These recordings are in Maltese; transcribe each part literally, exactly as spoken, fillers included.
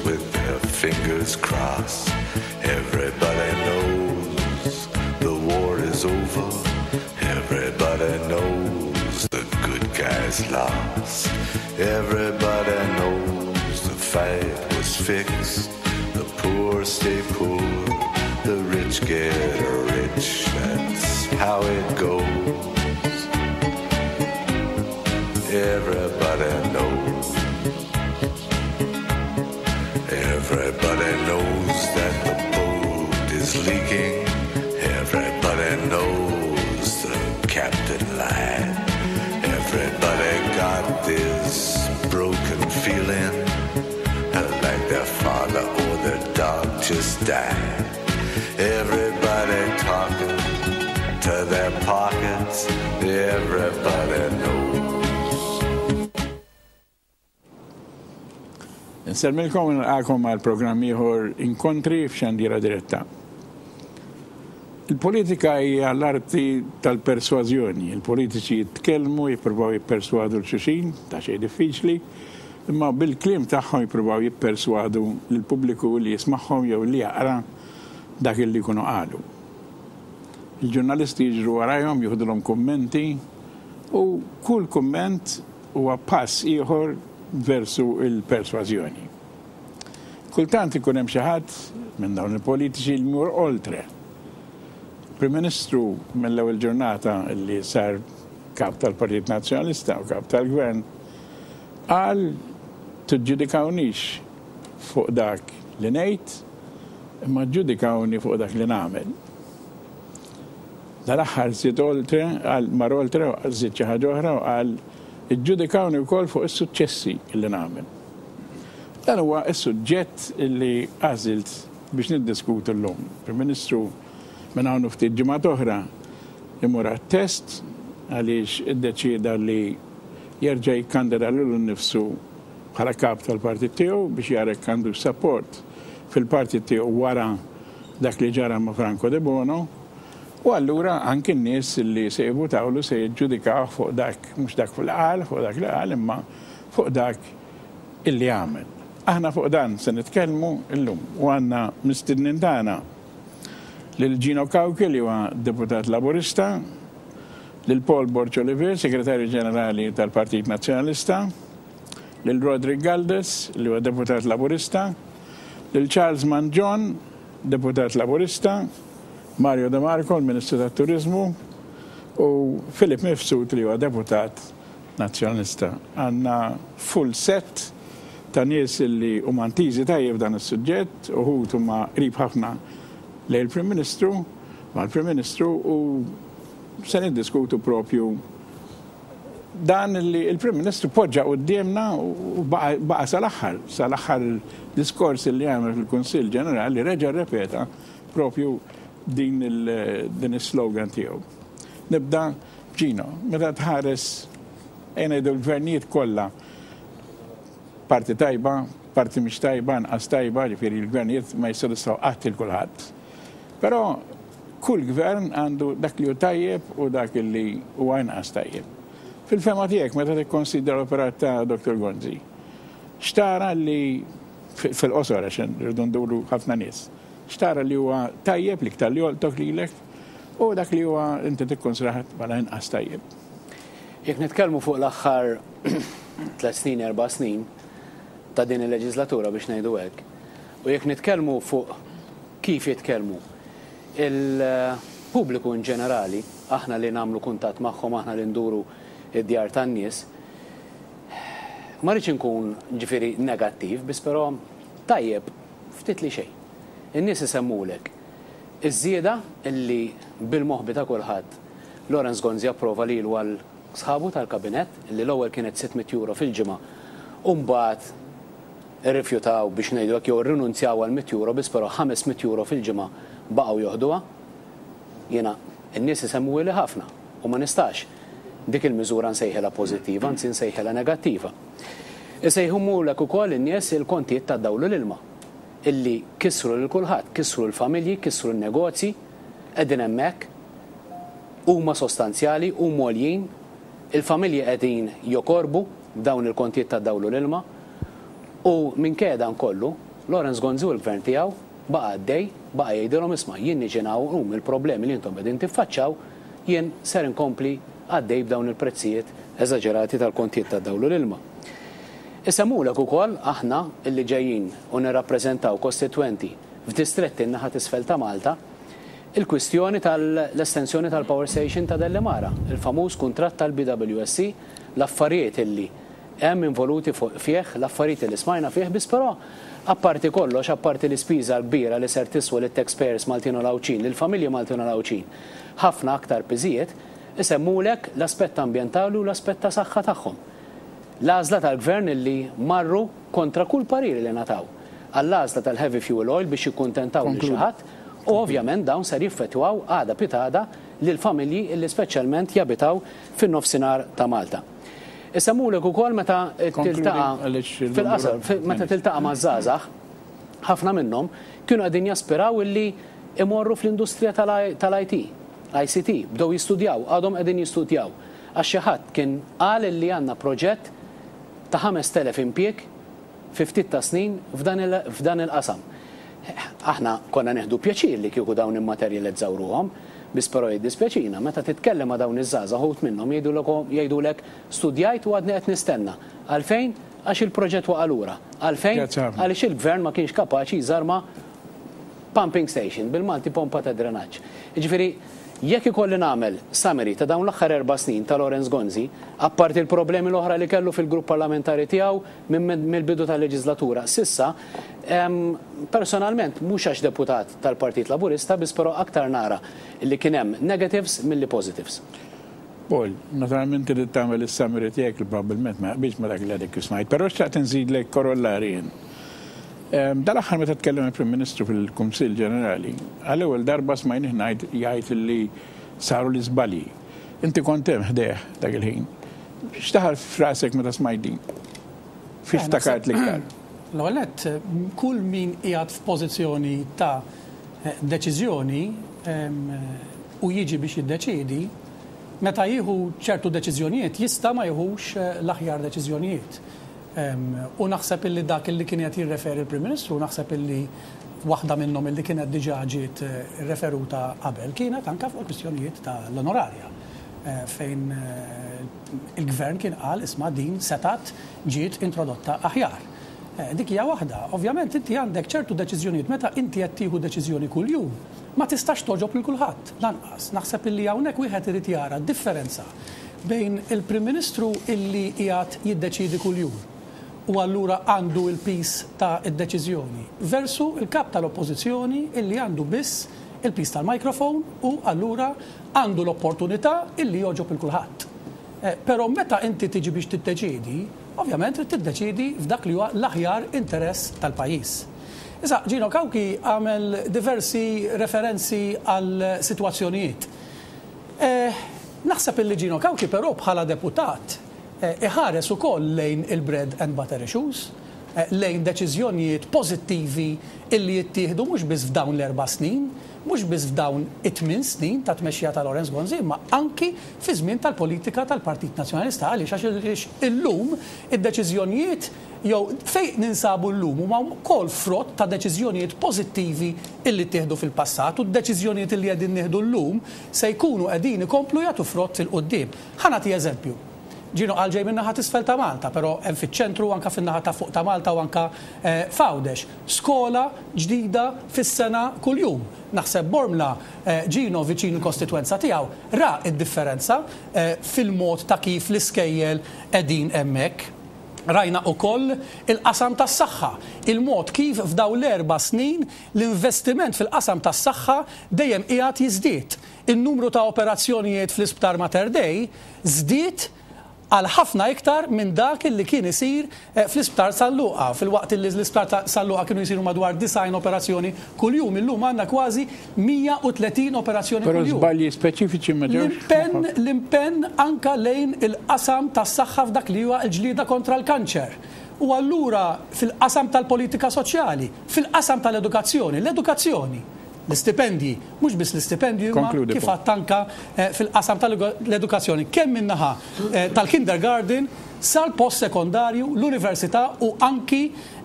with their fingers crossed. Everybody knows the war is over. Everybody knows the good guys lost. Everybody knows the fight was fixed. The poor stay poor, the rich get rich. That's how it goes. Everybody knows. Everybody knows that the boat is leaking. Everybody knows the captain lied. Everybody got this broken feeling like their father or their dog just died. Everybody talking to their pockets. Everybody knows. Nsellmilkom u nilqagħkom għal programm ieħor Inkontri f'Xandira Diretta. Il-politika hija l-arti tal-persważjoni. Il-politiċi jitkellmu, jippruvaw jipperswadu 'l xulxin, ta' xejn diffiċli, imma bil-kliem tagħhom jippruvaw jipperswadu lill-pubbliku li jismagħhom jew li jaqra dak li jkunu qalu. Il-ġurnalisti jiġru warajhom, jieħdulhom kummenti u kull kumment huwa pass ieħor versu il-persważjoni. Kultant ikun hemm xi ħadd minn dawn il-politiċi li jmur oltre. Prim Ministru mill-ewwel ġurnata li sar kap tal-Partit Nazzjonalista u kap tal-Gvern qal tiġġudikawnix fuq dak li ngħid imma ġġudikawni fuq dak li nagħmel. Dal-aħħar żied oltre, qal mar oltre, żied xi ħaġa oħra u qal iġġudikawni wkoll fuq is-suċċessi li nagħmel. Dan huwa s-suġġett li għażilt biex niddiskutu llum. Prim Ministru minn hawn ftit ġimgħat oħra imur għat-test għaliex iddeċieda li jerġa' jikkandida lilu nnifsu bħala kap tal-partit tiegħu biex jara jekk għandu support fil-partit tiegħu wara dak li ġara ma' Franco De Bono. U allura anki n-nies li se jivvutawlu se jiġġudikaw fuq dak, mhux dak fuq qal, fuq dak li qal, imma fuq dak illi għamel. Aħna fuq dan se nitkellmu llum u għandna mistednin tagħna lil Gino Cauchi li huwa deputat Laburista, lil Paul Borg Olivier, Segretarju Ġenerali tal-Partit Nazzjonalista, lil Roderick Galdes li huwa deputat Laburista, lil Charles Mangion, deputat Laburista, Mario De Marco, il-Ministru tat-Turizmu, u Philip Mifsud li huwa deputat Nazzjonalista. Għandna full set ta' nies li huma intiżi tajjeb dan is-suġġett, uħud huma qrib ħafna lejn il-Prim Ministru, mal-Prim Ministru, u se niddiskutu propju dan li il-Prim Ministru poġġa quddiemna u baqa' sal-aħħar, sal-aħħar diskors li għamel fil-Kunsill Ġenerali reġa' rrepeta propju din din is-slogan tiegħu. Nibda Gino, meta tħares ejja ngħidu l-gvernijiet kollha parti tajba, parti mhix tajba, anqas tajba, ġifieri l-gvernijiet ma jissodisfaw qatt il kulħadd. Però kull gvern għandu dak li hu tajjeb u dak li huwa inqas tajjeb. Fil-fema tiegħek meta tikkonsidra l-operat ta' Doktor Gonzi, xtara li fil-qosor għax irridu nduru ħafna nies, xtara li huwa tajjeb li iktar li jolqtok lilek u dak li huwa inti tikkonsidrah bħala inqas tajjeb. Jekk nitkellmu fuq l-aħħar tliet snin, erba' snin ta' din il-leġislatura biex ngħidu hekk, u jekk nitkellmu fuq kif jitkellmu il-pubbliku in ġenerali, aħna li nagħmlu kuntatt magħhom, aħna li nduru id-djar tan-nies, ma rridx inkun ġifieri negattiv, biss però tajjeb ftit li xejn. In-nies isemmulek iż-żieda illi bil-moħbi ta' kulħadd Lawrence Gonzi approva lilu għal sħabu tal-kabinett illi l-ewwel kienet sitt mitt euro fil-ġimgħa u mbagħad irrifjutaw biex ngħidu hekk jew irrinunzjaw għal mitt euro, biss però ħames mitt euro fil-ġimgħa baqgħu joħduha. Jiena n-nies isemmuhili ħafna u ma nistax dik il-miżura nsejħilha pożittiva, anzi nsejħilha negattiva. Isejħumulek ukoll in-nies il-kontijiet tad-dawl u l-ilma illi kisru lil kulħadd, kisru l-familji, kisru l-negozji, qegħdin hemmhekk, huma sostanzjali, huma għoljin, il-familji qegħdin jokorbu dawn il-kontijiet tad-dawl u l-ilma u minkejja dan kollu Lawrence Gonzi u l-gvern tiegħu baqa' għaddej, baqa' jgħidilhom isma' jien niġi um il-problemi li intom qegħdin tiffaċċaw, jien ser inkompli għaddej b'dawn il-prezzijiet eżaġerati tal-kontijiet tad-dawl u l-ilma. Isemmulek ukoll aħna illi ġejjin u nirrappreżentaw kostitwenti f'distretti n-naħa t'isfel ta' Malta, il-kwistjoni tal-estensjoni tal-power station ta' Delimara, il-famuż kuntratt tal-B W S C, l-affarijiet illi hemm involuti fih, l-affarijiet li smajna fih, biss però apparti kollox, apparti l-ispiża l-kbira li ser tiswa lit-taxpayers Maltin u Għawdxin, lill-familji Maltin u Għawdxin, ħafna aktar piżijiet, isemmulek l-aspett ambjentali u l-aspett ta' saħħa tagħhom. L-għażla tal-gvern illi marru kontra kull pariri li ngħataw għall-għażla tal-heavy fuel oil biex jikkuntentaw lil xi ħadd u ovvjament dawn ser jiffettwaw għada pitgħada lil familji illi speċjalment jabitaw fin-nofsinhar ta' Malta. Isemmulek ukoll meta tiltaqa' fil-qasar, meta tiltaqa' ma' żgħażagħ, ħafna minnhom kienu qegħdin jaspiraw illi imorru fl-industrija tal-I T, I C T, bdew jistudjaw, għadhom qegħdin jistudjaw. Għax xi ħadd kien qal illi għandna proġett ta' ħamest elef impjieg fi ftit ta' snin f'dan il-qasam. Aħna konna nieħdu pjaċir li kieku dawn immaterjalizzaw ruhom, biss però jiddispjaċina meta titkellem ma' dawn iż-żgħażagħ, uħud minnhom jgħidulek studjajt u għadni qed nistenna. Għalfejn? Għax il-proġett waqa' lura. Għalfejn? Għaliex il-gvern ma kienx kapaċi jżarma pumping station, bil-Malti pompa ta' drenaġġ. Jiġifieri, jekk ikolli nagħmel summary ta' dawn l-aħħar erba' snin ta' Lawrence Gonzi, apparti il-problemi l-oħra li kellu fil-grupp parlamentari tiegħu mill-bidu tal-leġislatura s'issa, personalment mhux għax deputat tal-Partit Laburista, biss però aktar nara li kien hemm negatives milli positives. Paul, naturalment trid tagħmel is-summary tiegħek li probabbilment ma jaqbilx ma dak li għadek smajt, però xtaqt inżidlek korollari jien. Dal-aħħar meta tkellem il-Prim Ministru fil-Kunsill Ġenerali, għall-ewwel darba smajnih ngħid jgħid li saru l-iżbalji. Inti kont hemm ħdejh dak il-ħin. X'daħal f'rasek meta smajt din? Fiex ftakart l-iktar? L-ewwel nett, kull min qiegħed f'pożizzjoni ta' deċiżjoni u jiġi biex jiddeċiedi, meta jieħu ċertu deċiżjonijiet jista' ma jieħux l-aħjar deċiżjonijiet. U naħseb illi dak illi kien qed jirreferi l-Prim Ministru, naħseb illi waħda minnhom illi kienet diġà ġiet referuta qabel kienet anke fuq kwistjonijiet tal-onorarja, fejn il-gvern kien qal isma' din setat ġiet introdotta aħjar. Dik hija waħda. Ovvjament inti għandek ċertu deċiżjonijiet, meta inti qed tieħu deċiżjoni kuljum, ma tistax togħġob lil kulħadd lanqas. Naħseb illi hawnhekk wieħed irid jara differenza bejn il-Prim Ministru illi qiegħed jiddeċiedi kuljum u allura għandu il-piż ta' id-deċiżjoni versu il-kap tal-oppożizzjoni illi għandu biss il-piż tal-mikrofon u allura għandu l-opportunità illi jogħġob il kulħadd. Però meta inti tiġi biex tiddeċiedi, ovvjament trid tiddeċiedi f'dak li huwa l-aħjar interess tal-pajjiż. Issa, Gino Cauchi għamel diversi referenzi għal sitwazzjonijiet. Naħseb illi Gino Cauchi però bħala deputat iħares ukoll lejn il-bread and butter issues, lejn deċiżjonijiet pożittivi illi jittieħdu mhux biss f'dawn l-erba' snin, mhux biss f'dawn it-tmien snin ta' tmexxija ta' Lawrence Gonzi, imma anki fi żmien tal-politika tal-Partit Nazzjonalista. Għaliex? Għax illum id-deċiżjonijiet jew fejn ninsabu llum huma wkoll frott ta' deċiżjonijiet pożittivi illi ttieħdu fil-passat u d-deċiżjonijiet illi qegħdin nieħdu llum se jkunu qegħdin ikomplu jagħtu frott fil-quddiem. Ħa nagħti eżempju. Gino qal ġej min-naħa t'isfel ta' Malta, però hemm fiċ-ċentru, anka fin-naħa ta' fuq ta' Malta u anka f'Għawdex. Skola ġdida fis-sena kuljum. Naħseb Bormla, Gino viċin il-kostitwenza tiegħu, ra id-differenza fil-mod ta' kif l-iskejjel qegħdin hemmhekk. Rajna ukoll il-qasam tas-saħħa, il-mod kif f'dawn l-erba' snin l-investiment fil-qasam tas-saħħa dejjem qiegħed jiżdied. Il-numru ta' operazzjonijiet fl-Isptar Mater Dei żdied għal ħafna iktar minn dak li kien isir fl-Isptar San Luqa. Filwaqt li l-Isptar San Luqa kienu jisiru madwar disgħin operazzjoni kuljum, illum għandna kważi mija u tletin operazzjoni Però kuljum. żbalji speċifiċi ma ġewx. L-impenn l-impenn anka lejn il-qasam tas-saħħa f'dak li huwa l-ġlieda kontra l-kanċer. U allura fil-qasam tal-politika soċjali, fil-qasam tal-edukazzjoni, l-edukazzjoni, l-istipendji, mhux biss l-istipendji, imma Konkludi, kif Paul. għadt anka fil-qasam tal-edukazzjoni, kemm min-naħa tal-kindergarten sal-post sekondarju, l-università u anki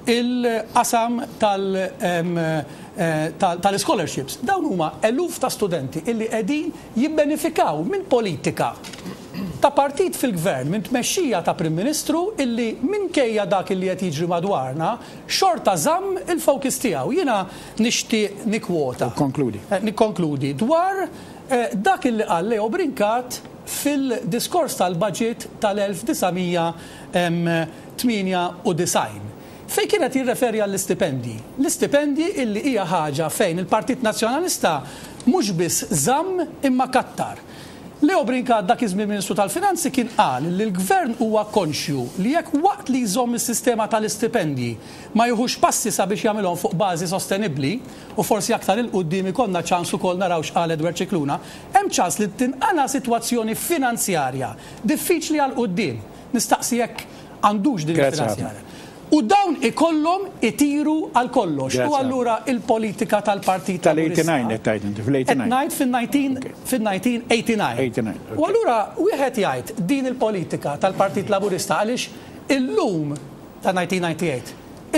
il-qasam tal-scholarships. Dawn huma eluf ta' studenti illi qegħdin jibbenefikaw minn politika ta' partit fil-gvern, minn tmexxija ta' Prim Ministru illi minkejja dak illi qed jiġri madwarna xorta żamm il-focus tiegħu. Jiena nixtieq nikkwota. Konkludi. Nikkonkludi dwar dak illi qal Leo Brincat fil-diskors tal-budget tal-elf disa' mija tmienja u disgħin. Fejn kienet jirreferi għall-istipendji. L-istipendji illi hija ħaġa fejn il-Partit Nazzjonalista mhux biss żamm imma kattar. Leo Brincat dak iż-żmien Ministru tal-Finanzi kien qal li l-Gvern huwa konxju li jekk waqt li jżomm is-sistema tal-istipendji ma jieħux passi sabiex jagħmilhom fuq bażi sostenibbli, u forsi aktar il quddiem ikollna ċans ukoll naraw x'qal Edward Scicluna, hemm ċans li tinqala sitwazzjoni finanzjarja diffiċli għal quddiem. Nistaqsi jekk għandux din Grazie il-finanzjarja. ħafna. U dawn ikollhom itiru għal kollox. Grazie U allura il-politika tal-Partit Tal-eighty-nine Laburista qed tgħid inti, fl-eighty-nine. Qed ngħid fin-nineteen, Okay. fin-nineteen eighty-nine. eighty-nine, okay. U allura wieħed jgħid din il-politika tal-Partit Laburista għaliex illum ta' nineteen ninety-eight.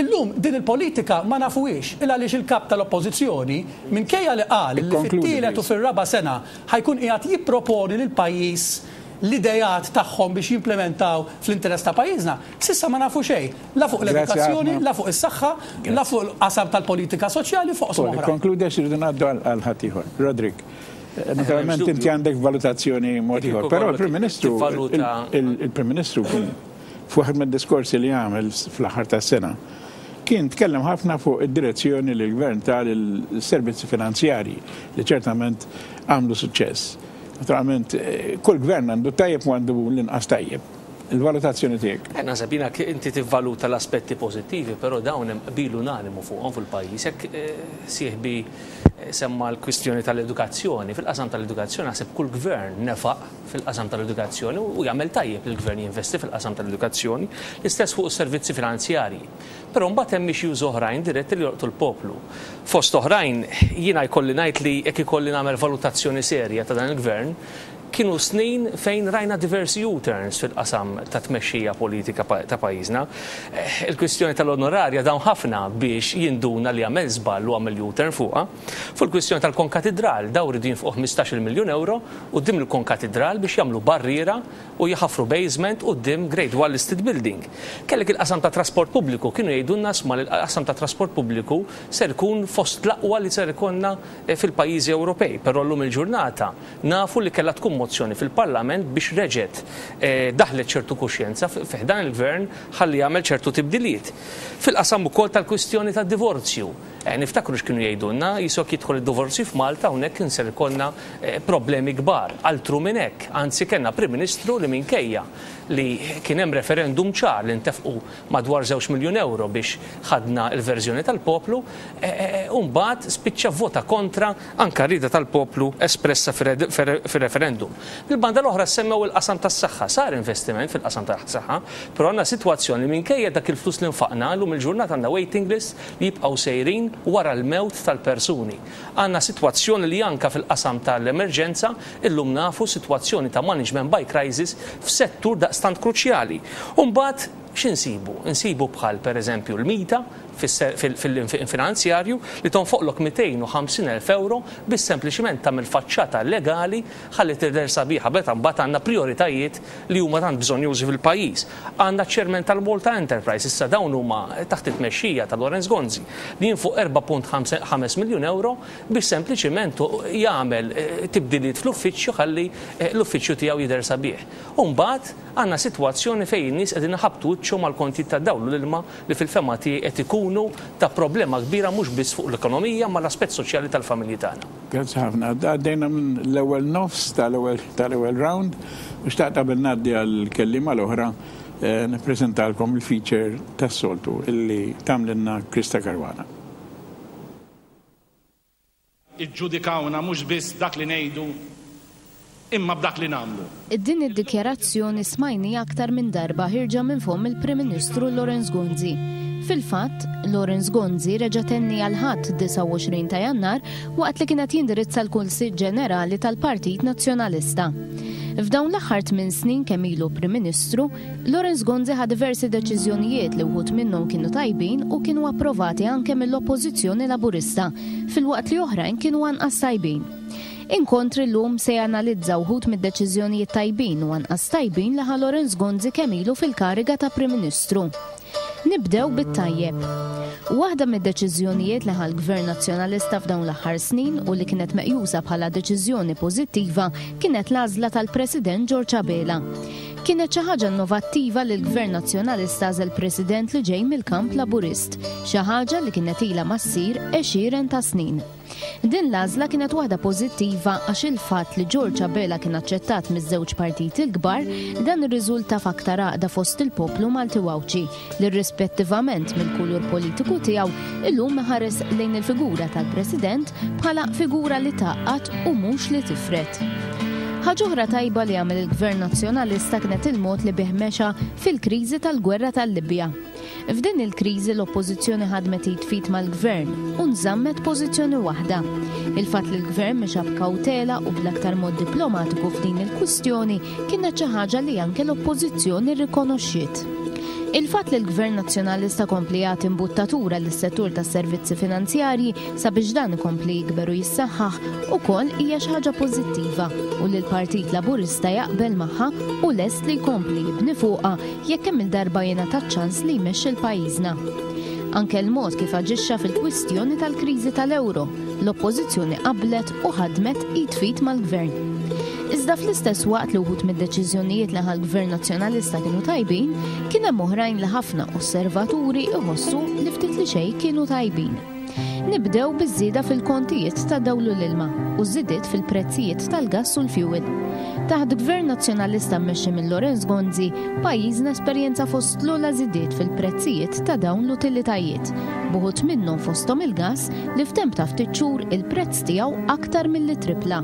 Illum din il-politika ma nafuhiex il għaliex il-kap tal-oppożizzjoni minkejja li qal li Ikkonkludi, fit-tielet u please. fir-raba' sena ħajkun qiegħed jipproponi lil pajjiż l-idejat tagħhom biex jimplementaw fl-interess ta' pajjiżna. Sissa ma nafu xejn, la fuq Grazie l-edukazzjoni, ħafna. la fuq is-saħħa, la fuq l-qasam tal-politika soċjali, fuq Paul, oħra. Konkludi għax irridu ngħaddu għal, għal ħaddieħor. Roderick, eh, naturalment dubju. inti għandek valutazzjoni mod Kieku ieħor, però kollok il-Prim Ministru, tivvaluta il-, il-, il-Prim Ministru kien f'waħed mid-diskorsi li għamel fl-aħħar tas-sena kien tkellem ħafna fuq id-direzzjoni li l-gvern ta lill-servizzi finanzjarji li ċertament għamlu suċċess. Naturalment, eh, kull gvern għandu tajjeb u għandu l-inqas tajjeb. Il-valutazzjoni tiegħek. Eh, naħseb jiena ki-, inti tivvaluta l-aspetti pożittivi, però dawn hemm qbil unanimu fuqhom fil-pajjiż. Jekk, eh, sieħbi, eh, semma l-kwistjoni tal-edukazzjoni, fil-qasam tal-edukazzjoni naħseb kull gvern nefaq fil-qasam tal-edukazzjoni u jagħmel tajjeb li l-gvern jinvesti fil-qasam tal-edukazzjoni, l-istess fuq is-servizzi finanzjarji. Però mbagħad hemm issues oħrajn diretti li jolqtu l-poplu. Fost oħrajn jiena jkolli ngħid li jekk ikolli nagħmel valutazzjoni serja ta' dan il-gvern, kienu snin fejn rajna diversi U-turns fil-qasam ta' tmexxija politika pa-, ta' pajjiżna. Eh, il-kwistjoni tal-onorarja dawn ħafna biex jinduna li għamel żball u għamel U-turn fuqha. Fuq il-kwistjoni tal-konkatedral, daw ridu jinfqu ħmistax-il miljun euro quddiem il-konkatedral biex jagħmlu barriera u jħaffru basement quddiem Grade one listed building. Kellek il-qasam ta' trasport pubbliku, kienu jgħidulna sma li l-qasam ta' trasport pubbliku ser ikun fost l-aqwa li ser ikonna, eh, fil-pajjiżi Ewropej, però llum il-ġurnata nafu li kellha tkun mozzjoni fil-Parlament biex reġgħet, eh, daħlet ċertu kuxjenza f-, fi ħdan il-gvern ħalli jagħmel ċertu tibdiliet. Fil-qasam ukoll tal-kwistjoni tad-divorzju. Eh, niftakru x'kienu jgħidulna, jisok jidħol id-divorzju f'Malta hawnhekk kien ser ikollna, eh, problemi kbar. Altru minn hekk, anzi kellna Prim Ministru li minkejja li kien hemm referendum ċar li ntefqu madwar żewġ miljun euro biex ħadna l-verżjoni tal-poplu, eh, eh, u mbagħad spiċċa vota kontra anka rida tal-poplu espressa fir-referendum. Bil-banda l-oħra semmew il-qasam tas-saħħa, sar investiment fil-qasam tas-saħħa, però għandna sitwazzjoni minkejja dak il-flus li nfaqna llum il-ġurnata għandna waiting list li jibqgħu sejrin wara l-mewt tal-persuni. Għandna sitwazzjoni li anka fil-qasam tal-emerġenza illum nafu sitwazzjoni ta' management by crisis f'settur daqstant kruċjali. U mbagħad x'insibu? Insibu bħal pereżempju l-mita fil-finanzjarju li tonfoqlok mitejn u ħamsin elf euro biex sempliċiment tagħmel faċċata legali ħalli tidher sabiħa, meta mbagħad għandna prioritajiet li huma tant bżonjużi fil-pajjiż. Għandna ċermen tal-Malta Enterprise, issa dawn huma taħt it-tmexxija ta' Lawrence Gonzi li jinfuq erba' punt ħames miljun euro biex sempliċiment jagħmel, eh, tibdiliet fl-uffiċċju ħalli, eh, l-uffiċċju tiegħu jidher sabiħ. U mbagħad għandna sitwazzjoni fejn in-nies qegħdin iħabbtu wiċċhom mal-kontijiet tad-dawl u l-ilma li fil-fema tiegħi qed ikunu ta' problema kbira mhux biss fuq l-ekonomija ma l-aspett soċjali tal-familji tagħna. Grazzi ħafna. Għaddejna minn l-ewwel nofs tal-ewwel, tal-ewwel round u xtaqt qabel ngħaddi għall-kelliema l-oħra, eh, nippreżentalkom il-feature tas-soltu illi tagħmlilna Krista Caruana. Iġġudikawna mhux biss dak li ngħidu imma b'dak li nagħmlu. Din id-dikjarazzjoni smajni aktar minn darba ħirġa minn fomm il-Prim Ministru Lawrence Gonzi. Fil-fatt, Lawrence Gonzi reġa' tenni għal ħadd disgħa u għoxrin ta' Jannar waqt li kienet jindirizza l-Kunsill Ġenerali tal-Partit Nazzjonalista. F'dawn l-aħħar tmien snin kemm ilu Prim Ministru, Lawrence Gonzi ħa diversi deċiżjonijiet li wħud minnhom kienu tajbin u kienu approvati anke mill-Oppożizzjoni Laburista, filwaqt li oħrajn kienu anqas tajbin. Inkontri llum se janalizza wħud mid-deċiżjonijiet tajbin u anqas tajbin li ħa Lawrence Gonzi kemm ilu fil-kariga ta' Prim Ministru. Nibdew bit-tajjeb. Waħda mid-deċiżjonijiet li ħa l-Gvern Nazzjonalista f'dawn l-aħħar snin u li kienet meqjusa bħala deċiżjoni pożittiva kienet l-għażla tal-President George Abela. Kienet xi ħaġa innovattiva li l-Gvern Nazzjonalista għażel President li ġej mill-kamp Laburist, xi ħaġa li kienet ilha ma ssir għexieren ta' snin. Din l-għażla kienet waħda pożittiva għax il-fatt li George Abela kien aċċettat miż-żewġ partiti l-kbar, dan irriżulta f'aktar għaqda fost il-poplu Malti u Għawdxi li rispettivament mill-kulur politiku tiegħu illum ħares lejn il-figura tal-President bħala figura li tgħaqqad u mhux li tifred. Ħaġa oħra tajba li għamel il-Gvern Nazzjonalista kienet il-mod li bih mexa fil-kriżi tal-gwerra tal-Libja. F'din il-kriżi l-Oppożizzjoni ħadmet id f'id mal-Gvern u nżammet pożizzjoni waħda. Il-fatt li l-Gvern mexa b'kawtela u bl-aktar mod diplomatiku f'din il-kwistjoni kienet xi ħaġa li anke l-Oppożizzjoni rrikonoxxiet. Il-fatt li l-Gvern Nazzjonalista kompli jagħti imbuttatura lis-settur tas-servizzi finanzjarji sabiex dan ikompli jikber u jissaħħaħ ukoll hija xi ħaġa pożittiva u li l-Partit Laburista jaqbel magħha u lest li jkompli jibni fuqha jekk kemm il-darba jingħata ċ-ċans li jmexxi l-pajjiżna. Anke l-mod kif aġixxa fil-kwistjoni tal-kriżi tal-ewro, l-Oppożizzjoni qablet u ħadmet id f'id mal-Gvern. Iżda fl-istess waqt li wħud mid-deċiżjonijiet li ħa l-Gvern Nazzjonalista kienu tajbin, kien hemm oħrajn li ħafna osservaturi iħossu li ftit li xejn kienu tajbin. Nibdew biż-żieda fil-kontijiet ta' dawl u l-ilma u żidiet fil-prezzijiet tal-gass u l-fuel. Taħt Gvern Nazzjonalista mmexxi minn Lawrence Gonzi, pajjiżna esperjenza fost l-ogħla żidiet fil-prezzijiet ta' dawn l-utilitajiet, b'uħud minnhom fosthom il-gass li f'temp ta' ftit xhur il-prezz tiegħu aktar milli tripla.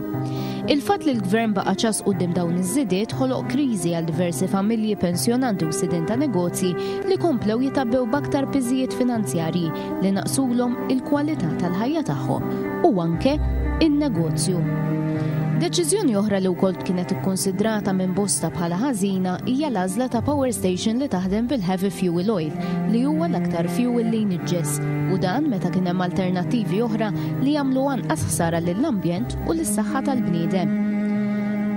Il-fatt li l-Gvern baqa' ċass quddiem dawn iż-żidiet ħoloq kriżi għal diversi familji, pensjonanti u sidien ta' negozji li komplew jitabbew b'aktar piżijiet finanzjarji li naqsulhom il-kwalità tal-ħajja tagħhom u anke in-negozju. Deċiżjoni oħra li wkoll kienet ikkonsidrata minn bosta bħala ħażina hija l-għażla ta' power station li taħdem bil-heavy fuel oil, li huwa l-aktar fuel li jniġġes, u dan meta kien hemm alternattivi oħra li jagħmlu anqas ħsara lill-ambjent u lis-saħħa tal-bniedem.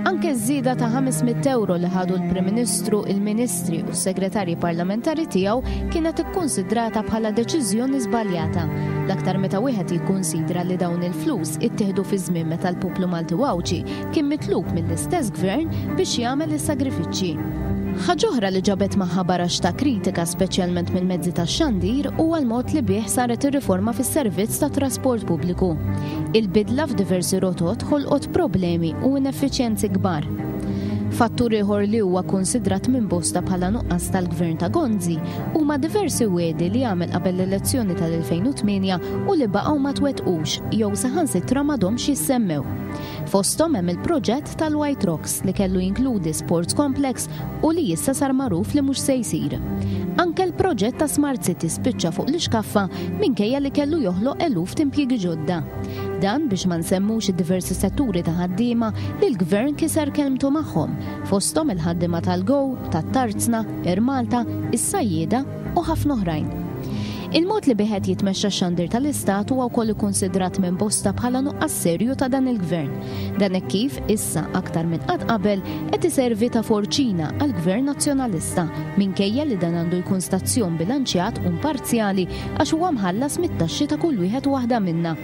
Anke ż-żieda ta' ħames mitt euro li ħadu l-Prim Ministru, il-Ministri u s-Segretarji Parlamentari tiegħu kienet ikkonsidrata bħala deċiżjoni żbaljata, l-aktar meta wieħed jikkunsidra li dawn il-flus ittieħdu fi żmien meta l-poplu Malti u Għawdxi kien mitlub mill-istess gvern biex jagħmel is-sagrifiċċji. Ħaġa oħra li ġabet magħha barax ta' kritika speċjalment mill-mezzi tax-xandir huwa l-mod li bih saret ir-riforma fis-servizz ta' trasport pubbliku. Il-bidla f'diversi rotot ħolqot problemi u ineffiċjenzi kbar. Fattur ieħor li huwa konsidrat minn bosta bħala nuqqas tal-Gvern ta' Gonzi huma diversi wegħdi li għamel qabel l-elezzjoni tal-elfejn u tmienja u li baqgħu ma twettqux jew saħansitra m'għadhomx jissemmew. Fosthom hemm il-proġett tal-White Rocks li kellu jinkludi sports complex u li issa sar magħruf li mhux se jsir. Anke l-proġett ta' Smart City spiċċa fuq l-ixkaffa minkejja li kellu joħloq eluf t'impjiegi ġodda. Dan biex ma nsemmux id-diversi setturi ta' ħaddiema li l-Gvern kiser kelmtu magħhom, fosthom il-ħaddiema tal-Go, tat-Tarzna, Air Malta, is-sajjieda u ħafna oħrajn. Il-mod li biħed jitmexxa x-xandir tal-Istat huwa wkoll ikkunsidrat minn bosta bħala nuqqas serju ta' dan il-Gvern. Dan hekk kif issa aktar minn qatt qabel qed iservi ta' forċina għall-Gvern Nazzjonalista, minkejja li dan għandu jkun stazzjon bilanċjat u imparzjali għax huwa mħallas mit-taxxi ta' kull wieħed u waħda minna.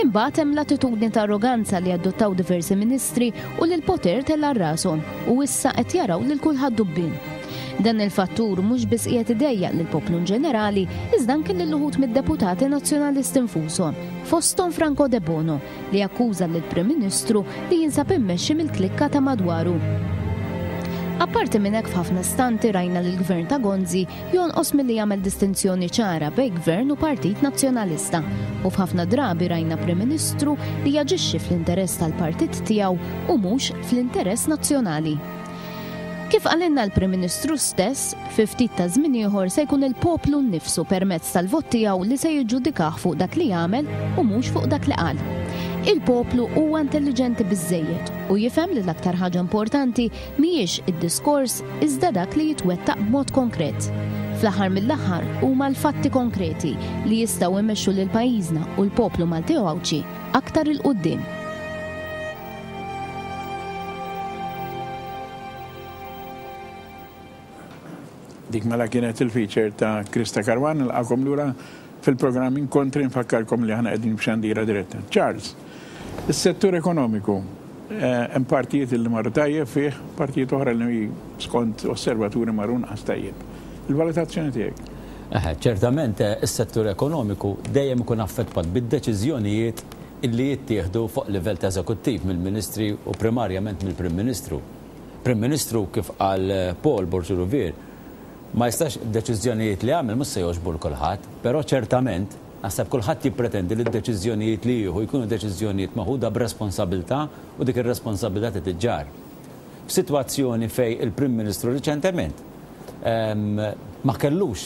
Imbagħad hemm l-attitudni ta' arroganza li adottaw diversi ministri u li l-poter tella' rashom u issa qed jaraw lil kulħadd dubbien. Dan il-fattur mhux biss qiegħed idejjaq lill-poplu ġenerali, iżda anke lil uħud mid-deputati nazzjonalisti nfushom, fosthom Franco Debono, li akkuża lill-Prim Ministru li jinsab immexxi mill-klikka ta' madwaru. Apparti minn hekk f'ħafna stanti rajna li l-Gvern ta' Gonzi jonqos milli jagħmel distinzjoni ċara bejn Gvern u Partit Nazzjonalista, u f'ħafna drabi rajna Prim Ministru li jaġixxi fl-interess tal-partit tiegħu u mhux fl-interess nazzjonali. Kif qalilna l-Prim Ministru stess, fi ftit ta' żmien ieħor se jkun il-poplu nnifsu permezz tal-vot tiegħu li se jiġġudikah fuq dak li jagħmel u mhux fuq dak li qal. Il-poplu huwa intelliġenti biżżejjed u jifhem li l-aktar ħaġa importanti mhijiex id-diskors iżda dak li jitwettaq b'mod konkret. Fl-aħħar mill-aħħar huma l-fatti konkreti li jistgħu jmexxu lil pajjiżna u l-poplu Malti u Għawdxi aktar 'il quddiem. Dik mela kienet il-feature ta' Krista Karwan, nilqakom lura fil-programm Inkontri, nfakkarkom li aħna qegħdin b'xandira diretta. Charles, is-settur ekonomiku, hemm partijiet li marru tajjeb fih, partijiet oħra li skont osservaturi marru nqas tajjeb. Il-valutazzjoni tiegħek? Eħe, ċertament is-settur ekonomiku dejjem ikun affettwat bid-deċiżjonijiet illi jittieħdu fuq livell ta' eżekuttiv mill-Ministri u primarjament mill-Prim Ministru. Prim Ministru, kif qal Paul Borg Rouvier, ma jistax deċiżjonijiet li għamel mhux se jogħġbu l kulħadd, però ċertament naħseb kulħadd jippretendi li d-deċiżjonijiet li jieħu jkunu deċiżjonijiet maħuda b'responsabilità u dik ir-responsabilità titiġġar. F'sitwazzjoni fejn il-Prim Ministru riċentement ma kellux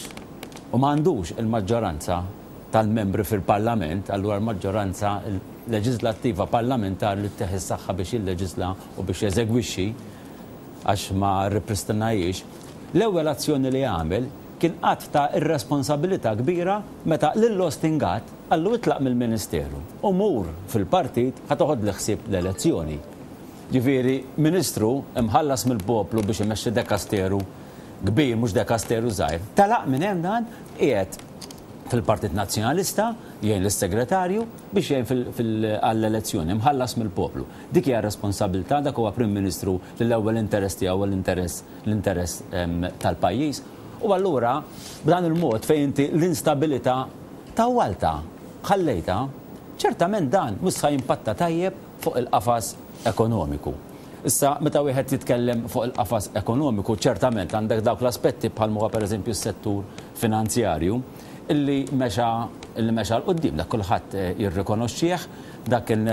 u ma għandux il-maġġoranza tal-membri fil-Parlament, allura l-maġġoranza leġislattiva parlamentari li ttieħ is-saħħa biex jilleġisla u biex jeżegwixxi għax ma rripristinajiex, l-ewwel azzjoni li għamel kien qatt ta' irresponsabilità kbira meta lil Austin Gatt qallu itlaq mill-Ministeru u mur fil-partit ħa toħod l-ħsieb l-elezzjoni. Ġifieri ministru imħallas mill-poplu biex imexxi dekasteru kbir, mhux dekasteru żgħir, talaq minn hemm dan qiegħed fil-Partit Nazzjonalista jgħin lis-segretarju biex jgħin għall-elezzjoni mħallas mill-poplu. Dik hija responsabilità, dak huwa Prim Ministru li l-ewwel interess tiegħu l-interess l-interess tal-pajjiż. U allura b'dan il-mod fejn inti l-instabilità tawwalta, ħallejta, ċertament dan mhux se jimpatta tajjeb fuq il-qafas ekonomiku. Issa, meta wieħed jitkellem fuq il-qafas ekonomiku, ċertament għandek dawk l-aspetti bħal huwa pereżempju s-settur finanzjarju illi mexa illi mexa 'l quddiem, dak kulħadd jirrikonoxxih. Dak kien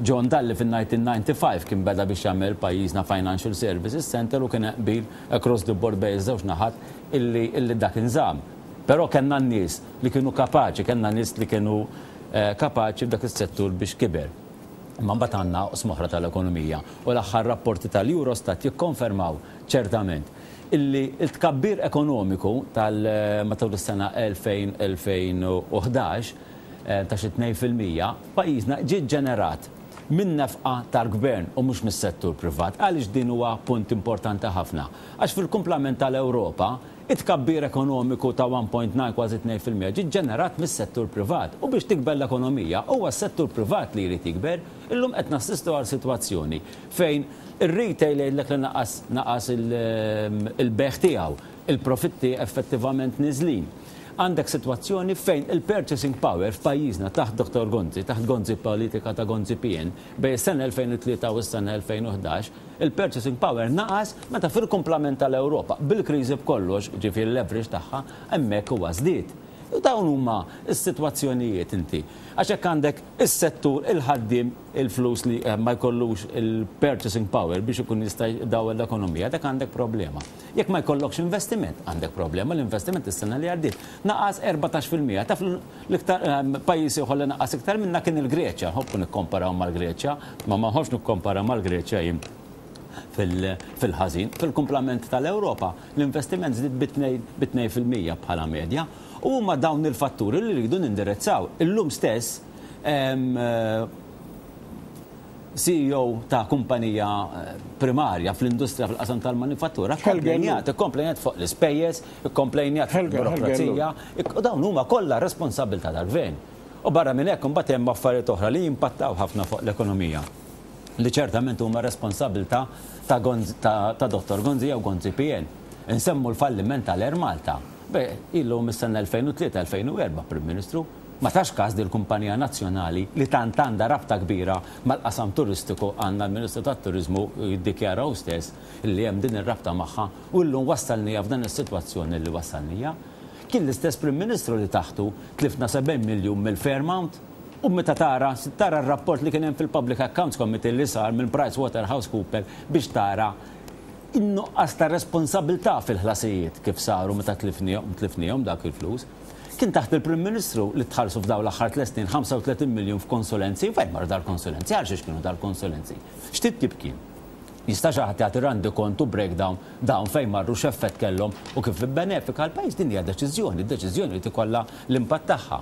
John Dalli fin-nineteen ninety-five kien beda biex jagħmel pajjiżna Financial Services Center u kien qbil across the board bejn iż-żewġ naħat illi illi dak inżamm. Però kellna n-nies li kienu kapaċi, kellna nies li kienu kapaċi f'dak is-settur biex kiber. Imma mbagħad għandna oqsma oħra tal-ekonomija u l-aħħar rapporti tal-Eurostat jikkonfermaw ċertament illi l-tkabbir ekonomiku tal matul is-sena elfejn elfejn u ħdax ta' xi tnejn fil-mija pajjiżna ġie ġenerat minn nefqa tal-gvern u mhux mis-settur privat. Għaliex din huwa punt importanti ħafna? Għax fil-kumplament tal-Ewropa it-tkabbir ekonomiku ta' one point nine kważi tnejn fil-mija ġie ġenerat mis-settur privat u biex tikber l-ekonomija huwa s-settur privat li jrid jikber. Illum qed nassistu għal sitwazzjoni fejn ir-retail jgħidlek li naqas naqas il-beħ tiegħu, il-profitti effettivament niżlin. Għandek sitwazzjoni fejn il-purchasing power f'pajjiżna taħt Doktor Gonzi, taħt Gonzi politika ta' Gonzi P N, bejn is-sena elfejn u tlieta u s-sena elfejn u ħdax, il-purchasing power naqas meta fil-kumplament tal-Ewropa bil-kriżi b'kollox, ġifieri l-leverage tagħha, hemmhekk huwa żdied. U dawn huma s-sitwazzjonijiet inti. Għax hekk għandek is-settur il-ħaddiem il-flus li ma jkollux il-purchasing power biex ikun jista' jdawwel l-ekonomija, dak għandek problema. Jekk ma jkollokx investiment, għandek problema. L-investiment is-sena li għaddiet naqas erbatax fil-mija. Taf l-iktar pajjiż ieħor li naqas iktar minna kien il-Greċja. Nħobbu nikkomparaw mal-Greċja, ma ma nħobbx nikkomparaw mal-Greċja jien fil-ħażin. Fil-kumplament tal-Ewropa l-investiment żdied bi tnejn fil-mija bħala medja. U huma dawn il-fatturi li rridu nindirizzaw. Illum stess C E O ta' kumpanija primarja fl-industrija fil-qasam tal-manifattura komplejnjat, komplejnjat fuq l-ispejjeż, komplejnjat fuq il-burokrazija, u dawn huma kollha responsabilità tal-gvern. U barra minn hekk imbagħad hemm affarijiet oħra li jimpattaw ħafna fuq l-ekonomija li ċertament huma responsabilità ta' ta' Dottor Gonzi jew Gonzi P N. Insemmu l-falliment tal-Air Malta. Beh, illu mis-sena elfejn u tlieta, elfejn u erba' Prim Ministru, ma tax każ din il-kumpanija nazzjonali li tant għandha rabta kbira mal-qasam turistiku, għandna l-Ministru tat-Turiżmu jiddikjara hu stess li hemm din ir-rabta magħha u llum wassalnija f'dan is-sitwazzjoni li wassalnija. Kien l-istess Prim Ministru li taħtu tlifna sebgħin miljun mill-Fairmount u meta tara, tara r-rapport li kien hemm fil-Public Accounts Committee li sar minn PricewaterhouseCoopers biex tara in-nuqqas ta' responsabilità fil-ħlasijiet kif saru meta tlifnihom, tlifnihom dak il-flus. Kien taħt il-Prim Ministru li tħallsu f'dawn l-aħħar tliet snin ħamsa u tletin miljun f'konsulenzi. Fejn marru dal-konsulenzi? Għal xiex kienu dal-konsulenzi? X'titjib kien? Jista' xi ħadd jagħti randi kontu breakdown dawn fejn marru, x'effett kellhom u kif ibbenefika l-pajjiż? Din hija deċiżjoni, deċiżjoni li tikollha l-impatt tagħha.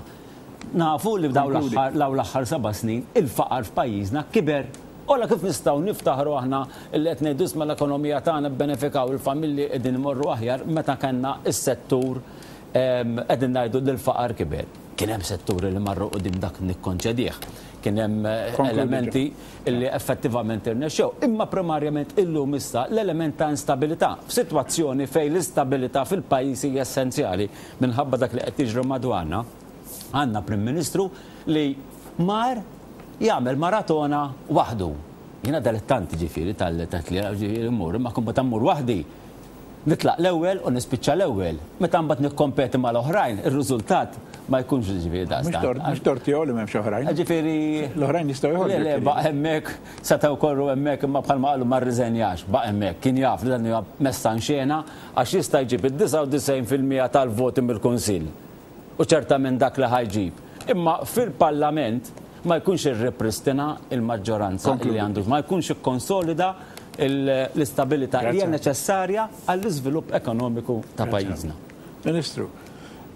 Nafu li dawn l-aħħar seba' snin il-faqar f'pajjiżna kiber. Ola kif nistgħu niftaħru aħna li qed ngħidu isma' l-ekonomija tagħna bbenefikaw, il-familji qegħdin imorru aħjar, meta kellna s-settur qegħdin ngħidu li l-faqar kiber. Kien hemm setturi li marru quddiem, dak nikkonċedih. Kien hemm elementi li effettivament irnexxew. Imma primarjament illum issa l-element ta' instabilità. F'sitwazzjoni fejn l-istabilità fil-pajjiż hija essenzjali minħabba dak li qed jiġri madwarna, għandna Prim Ministru li mar jagħmel maratona waħdu. Jiena dilettanti ġifieri tal-tlielaq, ġifieri mmur, imma kun meta mmur waħdi nitlaq l-ewwel u nispiċċa l-ewwel. Meta mbagħad nikkompeti mal-oħrajn, ir-riżultat ma jkunx ġifieri daqstant. Mhux tort tiegħu li m'hemmx oħrajn. Ġifieri l-oħrajn jistgħu jħorġu. Le, le, baqa' hemmhekk, setgħu korru hemmhekk, imma bħalma qalu ma rriżenjax, baqa' hemmhekk, kien jaf li dan huwa messa xena għax jista' jġib id-disgħa u disgħin fil-mija tal-voti mill-Kunsill. U ċertament dak li ħajġib. Imma fil-Parlament ma jkunx irripristina il-maġġoranza li għandu, ma jkunx ikkonsolida l-istabilità li hija neċessarja għall-iżvilupp ekonomiku ta' pajjiżna. Ministru,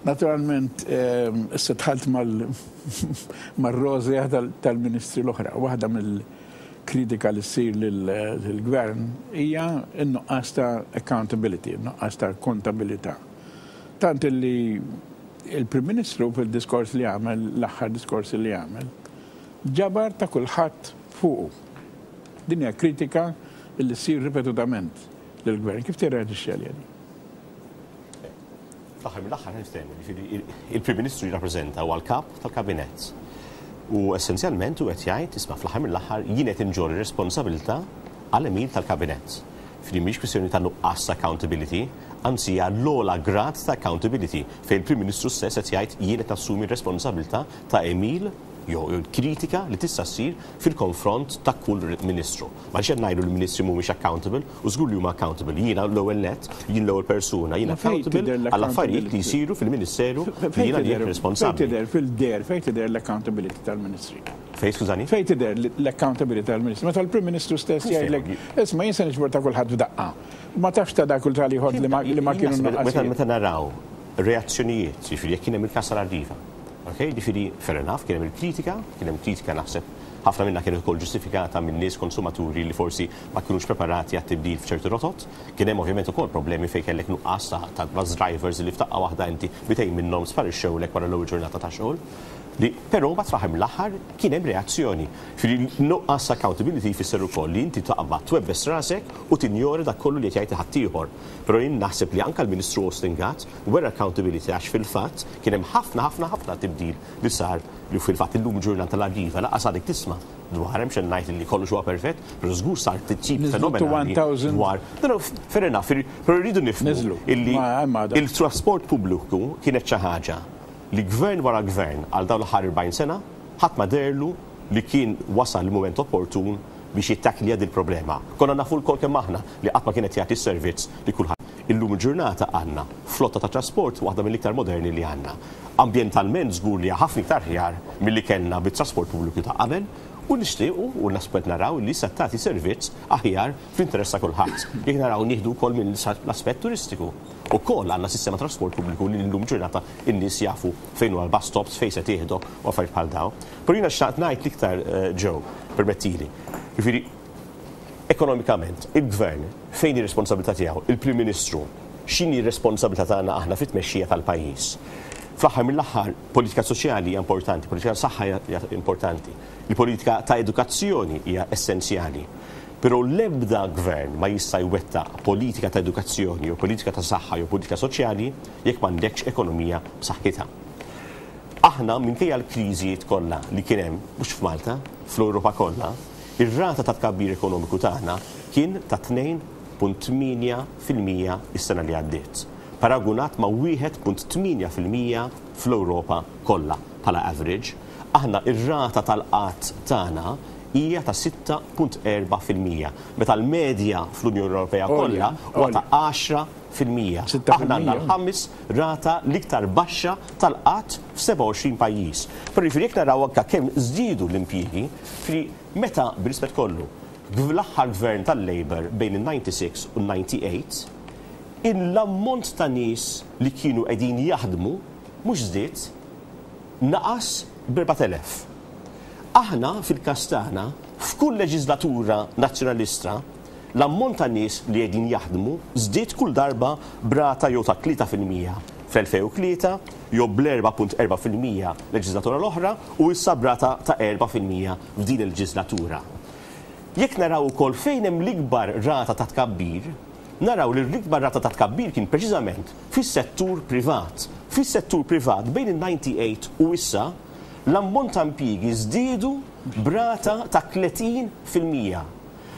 naturalment issa dħalt mal-rozja tal-ministri l-oħra. Waħda mill-kritika li ssir lill-gvern hija n-nuqqas ta' accountability, n-nuqqas ta' kontabilità. Tant li il-Prim Ministru fil-diskors li għamel, l-aħħar diskors li għamel, ġabar ta' kulħadd fuqu. Din hija kritika li ssir ripetutament lill-gvern. Kif tirreaġixxi għaliha din? Fl-aħħar mill-aħħar niftehmu, jiġifieri il-Prim Ministru jirrappreżenta huwa l-kap tal-kabinett. U essenzjalment hu qed jgħid, isma', fl-aħħar mill-aħħar jien qed inġorr ir-responsabilità għall-għemil tal-kabinett. Jiġifieri mhix kwistjoni ta' nuqqas accountability, anzi hija l-ogħla grad ta' accountability fejn il-Prim Ministru stess qed jgħid jien qed nassumi r-responsabilità ta' għemil jew kritika li tista' ssir fil-konfront ta' kull ministru. Ma qed ngħidu l-ministri mhumiex accountable, u żgur li huma accountable. Jiena l-ewwel net, jien l-ewwel persuna, jiena accountable għall affarijiet li jsiru fil-ministeru li jiena li responsabbli. Fejn tidher fil-der, fejn tidher l-accountability tal-ministri? Fejn, skużani? Fejn tidher l-accountability tal-ministri? Meta l-Prim Ministru stess jgħidlek, isma' jien se niġbor ta' kulħadd f'daqqa. Ma tafx ta' dak kull tal-ieħor li ma kienu nuqqas. Meta naraw reazzjonijiet, jiġifieri jekk kien hemm il-każ tal-Arriva. Ok, jiġifieri fair enough, kien hemm il-kritika, kien hemm kritika naħseb ħafna minna kienet ukoll ġustifikata minn nies konsumaturi li forsi ma kinux preparati għat-tibdil f'ċertu rotot. Kien hemm ovvjament ukoll problemi fejn kellek nuqqas ta' bus drivers li f'daqqa waħda inti mitejn minnhom sparixxewlek wara l-ewwel ġurnata ta' xogħol. Li però mbagħad fl-aħħar mill-aħħar kien hemm reazzjoni. Jiġifieri nuqqas accountability jfisser ukoll li inti taqbad twebbes rasek u tinjora dak kollu li qed jgħid ħaddieħor. Però jien naħseb li anke l-Ministru Austin Gatt wera accountability għax fil-fatt kien hemm ħafna ħafna ħafna tibdil li sar li fil-fatt illum ġurnata l-Arriva laqas għadek tisma' dwar hemm xejn ngħid li kollox huwa perfett, però żgur sar titjib fenomenali dwar. Fair enough, però rridu nifhmu illi il-trasport pubbliku kienet xi ħaġa li gvern wara gvern għal dawn l-aħħar erbgħin sena ħadd ma derlu li kien wasal il-mument opportun biex jittakilja din il-problema. Konna nafu lkoll kemm aħna li qatt ma kienet jagħti s-servizz li kulħadd. Illum il-ġurnata għandna flotta ta' trasport waħda mill-iktar moderni li għandna. Ambjentalment żgur li ħafna iktar ħjar milli kellna bit-trasport pubbliku ta' qabel u nixtiequ u naspet naraw li se tagħti servizz aħjar fl-interess ta' kulħadd. Jekk naraw nieħdu wkoll minn l-aspett turistiku. Ukoll għandna sistema trasport pubbliku li llum ġurnata n-nies jafu fejn huwa l-bus stops, fejn se tieħdu u affarijiet bħal dawn. Però jiena xtaqt ngħid l-iktar ġew, permettili. Jiġifieri ekonomikament, il-gvern fejn hi r-responsabilità tiegħu, il-Prim Ministru, x'inhi r-responsabilità tagħna aħna fit-tmexxija tal-pajjiż. Fl-aħħar mill-aħħar, politika soċjali hija importanti, politika ta' saħħa hija importanti, il-politika ta' edukazzjoni hija essenzjali. Però l-ebda gvern ma jista' jwettaq politika ta' edukazzjoni jew politika ta' saħħa jew politika soċjali jekk m'għandekx ekonomija b'saħħitha. Aħna minkejja l-kriżijiet kollha li kien hemm mhux f'Malta, fl-Ewropa kollha, ir-rata ta' tkabbir ekonomiku tagħna kien ta' tnejn punt tmienja fil-mija is-sena li għaddiet. Paragunat ma' wieħed punt tmienja fil-mija fl-Ewropa kollha bħala average. Aħna ir-rata tal-qatt tagħna hija ta' sitta punt erba' fil-mija, meta l-medja fl-Unjoni Ewropea kollha huwa ta' għaxra fil-mija. Aħna għandna l-ħames rata l-iktar baxxa tal-qatt f'sebgħa u għoxrin pajjiż. Però jiġifieri jekk naraw anke kemm żdiedu l-impjiegi, jiġifieri meta bir-rispett kollu l-aħħar gvern tal-Labour bejn in-ninety six u n-ninety eight, l-ammont ta' nies li kienu qegħdin jaħdmu mhux żdied, naqas b'erbat elef. Aħna fil-każ tagħna f'kull leġislatura nazzjonalista l-ammont ta' nies li qegħdin jaħdmu żdied kull darba b'rata jew ta' tlieta fil-mija fl-elfejn u tlieta jew bl-erba' punt erba' fil-mija leġislatura l-oħra u issa b'rata ta' erba' fil-mija f'din il-leġislatura. Jekk naraw ukoll fejn hemm l-ikbar rata ta' tkabbir, naraw li l-ikbar rata ta' tkabbir kien preċiżament fis-settur privat. Fis-settur privat bejn in-ninety eight u issa l-ammont ta' impjiegi żdiedu b'rata ta' tletin fil-mija.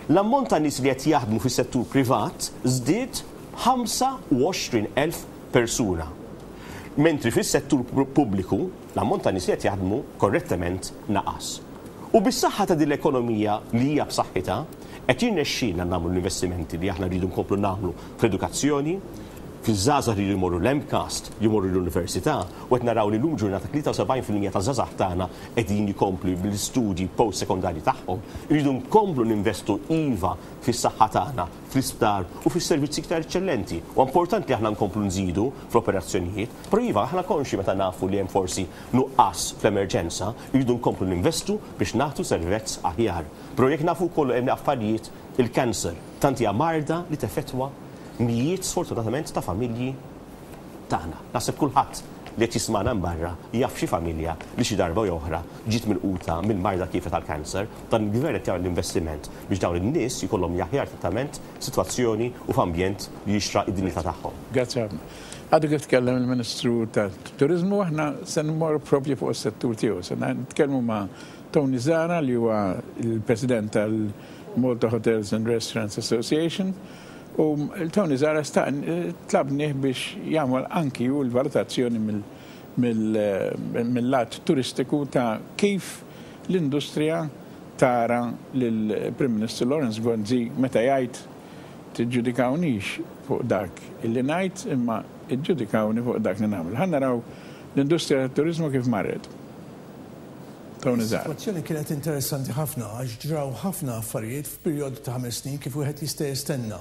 L-ammont ta' nies li qed jaħdmu fis-settur privat żdied ħamsa u għoxrin elf persuna. Mentri fis-settur pubbliku l-ammont ta' nies li qed jaħdmu korrettament naqas. U bis-saħħa ta' din l-ekonomija li hija b'saħħitha, qed jirnexxielna nagħmlu l-investimenti li aħna rridu nkomplu nagħmlu fl-edukazzjoni, fiż-żgħażagħ li jmorru l-MCAST, jmorru l-università, u qed naraw li llum ġurnata tlieta u sebgħin fil-mija ta' żgħażagħ tagħna qegħdin jkomplu bl-istudji post-sekondarji tagħhom. Irridu nkomplu ninvestu iva fis-saħħa tagħna, fl-isptar u fis-servizzi iktar eċċellenti. U importanti li aħna nkomplu nżidu fl-operazzjonijiet, però iva aħna konxi meta nafu li hemm forsi nuqqas fl-emerġenza, irridu nkomplu ninvestu biex nagħtu servizz aħjar. Però jekk nafu wkoll hemm affarijiet il-kanser, tant hija marda li teffettwa mijiet sfortunatament ta' familji tagħna. Naħseb kulħadd li qed jismagħna minn barra jaf xi familja li xi darba jew oħra ġiet milquta mill-marda kif tal-kanser, dan il-gvern qed jagħmel l-investiment biex dawn in-nies jkollhom l-aħjar trattament, sitwazzjoni u f'ambjent li jixraq id-dinjità tagħhom. Grazzi ħafna. Għadu kif tkellem il-Ministru tat-Turiżmu, aħna se nmorru propju fuq is-settur tiegħu. Se nitkellmu ma' Tony Zahra li huwa l-President tal-Malta Hotels and Restaurants Association. U Tony Zahra tlabnih biex jagħmel anki hu l-valutazzjoni mill-lat turistiku ta' kif l-industrija tara lill-Prim Ministru Lawrence Gonzi meta jgħid tiġġudikawnix fuq dak illi ngħid imma iġġudikawni fuq dak li nagħmel. Ħa naraw l-industrija tat-turiżmu kif marret. Tony Zahra. Is-sitwazzjoni kienet interessanti ħafna għax ġraw ħafna affarijiet f'perjodu ta' ħames snin kif wieħed jista' jistenna.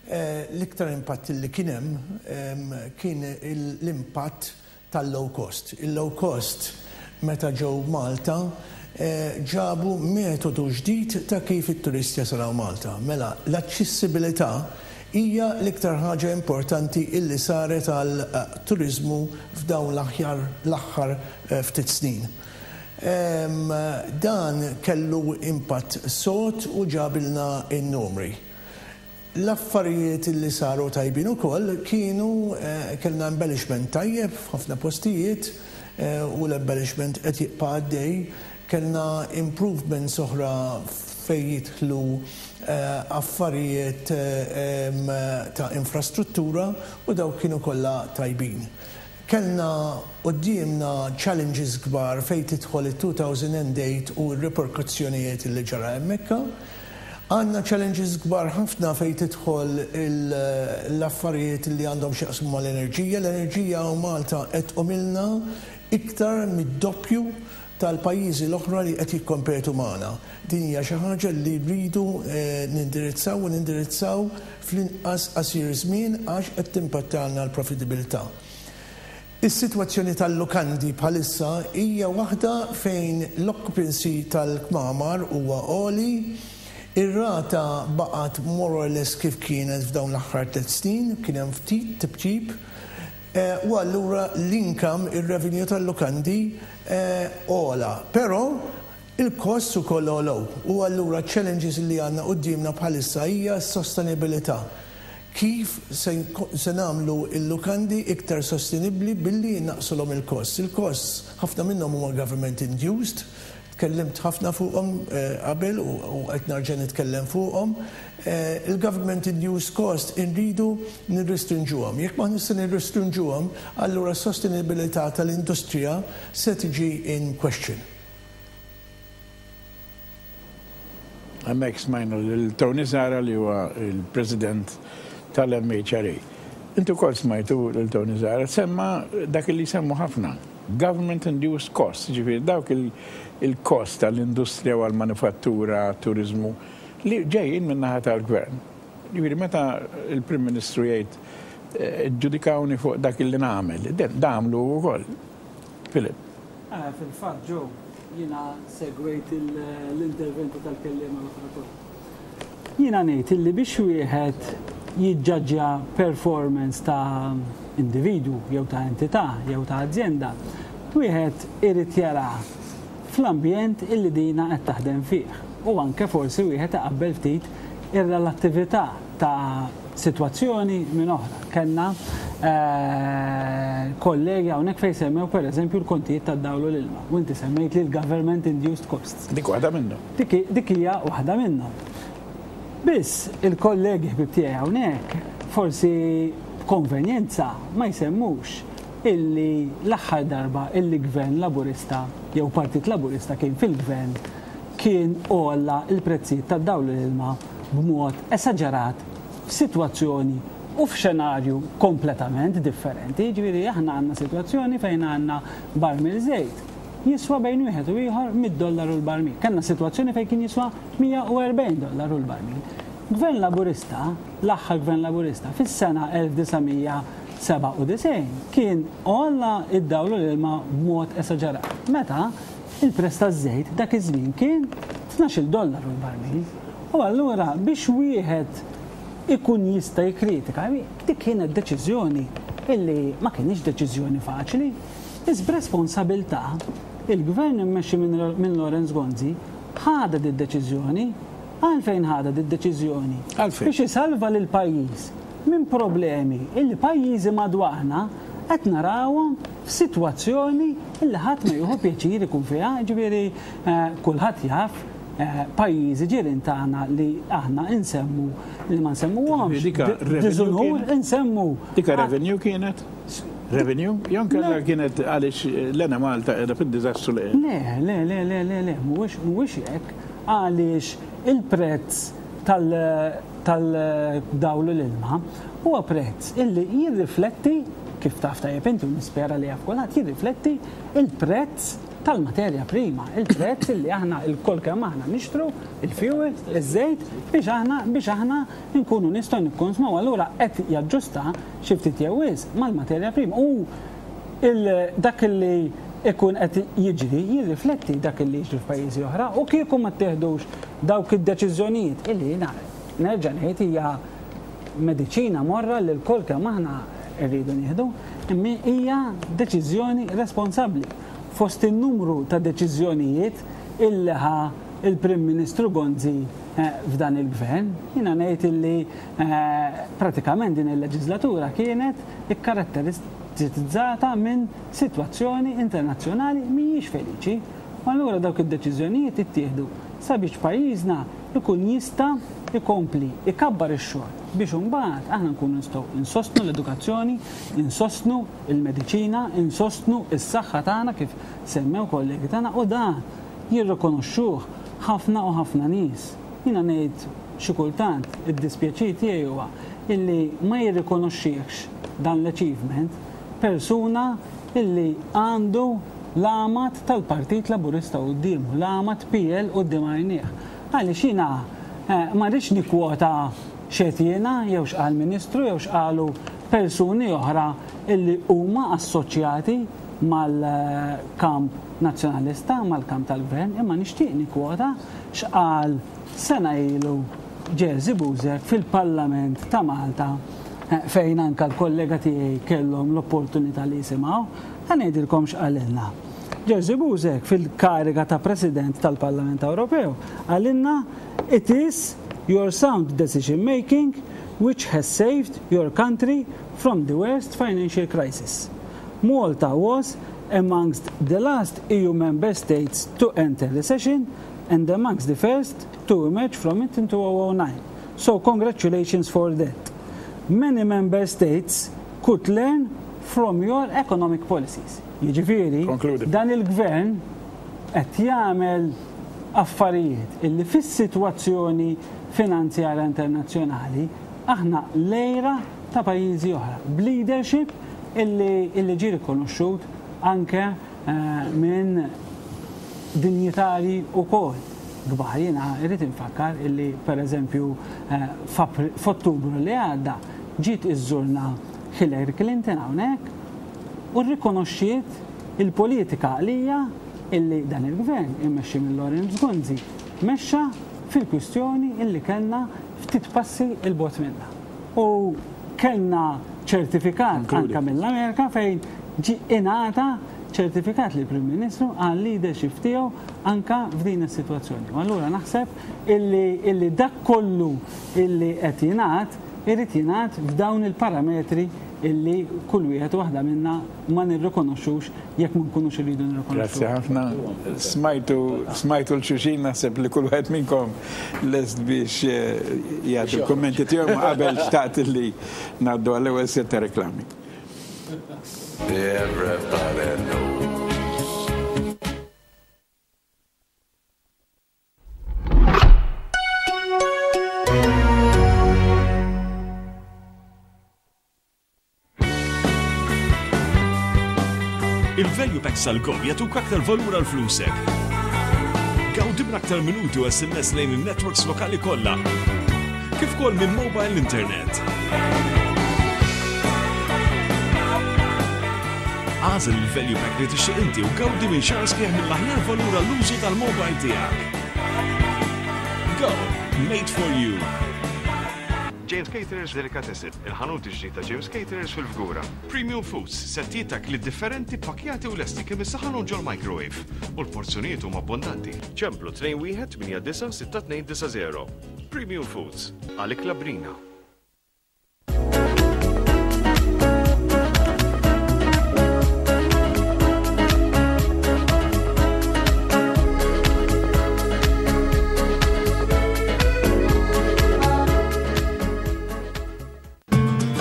L-iktar impatt li kien hemm kien l-impatt tal-low cost. Il-low cost meta ġew Malta ġabu metodu ġdid ta' kif it-turisti jasalaw Malta. Mela, l-aċċessibilità hija l-iktar ħaġa importanti illi saret għal turiżmu f'dawn l-aħjar l-aħħar ftit snin. Dan kellu impatt sod u ġabilna n-numri. L-affarijiet li saru tajbin ukoll kienu kellna embellishment tajjeb f'ħafna postijiet u l-embellishment qed jibqa' għaddej, kellna improvements oħra fejn jidħlu affarijiet ta' infrastruttura u dawk kienu kollha tajbin. Kellna quddiemna challenges kbar fejn tidħol it-two thousand and eight u r-reperkussjonijiet li ġara hemmhekk. Għandna challenges kbar ħafna fejn tidħol l-affarijiet li għandhom x'jaqsmu mal-enerġija. L-enerġija u Malta qed tqumilna iktar mid-doppju tal-pajjiżi l-oħra li qed jikkompetu magħna. Din hija xi ħaġa li rridu nindirizzaw u nindirizzaw fl-inqas qasir żmien għax qed timpattalna l-profitabilità. Is-sitwazzjoni tal-lukandi bħalissa hija waħda fejn l-occupancy tal-kmamar huwa għoli, ir-rata baqgħet more or less kif kienet f'dawn l-aħħar tliet snin, kien hemm ftit tibtib, u allura l-income, ir-revenue tal-lukandi għola. Però il-cost ukoll għolow u allura challenges li għandna quddiemna bħalissa hija s-sostenibilità. Kif se nagħmlu l-lukandi iktar sostenibbli billi naqsulhom il-costs. Il-costs ħafna minnhom huma government induced, tkellimt ħafna fuqhom qabel u qed nerġa' nitkellem fuqhom. Il-government induced cost inridu nirrestrinġuhom. Jekk ma nista' nirrestrinġuhom, allura s-sostenibilità tal-industrija se tiġi in question. Hemmhekk smajna lil Tony Zahra li huwa il-President tal-M H R A. Intu kol smajtu lil Tony Zahra, semma dak li semmu ħafna. Government induced costs, ġifieri dawk il-cost tal-industrija u għal-manifattura, turizmu, li ġejjin min-naħa tal-gvern. Ġifieri meta il-Prim Ministru jgħid eh, ġudikawni fuq dak li nagħmel, damlu wkoll. Filip. Eh, fil-fatt, Joe, jiena segwejt l-interventi tal-kellima l-oħra kollha. Jiena ngħid illi biex wieħed jiġġaġġja performance ta' individu jew ta' entità jew ta' azienda, wieħed irid jara fl-ambjent illi dina qed taħdem fih. U anke forsi wieħed iqabbel ftit ir-relattività ta' sitwazzjoni minn oħra. Kellna eh, kollegi hawnhekk fejn semmew pereżempju l-kontijiet tad-dawl u l-ilma. U inti semmejt li l-government induced costs. Dik waħda minnhom. Dik hija waħda minnhom. Biss il-kollegi ħbib tiegħi hawnhekk forsi b'konvenjenza ma jsemmux illi l-aħħar darba illi gvern Laburista jew Partit Laburista kien fil-gvern kien għolla il-prezzijiet tad-dawl l-ilma b'mod esaġerat f'sitwazzjoni u f'xenarju kompletament differenti. Ġifieri aħna għandna sitwazzjoni fejn għandna barmil żejt jiswa bejn wieħed u ieħor mitt dollaru l-barmil. Kellna sitwazzjoni fejn kien jiswa mija u erbgħin dollaru l-barmil. Gvern Laburista, l-aħħar gvern Laburista, fis-sena elf disa' mija sebgħa u disgħin kien għolla id-dawl u l-ilma b'mod esaġerat. Meta il-prezz taż-żejt dak iż-żmien kien tnax-il dollaru l-barmil. U allura biex wieħed ikun jista' jikkritika, dik kienet deċiżjoni illi ma kienx deċiżjoni faċli, iż b'responsabilità il-gvern immexxi minn Lawrence Gonzi ħada di deċiżjoni. Għalfejn ħada di deċiżjoni? Għalfejn? Biex isalva lil pajjiż minn problemi illi pajjiżi madwarna qed narawhom f'sitwazzjoni illi ħadd ma jieħu pjaċir ikun fiha, ġifieri, eh, kulħadd jaf, eh, pajjiżi ġirien tagħna li aħna insemmu li ma nsemmuhomx. Dika Di- revenue Diżunur kienet? insemmu. Dika revenue kienet? Revenue? Jon kellha Le. kienet għaliex l-Enemalta qiegħda fid-diżastru li Le, le, le, le, le, le, mhuwiex, mhuwiex hekk, għaliex il-prezz tal-, tal-dawl u l-ilma huwa prezz illi jirrifletti, kif taf tajjeb inti u nispera li jaf kulħadd, jirrifletti il-prezz tal-materja prima, il-prezz illi aħna il-kol kemm aħna nixtru, il-fuel, iż-żejt, biex aħna, biex aħna nkunu nistgħu nikkonsmaw. Allura qed jaġġusta xi ftit jew wisq mal-materja prima. U il-, dak illi ikun qed jiġri jirrifletti dak illi jiġri f'pajjiżi oħra, u kieku ma ttieħdux dawk id-deċiżjonijiet illi jiena nerġa' ngħid hija mediċina morra li l-kol kemm aħna rridu nieħdu, imma hija deċiżjoni responsabbli. Fost in-numru ta' deċiżjonijiet illi ħa il-Prim Ministru Gonzi, eh, f'dan il-gvern, jiena ngħid illi, eh, pratikament din il-leġislatura kienet ikkaratterizzata minn sitwazzjoni internazzjonali mhijiex feliċi. U allura dawk id-deċiżjonijiet ittieħdu sabiex pajjiżna ikun jista' ikompli ikabbar ix-xogħol biex imbagħad aħna nkunu nistgħu insostnu l-edukazzjoni, insostnu il-mediċina, insostnu s-saħħa tagħna kif semmew kollegi tagħna, u dan jirrikonoxxuh ħafna u ħafna nies. Jiena ngħid xi kultant id-dispjaċir tiegħi huwa illi ma jirrikonoxxihx dan l-achievement persuna illi għandu l-għamad tal-Partit Laburista quddiemu, l-għamad P L quddiem għajnieh. Għaliex jiena, eh, ma rridx nikkwota x'qed jiena jew x'qal ministru jew x'qalu persuni oħra illi huma assoċjati mal-kamp nazzjonalista, mal-kamp tal-gvern, imma nixtieq nikkwota x'qal sena ilu Jerzy Buzek fil-Parlament ta' Malta, eh, fejn anka l-kollega tiegħi kellhom l-opportunità li jisimgħu, ħa ngħidilkom x'qalilna. Jerzy Buzek fil-kariga ta' President tal-Parlament Ewropew qalilna: It is your sound decision making which has saved your country from the worst financial crisis. Malta was amongst the last E U member states to enter recession and amongst the first to emerge from it in two thousand nine. So congratulations for that. Many member states could learn from your economic policies. Jiġifieri, Concluded. dan il-gvern qed jagħmel affarijiet illi fis-sitwazzjoni finanzjarja internazzjonali aħna lejra ta' pajjiżi oħra, b'leadership illi, illi ġie rikonoxxut anke eh, minn dinjitari wkoll kbar. Jiena irrid infakkar illi pereżempju eh, f'Ottubru li għadda ġiet iżżurna Hillary Clinton hawnhekk u rrikonoxxiet il-politika għalija illi dan il-gvern immexxi minn Lawrence Gonzi mexxa fil-kwistjoni illi kellna ftit passi 'l bogħod minna. U kellna ċertifikat anka mill-Amerika fejn ġi ingħata ċertifikat li Prim Ministru għal leadership tiegħu anka f'din is-sitwazzjoni. U allura naħseb illi, illi dak kollu illi qed jingħad irid jingħad f'dawn il-parametri illi kull wieħed waħda minna ma nirrikonoxxux jekk ma nkunux irridu nirrikonoxxu. Grazzi ħafna. Smajtu smajtu 'l xulxin, naħseb li kull wieħed minnkom lest biex eh, jagħti l-kummenti tiegħu, ma qabel xtaqt li ngħaddu għall-ewwel set ta' reklami. Everybody knows. Il-Value Packs tal-Go jagħtuk aktar valur għal flusek. Gawdi minn aktar minuti u S M S lejn il-networks lokali kollha. Kif ukoll minn mobile internet. Agħżel il-Value Pack li tixtieq inti u gawdi minn xahar sħiħ mill-aħjar valur għall-użu tal-mobile tiegħek. Go! Made for you. James Caterers Delicatessen, il-ħanut ġdid ta' James Caterers fil-Fgura. Premium Foods, settijiet ta' ikliet differenti pakkjati u lesti kemm issaħħanhom ġol-microwave u l-porzjonijiet huma abbondanti. Ċemplu tnejn wieħed tmienja disa' sitta tnejn disa' żero. Premium Foods, għal ikla bnina.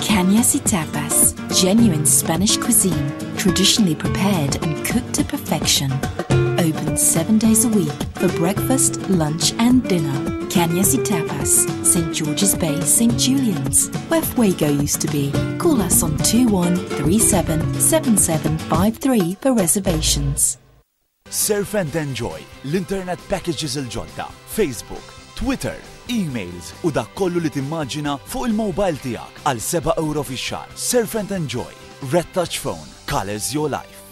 Cañas y Tapas, genuine Spanish cuisine, traditionally prepared and cooked to perfection. Open seven days a week for breakfast, lunch, and dinner. Cañas y Tapas, Saint George's Bay, Saint Julian's, where Fuego used to be. Call us on two one three seven seven seven five three for reservations. Surf and Enjoy, l-internet packages il-ġodda, Facebook, Twitter, emails u dak kollu li timmaġina fuq il-mobile tiegħek għal seba' euro fix-xahar. Surf and Enjoy, Red Touch Phone, colors your life.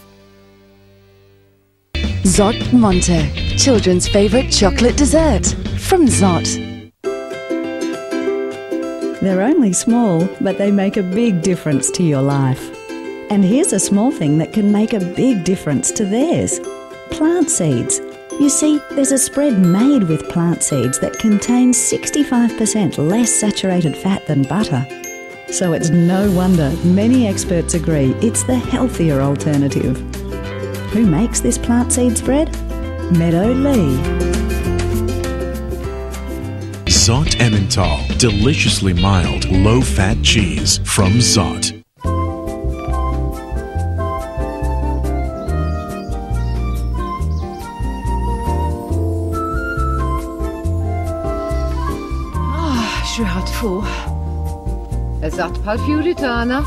Zott Monte, children's favorite chocolate dessert from Zott. They're only small, but they make a big difference to your life. And here's a small thing that can make a big difference to theirs: plant seeds. You see, there's a spread made with plant seeds that contains sixty-five percent less saturated fat than butter. So it's no wonder many experts agree it's the healthier alternative. Who makes this plant seed spread? Meadow Lea. Zott Emmental, deliciously mild, low-fat cheese from Zott. Ah, x'riħa tfuħ. Eżatt bħal fjuri tagħna.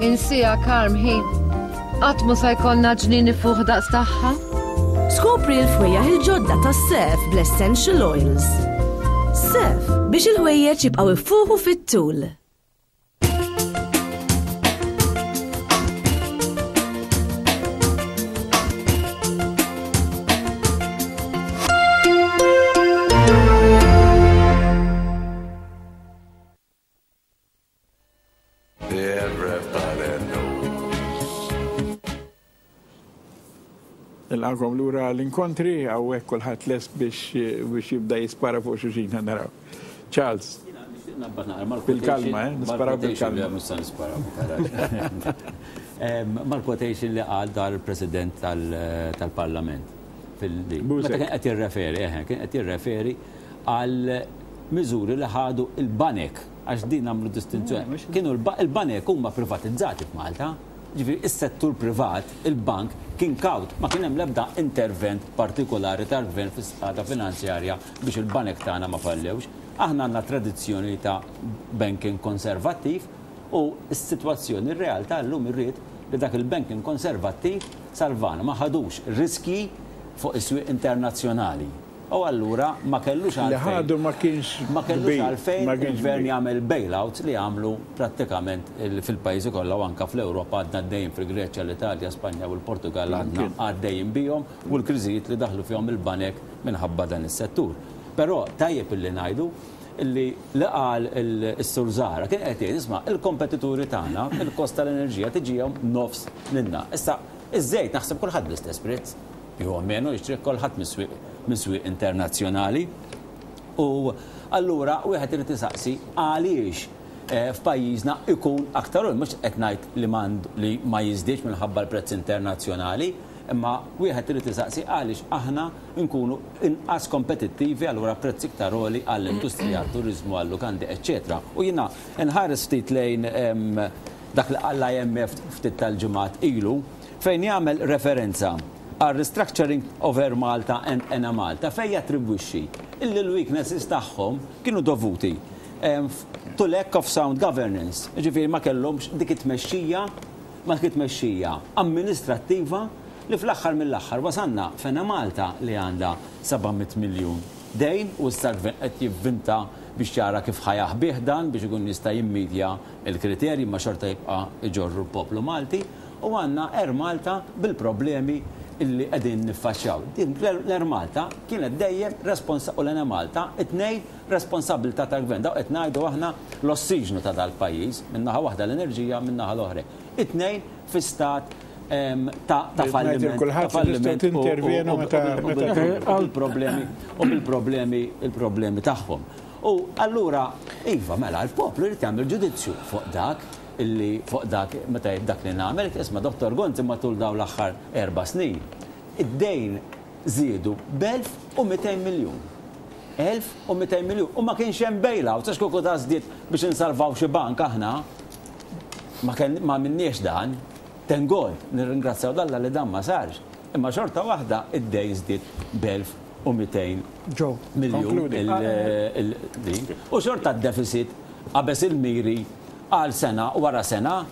Insieha Karm ħi. Qatt mu sa jkollna ġnien ifuħ daqs tagħha. Skopri l-fwejjaħ il-ġodda ta' Surf bl-Essential Oils. Surf biex il-ħwejjeġ jibqgħu ifuħu fit-tul. Everybody knows. Nilqagħkom lura l-inkontri, hawnhekk kulħadd lest biex biex jibda jispara fuq xulxin, naraw. Charles. Bil-kalma, eh? Nisparaw bil-kalma. Mal-quotation li qal dar il-President tal-Parlament. Meta kien qed jirreferi, eh, kien qed jirreferi għal miżuri li ħadu il-banek, għax din għamlu distinzjoni. Kienu il-banek huma privatizzati f'Malta, ġifieri is-settur privat, il-bank, kien kawt, ma kien hemm l-ebda intervent partikolari tal-gvern fis-sqata finanzjarja biex il-banek tagħna ma fallewx. Aħna għandna tradizzjoni ta' banking konservattiv u s-sitwazzjoni, r-realtà llum irrid li dak il-banking konservattiv salvana, ma ħadux riski fuq is-swieq internazzjonali. U allura ma kellux Li għalfejn. ħadu ma kienx Ma kellux kbir, għalfejn ma kienx il-gvern kbir. jagħmel bailouts li għamlu prattikament il- fil-pajjiżi kollha u anka fl-Ewropa għadna għaddejjin fil-Greċja, l-Italja, Spanja u l-Portugal għadna għaddejjin bihom u l-kriżijiet li daħlu fihom il-banek minħabba dan is-settur. Però tajjeb illi ngħidu illi li qal il-Sur Zahra kien qed jgħid isma' il-kompetituri tagħna il-kost tal-enerġija tiġihom nofs lilna. Issa iż-żejt naħseb kulħadd bl-istess prezz. Jew menu jixtri kulħadd mis-swieq mis-swieq internazzjonali. U allura wieħed irid isaqsi għaliex eh, f'pajjiżna ikun aktar u mhux qed ngħid li m'għand- li ma jiżdiedx minħabba l-prezz internazzjonali, imma wieħed irid isaqsi għaliex aħna nkunu inqas kompetittivi allura prezz iktar għoli għall-industrija, għat-turiżmu, għall-lukandi, eċċetera. U jiena nħares ftit lejn em, dak li qal l-I M F ftit tal-ġimgħat ilu fejn jagħmel referenza għal restructuring of Air Malta and Enemalta fejn jattribwixxi illi l-weaknesses tagħhom kienu dovuti em, to lack of sound governance. Ġifieri ma kellhomx dik it-tmexxija, ma dik it-tmexxija amministrattiva li fl-aħħar mill-aħħar wasanna f'Enemalta li għandha seba' mitt miljun dejn u issa l-gvern qed jivvinta biex jara kif ħa jaħbih dan biex ikun jista' jimmedja il-kriterji ma xorta jibqa' iġorru l-poplu Malti u għandna Air Malta bil-problemi illi qegħdin niffaċċjaw. Din l-Air Malta kienet dejjem responsa u l-Enemalta it-tnejn responsabilità tal-gvern. Daw qed ngħidu aħna l-ossiġnu ta' dal-pajjiż, minnaħa waħda l-enerġija, minnaħa l-oħra. It-tnejn fi stat em, ta' ta' Ngħid falliment. kulħadd Ta' falliment tistgħu tintervjenu u- u- meta- u- meta u- tridu. u bil-problemi u bil-problemi il-problemi tagħhom. U allura, iva, mela, l-poplu jrid jagħmel ġudizzju fuq dak illi fuq dak meta jgħid dak li nagħmel, isma' Dottor Gonzi matul dawn l-aħħar erba' snin. Id-dejn żiedu b'elf u mitejn miljun. elf u mitejn miljun. U ma kienx hemm bailout, għax kieku ta' żdied biex insalvaw xi bank aħna, ma kien ma minniex dan, thank God, nirringrazzjaw 'l Alla li dan ma sarx. Imma xorta waħda id-dejn żdied b'elf u mitejn Joe, miljun Konkludi. il- il- din. U xorta d-deficit qabeż il-miri għal sena wara sena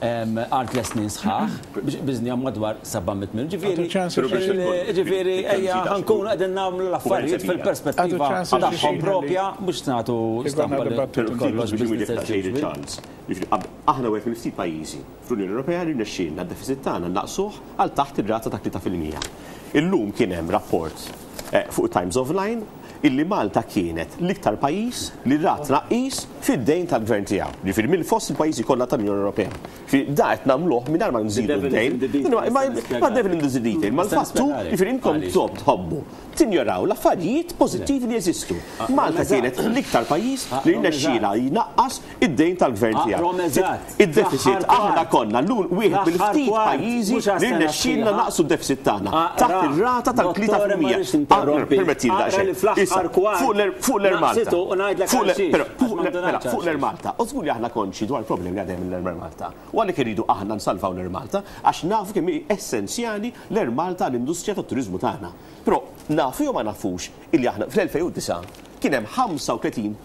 em, għal tliet snin sħaħ biex biżnija madwar seba' mitt miljun. Ġifieri, Għatu ċans il- ġifieri, ejja ħa nkunu qegħdin nagħmlu l-affarijiet fil-perspettiva Għatu ċans tagħhom xi propja mhux nagħtu stampa li dibattitu. kollox Biex business as usual. ċans. Aħna wieħed mill-ftit pajjiżi fl-Unjoni Ewropea li rnexxielna d-deficit tagħna naqsuh għal taħt ir-rata ta' tlieta fil-mija. Illum kien hemm rapport eh, fuq Times of Line illi Malta kienet l-iktar pajjiż li rat tnaqqis fid-dejn tal-gvern tiegħu. Ġifieri minn fost il-pajjiżi kollha tal-Unjoni Ewropea. Ġifieri da qed nagħmluh mingħajr ma nżidu devil is d-dejn. in the detail, Ma nista' nispjega. ma devil in the detail, ma Nista' l-fattu nispjegalek. ġifieri inkom Għaliex? tsob tħobbu tinjoraw l-affarijiet pożittivi li jeżistu. Malta kienet l-iktar pajjiż li rnexxiela jnaqqas id-dejn tal-gvern Ah, tiegħu. Rom eżatt. Id-deficit Fl-aħħar aħna kwart. konna l-un wieħed Fl-aħħar mill-ftit kwart, pajjiżi mhux għas li sena rnexxielna sħiħa. naqsu d-deficit tagħna Ah, taħt ra, ir-rata Dottore, ma rridx tal-tlieta fil-mija. interrompi. Permetti Aqra daqsxejn. li fl-aħħar Issa, kwart fuq l- fuq l-Air Malta. naqsitu u ngħidlek Fuq l- għal xiex, però, għax fuq ma l- ndunajtx mela, għal fuq l-Air xiex. Malta. U żgur li aħna konxi dwar problemi li għadhem l-Air Malta. U għalhekk irridu aħna nsalvaw l-Air Malta għax nafu kemm hi essenzjali l-Air Malta l-industrija tat-turiżmu tagħna. Però nafu jew ma nafux illi aħna fl-elfejn u disgħa kien hemm ħamsa u tletin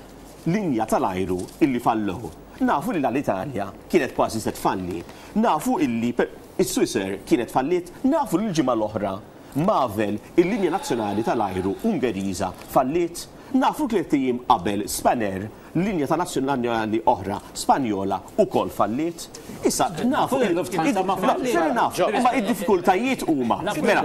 linja tal-ajru illi fallew. Nafu li l-Italja kienet kważi se tfalli. Nafu illi per- is-Swissair kienet falliet, nafu li l-ġimgħa l-oħra Mavel, il-linja nazzjonali tal-ajru Ungeriża falliet. Nafu tliet ijiem qabel Spanair, linja ta' nazzjonali oħra Spanjola ukoll falliet. Issa nafu Il-Lufthansa ma falliet. Fair enough, imma id-diffikultajiet huma. Mela,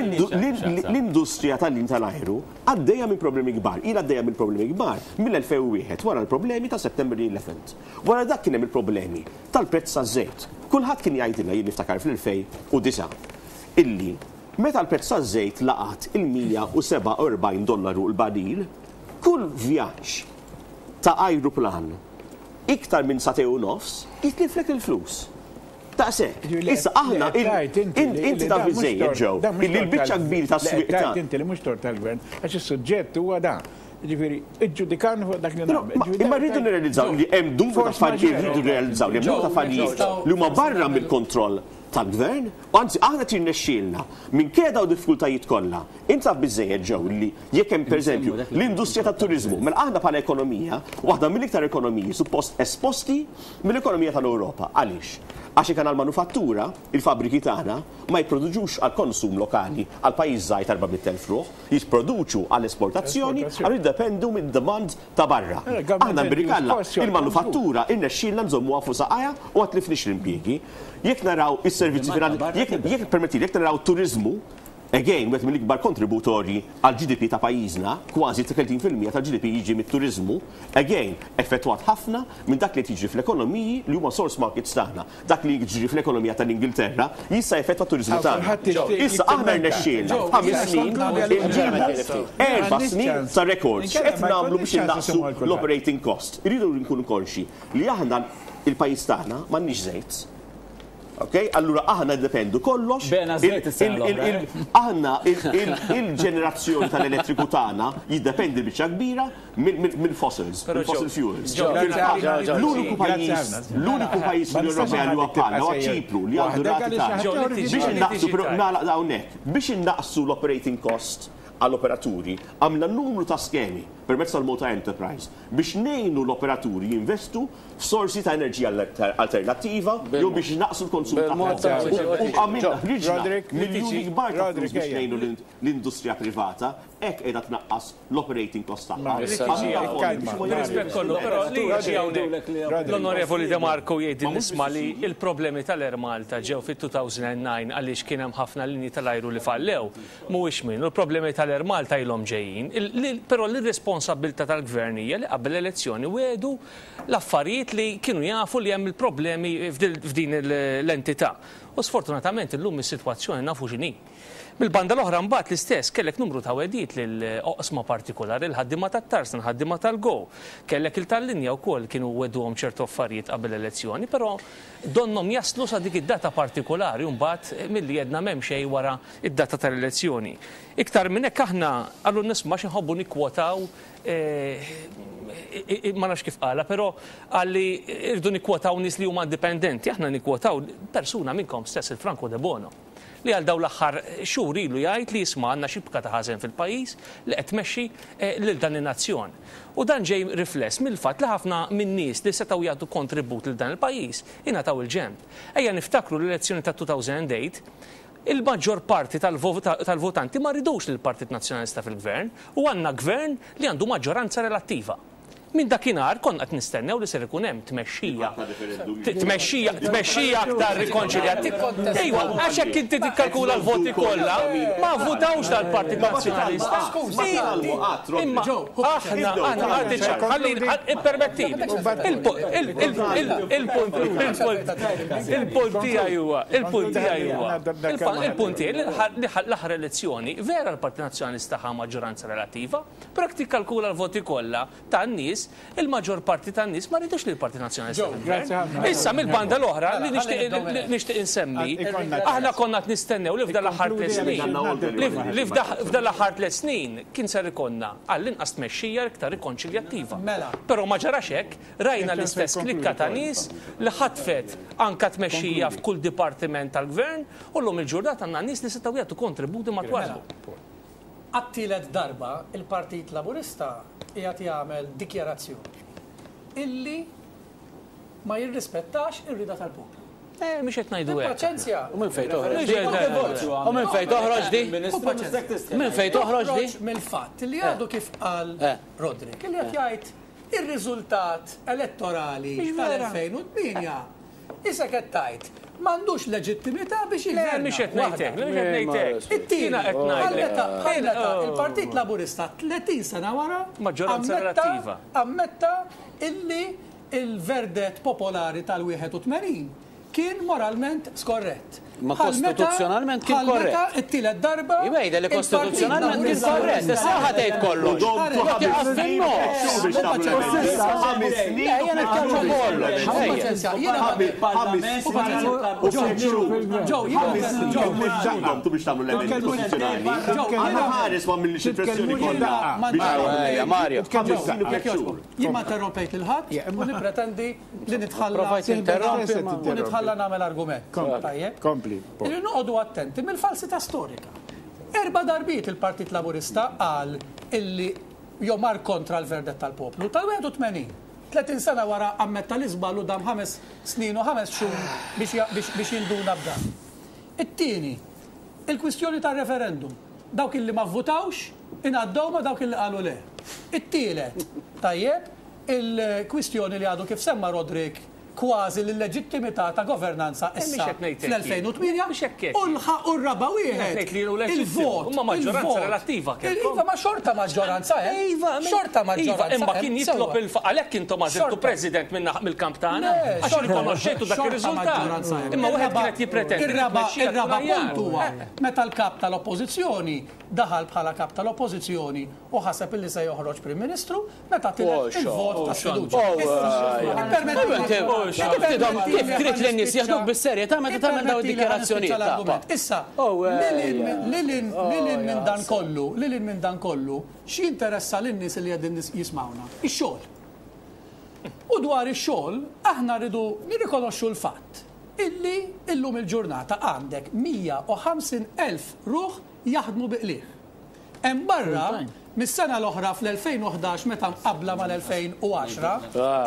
l-industrija tal-lin tal-ajru għaddejja minn problemi kbar. Ila għaddejja minn problemi kbar mill-elfejn u wieħed wara l-problemi ta' September eleventh. Wara dak kien hemm il-problemi tal-prezz taż-żejt. Kulħadd kien jgħidilna, jien niftakar fl-elfejn u disgħa, illi meta l-prezz taż-żejt laqat il-mija u sebgħa u erbgħin dollaru l-baril, kull vjaġġ ta' ajruplan iktar minn sagħtejn u nofs jitliflek il-flus. Daqshekk. Issa aħna inti taf biżejjed ġew illi l-biċċa kbir ta' swieq ta' Inti li mhux tort tal-gvern, għax is-suġġett huwa dan. Ġifieri, iġġudikan fuq dak li nagħmel. Imma rridu nirrealizzaw li hemm numru ta' affarijiet, rridu nirrealizzaw li hemm numru ta' affarijiet li huma barra mill-kontroll tal-gvern, u anzi aħna tirnexxielna minkejja dawn diffikultajiet kollha. Int taf biżejjed ġew li jekk hemm pereżempju l-industrija tat-turiżmu, mela aħna bħala ekonomija, waħda mill-iktar ekonomiji suppost esposti mill-ekonomija tal-Ewropa. Għaliex? Għax jekk għandna l-manufattura, il-fabbriki tagħna ma jipproduċux għal konsum lokali għal pajjiż żgħir ta' erba' mitt elf ruħ, jipproduċu għall esportazzjoni għal jiddependu mid-demand ta' barra. Aħna mbirikalla il-manufattura irnexxielna nżommuha fuq saqajha u ma tlifniex l-impjiegi. Jekk naraw is-servizzi finanzjarji, jekk permettili, jekk naraw turiżmu, again, wieħed mill-ikbar kontributorji għal G D P ta' pajjiżna, kważi tletin fil-mija tal-G D P jiġi mit-turiżmu, again, effettwat ħafna minn dak li jiġri fl-ekonomiji li huma source markets tagħna. Dak li jiġri fl-ekonomija tal-Ingilterra jista' jeffettwa t-turiżmu tagħna. Issa aħna rnexxielna f'ħames snin inġibu erba' snin ta' records. X'qed nagħmlu biex innaqsu l-operating cost? Irridu nkunu konxi li aħna il-pajjiż tagħna m'għandniex żejt. Ok, allura aħna dependu kollox. Aħna il-ġenerazzjoni tal-elettriku tagħna jiddependi biċċa kbira mill-fossils, mill-fossil fuels. L-uniku pajjiż, l-uniku pajjiż fl-Unjoni Ewropea li huwa bħalna huwa Ċipru li għandu rati tagħna. Biex innaqsu, però nagħlaq hawnhekk, biex innaqsu l-operating cost għall-operaturi, għamilna numru ta' skemi permezz tal-Malta Enterprise biex ngħinu l-operaturi jinvestu f'sorsi ta' enerġija alternattiva jew biex naqsu l-konsum ta' U għamilna ħriġna miljuni kbar ta' flus biex ngħinu l-industrija privata, hekk qiegħda tnaqqas l-operating cost tagħha. Rispett kollu, però li jiġi hawnhekk l-Onorevoli De Marco jgħid nisma' li l-problemi tal-Air Malta ġew fit-two thousand and nine għaliex kien hemm ħafna linji tal-ajru li fallew. Mhuwiex minnu, l-problemi tal-Air Malta ilhom ġejjin, però l-irresponsabilità tal-gvern hija li qabel l-elezzjoni wedu l-affarijiet li kienu jafu li hemm il-problemi f'din l-entità. U sfortunatament illum is-sitwazzjoni nafu x'inhi. Mill-banda l-oħra mbagħad l-istess kellek numru ta' wedijiet lil oqsma partikolari, il-ħaddiema tat-Tarsna, il-ħaddiema tal-Go. Kellek il-tal-linja wkoll kienu weduhom ċertu affarijiet qabel l-elezzjoni, però donhom jaslu sa dik id-data partikolari u mbagħad milli jedna m'hemm xejn wara id-data tal-elezzjoni. Iktar minn hekk aħna għallu nisma' xi nħobbu nikkwotaw, ma nafx kif qala, però għalli irdu nikkwotaw nies li huma indipendenti, aħna nikkwotaw persuna minnkom stess, il-Franco De Bono, li għal dawn l-aħħar xhur ilu jgħid li jisma' għandna xibka ta' ħażen fil-pajjiż li qed tmexxi lil dan in-nazzjon. U dan ġej rifless mill-fatt li ħafna min-nies li setgħu jagħtu kontribut lil dan il-pajjiż ingħataw il-ġenb. Ejja niftakru l-elezzjoni ta' two thousand and eight, il-maġġor parti tal-votanti ma ridux lill-Partit Nazzjonalista fil-gvern u għandna gvern li għandu maġġoranza relattiva. Minn dakinhar konna qed nistennew li ser ikun hemm tmexxija. Tmexxija, tmexxija aktar rikonċiljati. Ejwa, għax hekk inti tikkalkula l-voti kollha, ma votawx dal-Partit Nazzjonalista. Imma aħna aħna għandi ċar, ħalli ippermettili. Il-punt il-punt tiegħi huwa, il-punt tiegħi huwa. Il-punt tiegħi li l-aħħar elezzjoni vera l-Partit Nazzjonalista ħa maġġoranza relattiva, però jekk tikkalkula l-voti kollha tan-nies, il-maġġor parti tan-nies ma ridux lill-Partit Nazzjonalista. Issa mill-banda l-oħra li nixtieq insemmi, aħna konna qed nistennew li f'dan l-aħħar tliet snin, li f'dan l-aħħar tliet snin kien ser ikollna għall-inqas tmexxija iktar rikonċiljattiva. Però ma ġarax hekk, rajna l-istess klikka ta' nies li ħatfet anka tmexxija f'kull dipartiment tal-gvern u llum il-ġurnata għandna nies li setgħu jagħtu kontributi matwar. Għat-tielet darba il-Partit Laburista qiegħed jagħmel dikjarazzjoni illi ma jirrispettax ir-rida tal-poplu. Eh, mhux qed ngħidu hekk. Paċenzja. U minn fejn toħroġ di? U minn fejn toħroġ di? Minn fejn toħroġ di? Mill-fatt li għadu kif qal Roderick, li qed jgħid ir-riżultat elettorali tal-elfejn u tmienja. Issa qed tgħid m'għandux leġittimità biex jgħid. Mhux qed ngħidlek, mhux qed ngħidlek. It-tieni qed ngħidlek. Il-Partit Laburista tletin sena wara maġġoranza relattiva ammetta illi il-verdett popolari tal-wieħed u tmenin kien moralment skorrett. Ma kostituzzjonalment kien korrett. Meta t-tielet darba. Iwejda li kostituzzjonalment kien korrett. Issa ħa tgħid kollox. Ħames snin. Ejja nitkellmu kollox. Ġew biex tagħmlu l-emendi kostituzzjonali. Għandna ħares ma minnix il-pressjoni kollha. Mario. Jien ma interrompejt lil ħadd u nippretendi li nitħalla u nitħalla nagħmel argument. Tajjeb. Kompli. Irridu noqogħdu attenti mill-falsità storika. Erba' darbiet il-Partit Laburista qal illi jew mar kontra l-verdett tal-poplu tal-wieħed u tmenin. tletin sena wara ammetta l-iżball u dam ħames snin u ħames xhur biex jinduna b'dan. It-tieni, il-kwistjoni tar-referendum. Dawk illi ma vvutawx ingħaddew ma dawk illi qalu le. It-tielet, tajjeb, il-kwistjoni li għadu kif semma Roderick kważi l-leġittimità ta' governanza issa fl-elfejn u tmienja u r-raba' wieħed il-vot. Imma maġġoranza relattiva kellkom. Iva, ma xorta maġġoranza hemm. Xorta maġġoranza. Imma kien jitlob il għalhekk intom għażiltu president mill-kamp tagħna għax rikonoxxejtu dak ir-riżultat. Imma wieħed kien qed jippretendi. Ir-raba' punt huwa meta l-kap tal-Oppożizzjoni daħal bħala kap tal-Oppożizzjoni u ħaseb illi se joħroġ Prim Ministru meta tilef il-vot ta' sfiduċja. Kif trid lin-nies jaħduk bis-serjetà meta tagħmel dawn id-dikjarazzjonijiet? Issa, lilin minn dan kollu, lilin minn dan kollu, x'jinteressa lin-nies li qegħdin jismawna? Ix-xogħol. U dwar ix-xogħol aħna rridu nirrikonoxxu l-fatt illi illum il-ġurnata għandek mija u ħamsin elf ruħ jaħdmu bi qligħ. Hemm barra mis-sena l-oħra fl-elfejn u ħdax meta mqabbla mal-elfejn u għaxra,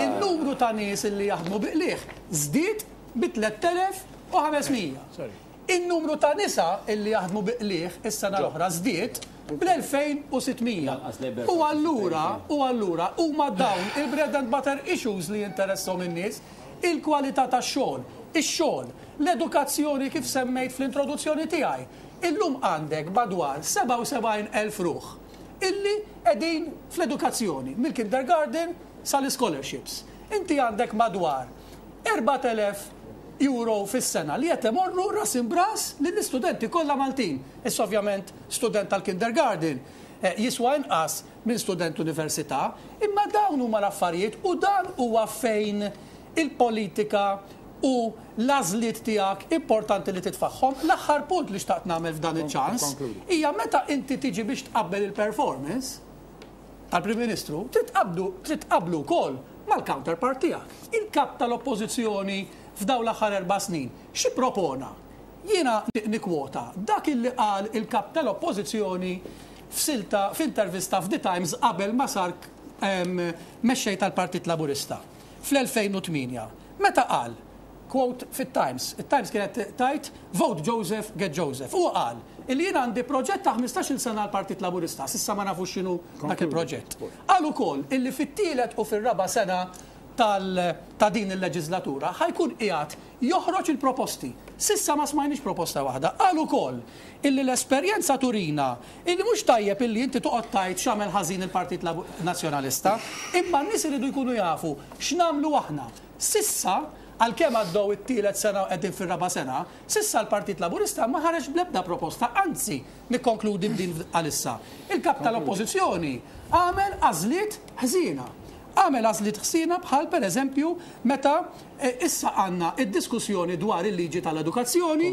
il-numru ta' nies illi jaħdmu bi qligħ żdied bi tliet elef u ħames mija. In-numru ta' nisa illi jaħdmu bi qligħ is-sena l-oħra żdied bl-elfejn u sitt mija. U allura, u allura huma dawn il-bread and butter issues li jinteressahom in-nies, il-kwalità tax-xogħol, ix-xogħol, l-edukazzjoni kif semmejt fl-introduzzjoni tiegħi. Illum għandek madwar sebgħa u sebgħin elf ruħ illi qegħdin fl-edukazzjoni, mill-kindergarten sal-scholarships. Inti għandek madwar erbat elef euro fis-sena li qed imorru ras imbras lill-istudenti kollha Maltin. Issa ovvjament student tal-kindergarten jiswa inqas minn student università, imma dawn huma l-affarijiet u dan huwa fejn il-politika u l-għażliet tiegħek importanti li titfaħħom. L-aħħar punt li xtaqt nagħmel f'dan iċ-ċans hija meta inti tiġi biex tqabbel il-performance tal-Prim Ministru, trid tqabblu wkoll mal-counterpart tiegħek. Il-kap tal-Oppożizzjoni f'dawn l-aħħar erba' snin xi propona? Jiena nikkwota dak illi qal il-kap tal-Oppożizzjoni f'silta f'intervista f'The Times qabel ma sar mexxej tal-Partit Laburista fl-elfejn u tmienja. Meta qal, quote fit-Times, it-Times kienet tajt vote Joseph, get Joseph. U qal illi jien għandi proġett ta' ħmistax-il sena għall-Partit Laburista, s'issa ma nafux x'inhu dak il-proġett. Qal ukoll illi fit-tielet u fir-raba' sena ta' din il-leġislatura ħajkun qiegħed joħroġ il-proposti. S'issa ma smajniex proposta waħda. Qal ukoll illi l-esperjenza turina illi mhux tajjeb illi inti toqgħod tgħid x'għamel ħażin il-Partit Nazzjonalista, imma n-nies iridu jkunu jafu x'nagħmlu aħna. S'issa, għalkemm għaddew it-tielet sena u qegħdin fir-raba' sena, s'issa l-Partit Laburista ma ħareġ bl-ebda proposta, anzi nikkonkludi b'din għalissa. Il-kap tal-Oppożizzjoni għamel għażliet ħżiena. Għamel għażliet ħsiena bħal pereżempju meta issa għandna id-diskussjoni dwar il-liġi tal-edukazzjoni,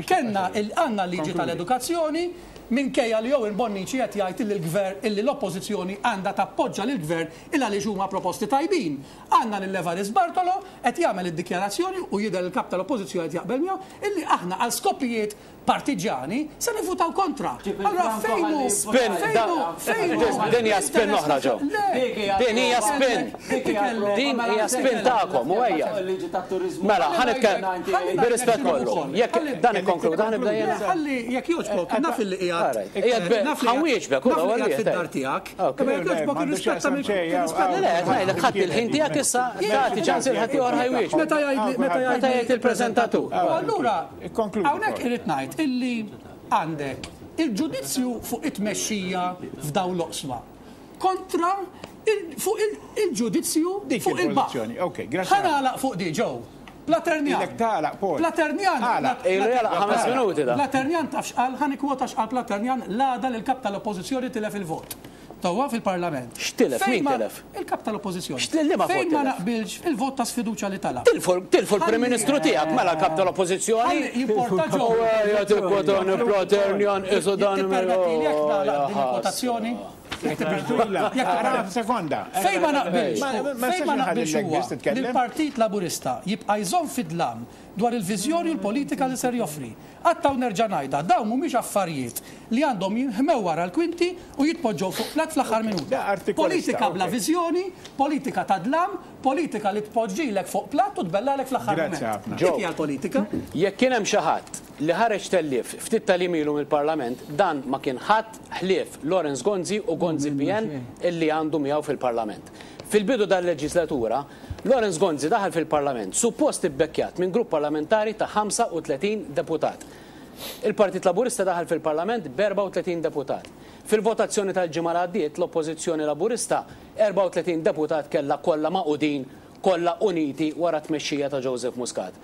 kellna għandna l-liġi tal-edukazzjoni minkejja li Owen Bonnici qed jgħid illi l-gvern illi l-Oppożizzjoni għandha tappoġġa lill-gvern il għaliex huma proposti tajbin. Għandna lil Evarist Bartolo qed jagħmel id-dikjarazzjoni u jidher il-kap tal-Oppożizzjoni qed jaqbel miegħu illi aħna għal skopijiet partiġani se nivvutaw kontra. Allura fejn hu Spin, din hija spin oħra ġew. Din hija spin. Din hija spin tagħkom u ejja. Mela, ħa nitkellem bir-rispett kollu. Jekk dan ikkonkluda ħa nibda jiena. Ħalli jekk jogħġbok naf illi qiegħed. Qiegħed ħa nwieġbek u naf li qiegħed fid-dar tiegħek. Imma jekk jogħġbok irrispetta mill-rispett. Le, ngħidlek ħadd il-ħin tiegħek issa tagħti ċans il ħadd ieħor ħajwieġbek. Meta jgħid meta jgħid il-preżentatur. U allura hawnhekk irid ngħid illi għandek il-ġudizzju fuq it-tmexxija f'dawn l-oqsma kontra fuq il-ġudizzju fuq il-baħħ. Ħa nagħlaq fuq di ġew. Platernjan. Ilek tagħlaq, Paul. Platernjan. Ilu jagħlaq ħames minuti da. Platernjan taf x'qal, ħa nikkwota x'qal Platernjan l-għada li l-kap tal-Oppożizzjoni tilef il-vot. Tawwa fil-Parlament. X'tilef? Min tilef? Il-kap tal-Oppożizzjoni. X'tilef? Fejn ma naqbilx il-vot ta' sfiduċja li talab. Tilfu l-Prim Ministru tiegħek mela l-kap tal-Oppożizzjoni. Jimporta ġew. Ejja tikkwotani Platernjan isu dan. Tippermettili jekk nagħlaq din il-kwotazzjoni? Sekonda. Fejn ma naqbilx, fejn ma naqbilx huwa li l-Partit Laburista jibqa' jżomm fid-dlam dwar il-viżjoni u l-politika li ser joffri. Għattaw nerġa' ngħidha, dawn mhumiex affarijiet li għandhom jinħmew wara l-kwinti u jitpoġġew fuq plat fl-aħħar minuta. Politika bla viżjoni, politika ta' dlam, politika li tpoġġilek fuq plat u tbellalek fl-aħħar mument. Dik hija l-politika. Jekk kien hemm xi ħadd li ħareġ tellief ftit tal-jiem ilu mill-Parlament, dan ma kien ħadd ħlief Lawrence Gonzi u Gonzi P N illi għandu miegħu fil-Parlament. Fil-bidu dal-leġislatura, Lawrence Gonzi daħal fil-Parlament suppost ibbekkjat minn grupp parlamentari ta' ħamsa u tletin deputat. Il-Partit Laburista daħal fil-Parlament b'erbgħa u tletin deputat. Fil-votazzjoni tal-ġimgħa li għaddiet, l-Oppożizzjoni Laburista erbgħa u tletin deputat kellha kollha maqudin, kollha uniti wara t-tmexxija ta' Joseph Muscat.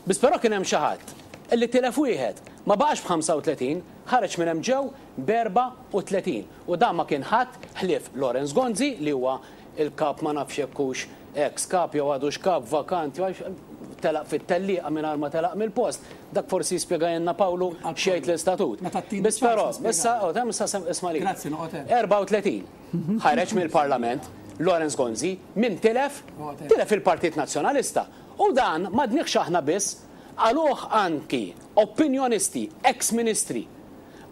Biss però kien hemm xi ħadd illi tilef wieħed, ma baqax b'ħamsa u tletin, ħareġ minn hemm ġew b'erbgħa u tletin. U dan ma kien ħadd ħlief Lawrence Gonzi li huwa il-kap ma nafx jekk hux ex kap jew għadux kap vakant, jew telaq fit-tellieqa mingħajr ma telaq mill-post. Dak forsi jispjegajna Pawlu xejn l-istatut. Biss però, issa, oh, hemm issa isma' li. Grazzi, noqgħod hemm. Erbgħa u tletin ħareġ mill-Parlament Lawrence Gonzi min tilef, tilef il-Partit Nazzjonalista. U dan ma dniex aħna biss, għaluh anki opinjonisti, ex-ministri,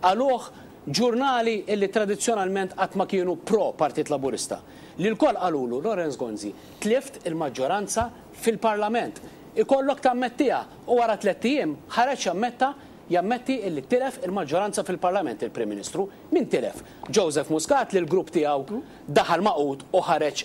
għaluh ġurnali illi tradizzjonalment qatt ma kienu pro Partit Laburista. Li l-koll qalulu Lawrence Gonzi tlift il-maġġoranza fil-Parlament. Ikollok tammettiha u wara tliet ijiem ħareġ jammetta jammetti illi tilef il-maġġoranza fil-Parlament il-Prim Ministru. Min tilef? Joseph Muscat li l-grupp tiegħu daħal maqut u ħareġ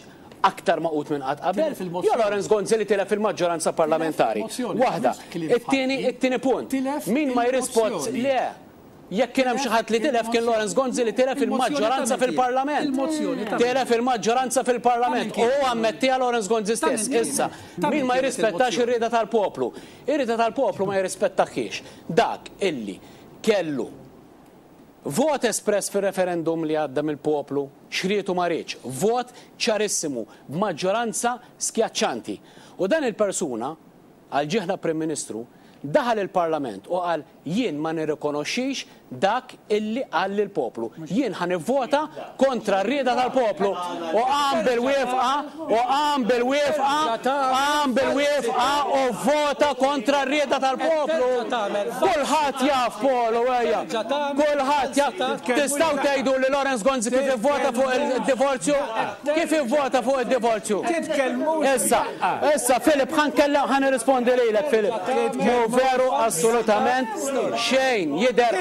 aktar maqut minn qatt qabel. Tilef il-mozzjoni. Jo Lawrence Gonzi li tilef il-maġġoranza parlamentari. Tilef il-mozzjoni. Waħda. Mhux kliem It-tieni, ħadd. it-tieni punt. Tilef Min ma jirrispond il-mozzjoni. le. Jekk kien hemm xi ħadd li tilef kien Lawrence Gonzi li tilef Il-mozzjoni il-maġġoranza ta' min kien? fil-Parlament. Il-mozzjoni ta' min Tilef il-maġġoranza fil-Parlament. Ta' min kien? U ammettiha Lawrence Gonzi Ta' min stess. kien? Issa, Ta' min min ma kienet jirrispettax il-mozzjoni? ir-rieda tal-poplu. Ir-rieda tal-poplu ma jirrispettaħiex. Dak illi kellu vot espress fil-referendum li għadda mill-poplu, xrietu ma rridx, vot ċarissimu, b'maġġoranza skjaċċanti. U dan il-persuna, għal ġieħna Prim Ministru, daħal il-Parlament u qal jien ma nirrikonoxxix dak illi qal lill-poplu. Jien ħa nivvota kontra r-rieda tal-poplu. U qam bil-wifqa, u qam bil-wifqa, qam bil-wifqa u vota kontra r-rieda tal-poplu. Kulħadd jaf, Polo, ejja. Kulħadd jaf. Tistgħu tgħidu li Lawrence Gonzi kif ivvota fuq il-divorzju? Kif ivvota fuq il-divorzju? Issa, issa, Filip, ħa nkellem, ħa nirrispondi lilek, Filip. Mhu veru assolutament xejn. Jidher,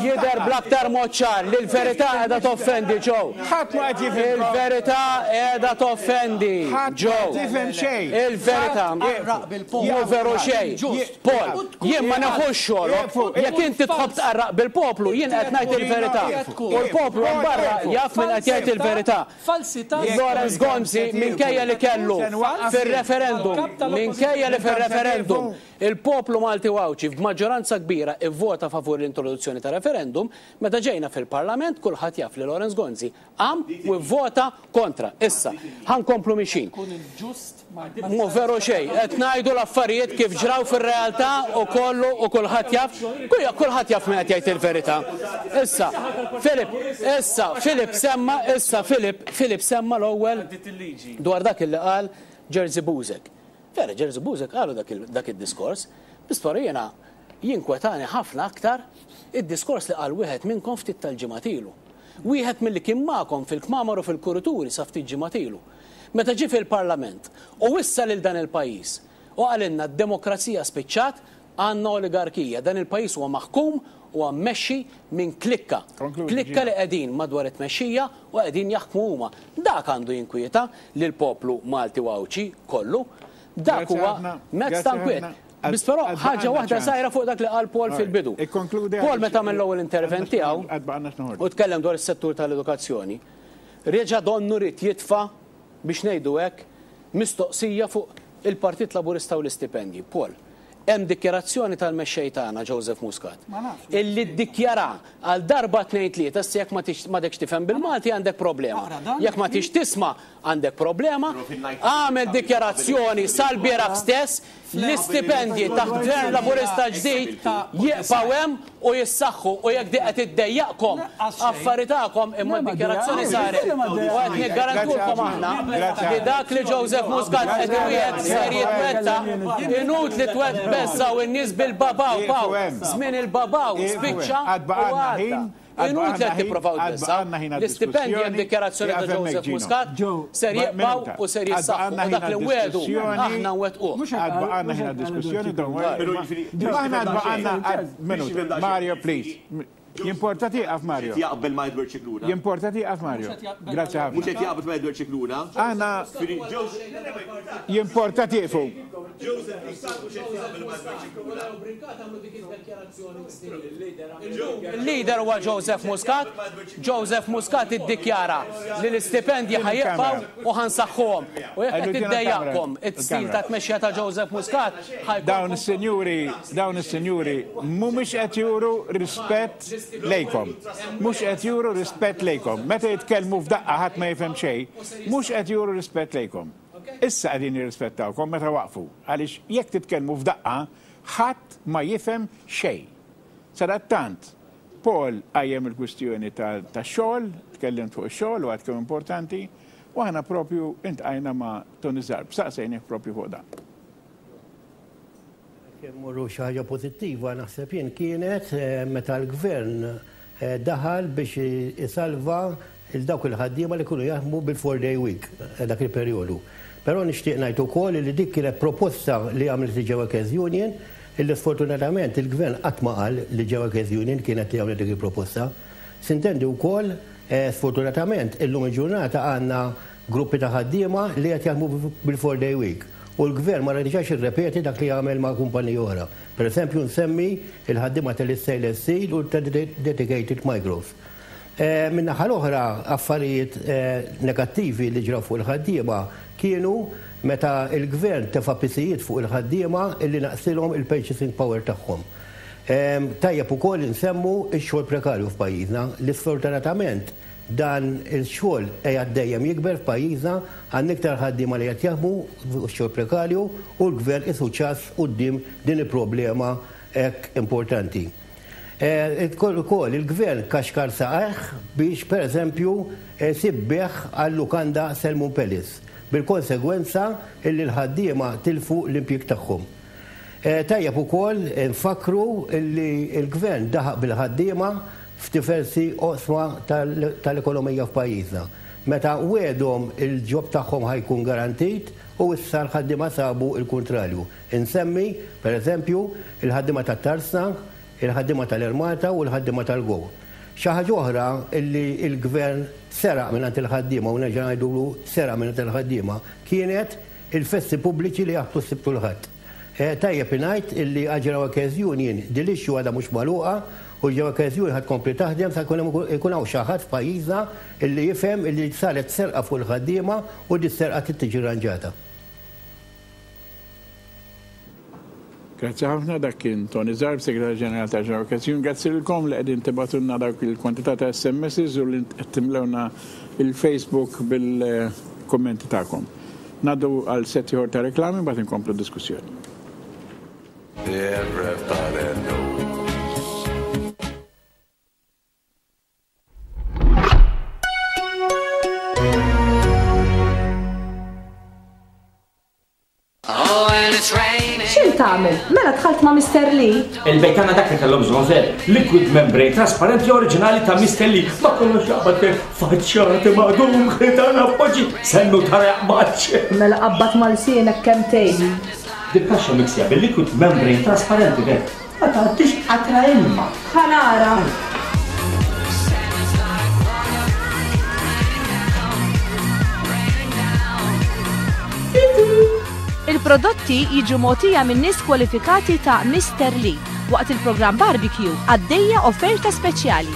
jidher bl-aktar mod ċar li l-verità qiegħda toffendi, Joe. Ħadd ma qed jifhem. Il-verità qiegħda toffendi, Ħadd ma Joe. qed jifhem xejn. Il-verità. Mhu veru xejn. Paul, jien ma neħux xogħolok. Jekk inti tħobb tqarraq bil-poplu, jien qed ngħid il-verità. U l-poplu hemm barra jaf min qed jgħid il-verità. Falsità. Lawrence Gonzi minkejja li kellu fir-referendum, minkejja li fir-referendum il-poplu Malti u Għawdxi b'maġġoranza kbira ivvota favur l-introduzzjoni ta' referendum, meta ġejna fil-Parlament kulħadd jaf li Lawrence Gonzi qam u vvota kontra. Issa, ħankomplu mixin. Mhu veru xejn, qed ngħidu l-affarijiet kif ġraw fir-realtà u kollu u kulħadd jaf, kulħadd jaf min qed jgħid il-verità. Issa, Filip, issa, Filip semma, issa Filip, Filip semma l-ewwel dwar dak illi qal Jerzy Buzek. Vera, Jerzy Buzek qalu dak il-, dak id-diskors, biss jiena jinkwetani ħafna aktar id-diskors li qal wieħed minnkom ftit tal-ġimgħat ilu. Wieħed milli kien magħkom fil-kmamar u fil-kurituri sa ftit ġimgħat ilu. Meta ġie fil-Parlament u wissa lil dan il-pajjiż u qalilna d-demokrazija spiċċat, għandna oligarkija. Dan il-pajjiż huwa maħkum u mmexxi minn klikka. Konkludi, Klikka Gino. li qegħdin madwar it-tmexxija u qegħdin jaħkmu huma. Dak għandu jinkwieta lil poplu Malti u Għawdxi kollu. Dak Grazie huwa ħafna. mezz Grazie ta' nkwiet. ħafna. Biss però Għad- ħaġa għadna waħda ċans. żgħira fuq dak li qal Paul Alright. fil-bidu. Ikkonkludi Paul għaliex meta għamel l-ewwel intervent għadna tiegħu għadna x'noħorġu. u tkellem dwar is-settur tal-edukazzjoni, reġa' donnu rid jitfa' biex ngħidu hekk mistoqsija fuq Il-Partit Laburista u l-istipendji, Paul, hemm dikjarazzjoni tal-mexxej tagħna Joseph Muscat illi ddikjara għal darba tnejn tlieta, issa jekk ma m'għadekx tifhem bil-Malti għandek problema. Jekk ma tix tisma' għandek problema. Għamel dikjarazzjoni sal-bieraħ stess, l-istipendji taħt Gvern Laburista ġdid jibqgħu hemm u jissaħħu, u jekk di qed iddejjaqkom affari tagħkom, imma d-dikjarazzjoni saret u qed niggarantulkom aħna li dak li Joseph Muscat qed iwiegħed ser jitwettaq. Inutli tbeżżgħu in-nies bil-babaw baw, żmien il-babaw spiċċa u għadda. Inutli qed tipprovaw tbeżżgħu. L-istipendji hemm dikjarazzjoni ta' Joseph Muscat ser jibqgħu u ser jissaħħu, u dak li nwiegħdu aħna nwettquh. Għad baqgħalna ħin għad-diskussjoni, don't worry. Aħna għad baqgħalna, Mario, please. Jimporta tieqaf, Mario. Jaqbel ma' Edward Scicluna. Jimporta tieqaf, Mario. Grazzi ħafna. Mhux qed jaqbel ma' Edward Scicluna. Aħna jimporta tieqfu. Il-leader huwa Joseph Muscat. Joseph Muscat iddikjara li l-istipendji ħa jibqgħu u ħansaħħuhom. U jekk qed iddejjaqkom it-stil ta' tmexxija ta' Joseph Muscat, dawn is-sinjuri, dawn is-sinjuri mhumiex qed juru rispett lejkom. Mhux qed juru rispett lejkom. Meta jitkellmu f'daqqa ħadd ma jifhem xejn, mhux qed juru rispett lejkom. Issa qegħdin jirrispettawkom meta waqfu, għaliex jekk titkellmu f'daqqa ħadd ma jifhem xejn. Sadattant, Paul qajjem il-kwistjoni tax-xogħol, tkellimt fuq ix-xogħol u għad kemm importanti, u aħna propju intqajna ma' Tony Zarb, saqsejnih propju fuq dan. Morru xi ħaġa pożittiva naħseb jien kienet meta l-gvern daħal biex isalva il dawk il-ħaddiema li kienu jaħdmu bil-four day week dak il-perjodu. Però nixtieq ngħid ukoll li dik kienet proposta li għamlet il-Workers Union, illi sfortunatament il-gvern qatt ma qal li Workers Union kienet li għamlet dik il-proposta. Sintendi wkoll sfortunatament illum il-ġurnata għandna gruppi ta' ħaddiema li qed jaħdmu bil-four day week. U l-gvern ma rridx irrepeti dak li għamel ma' kumpaniji oħra. Per eżempju nsemmi il-ħaddiema tal-Stainless Steel u tal-Dedicated Micros. Min-naħa l-oħra affarijiet negattivi li ġraw fuq il-ħaddiema kienu meta il-gvern tefa' pisijiet fuq il-ħaddiema illi naqsilhom il-purchasing power tagħhom. Tajjeb ukoll insemmu x-xogħol prekarju f'pajjiżna li sfortunatament dan il-xogħol qiegħed dejjem jikber f'pajjiżna, għandna iktar ħaddiema li qed jaħdmu fuq x-xogħol prekarju u l-gvern isu ċass quddiem din il-problema hekk importanti. Ukoll il-gvern kaxkar saqajh biex pereżempju sibbeħ għal-lukanda Selmun Palace, bil-konsegwenza illi l-ħaddiema tilfu l-impjieg tagħhom. Tajjeb ukoll nfakru illi l-gvern daħaq bil-ħaddiema f'diversi oqsma tal-ekonomija f'pajjiżna. Meta wedhom il-ġob tagħhom ħajkun garantit u issa l-ħaddiema sabu il-kontrarju. Insemmi, pereżempju, il-ħaddiema tat-Tarsna, il-ħaddiema tal-Ermata u l-ħaddiema tal-Go. Xi ħaġa oħra illi l-gvern seraq mingħand il-ħaddiema, u nerġa' ngħidulu seraq mingħand il-ħaddiema, kienet il-festi pubbliċi li jaħbtu s-Sibt u l-Ħadd. Tajjeb ingħid illi għal Workers Union din l-issue għadha mhux magħluqa u l-Workers Union ħad tkompli taħdem sa jkun ikun hawn xi ħadd f'pajjiżna illi jifhem illi saret serqa fuq il-ħaddiema u di serqa trid tiġi rranġata. Grazzi ħafna, dak kien Tony Zarb, Segretarju Ġenerali ta' Workers Union. Grazzi lilkom li qegħdin tibgħatulna dawk il-kwantità ta' S M Ss u li qed timlewna il-Facebook bil-kummenti tagħkom. Ngħaddu għal set ieħor ta' reklami mbagħad inkomplu d-diskussjoni. Everybody knows. X'int tagħmel? Mela dħalt ma' Mister Lee? Il-bejt tagħna dak li kellhom bżonn ver, liquid membrane trasparenti oriġinali ta' Mister Lee. Ma kollox jaqbad per faċċati maqdum ħitan appoġġi, sennu tara jaqbadx. Mela qabad mal-sienek kemm tgħid. Dil-kaxxa miksija bil-liquid membrane trasparenti ver. Ma tgħaddix qatra ilma. Ħanara. Il-prodotti jiġu mogħtija minn nies kwalifikati ta' Mister Lee waqt il-programm Barbecue għaddejja offerta speċjali.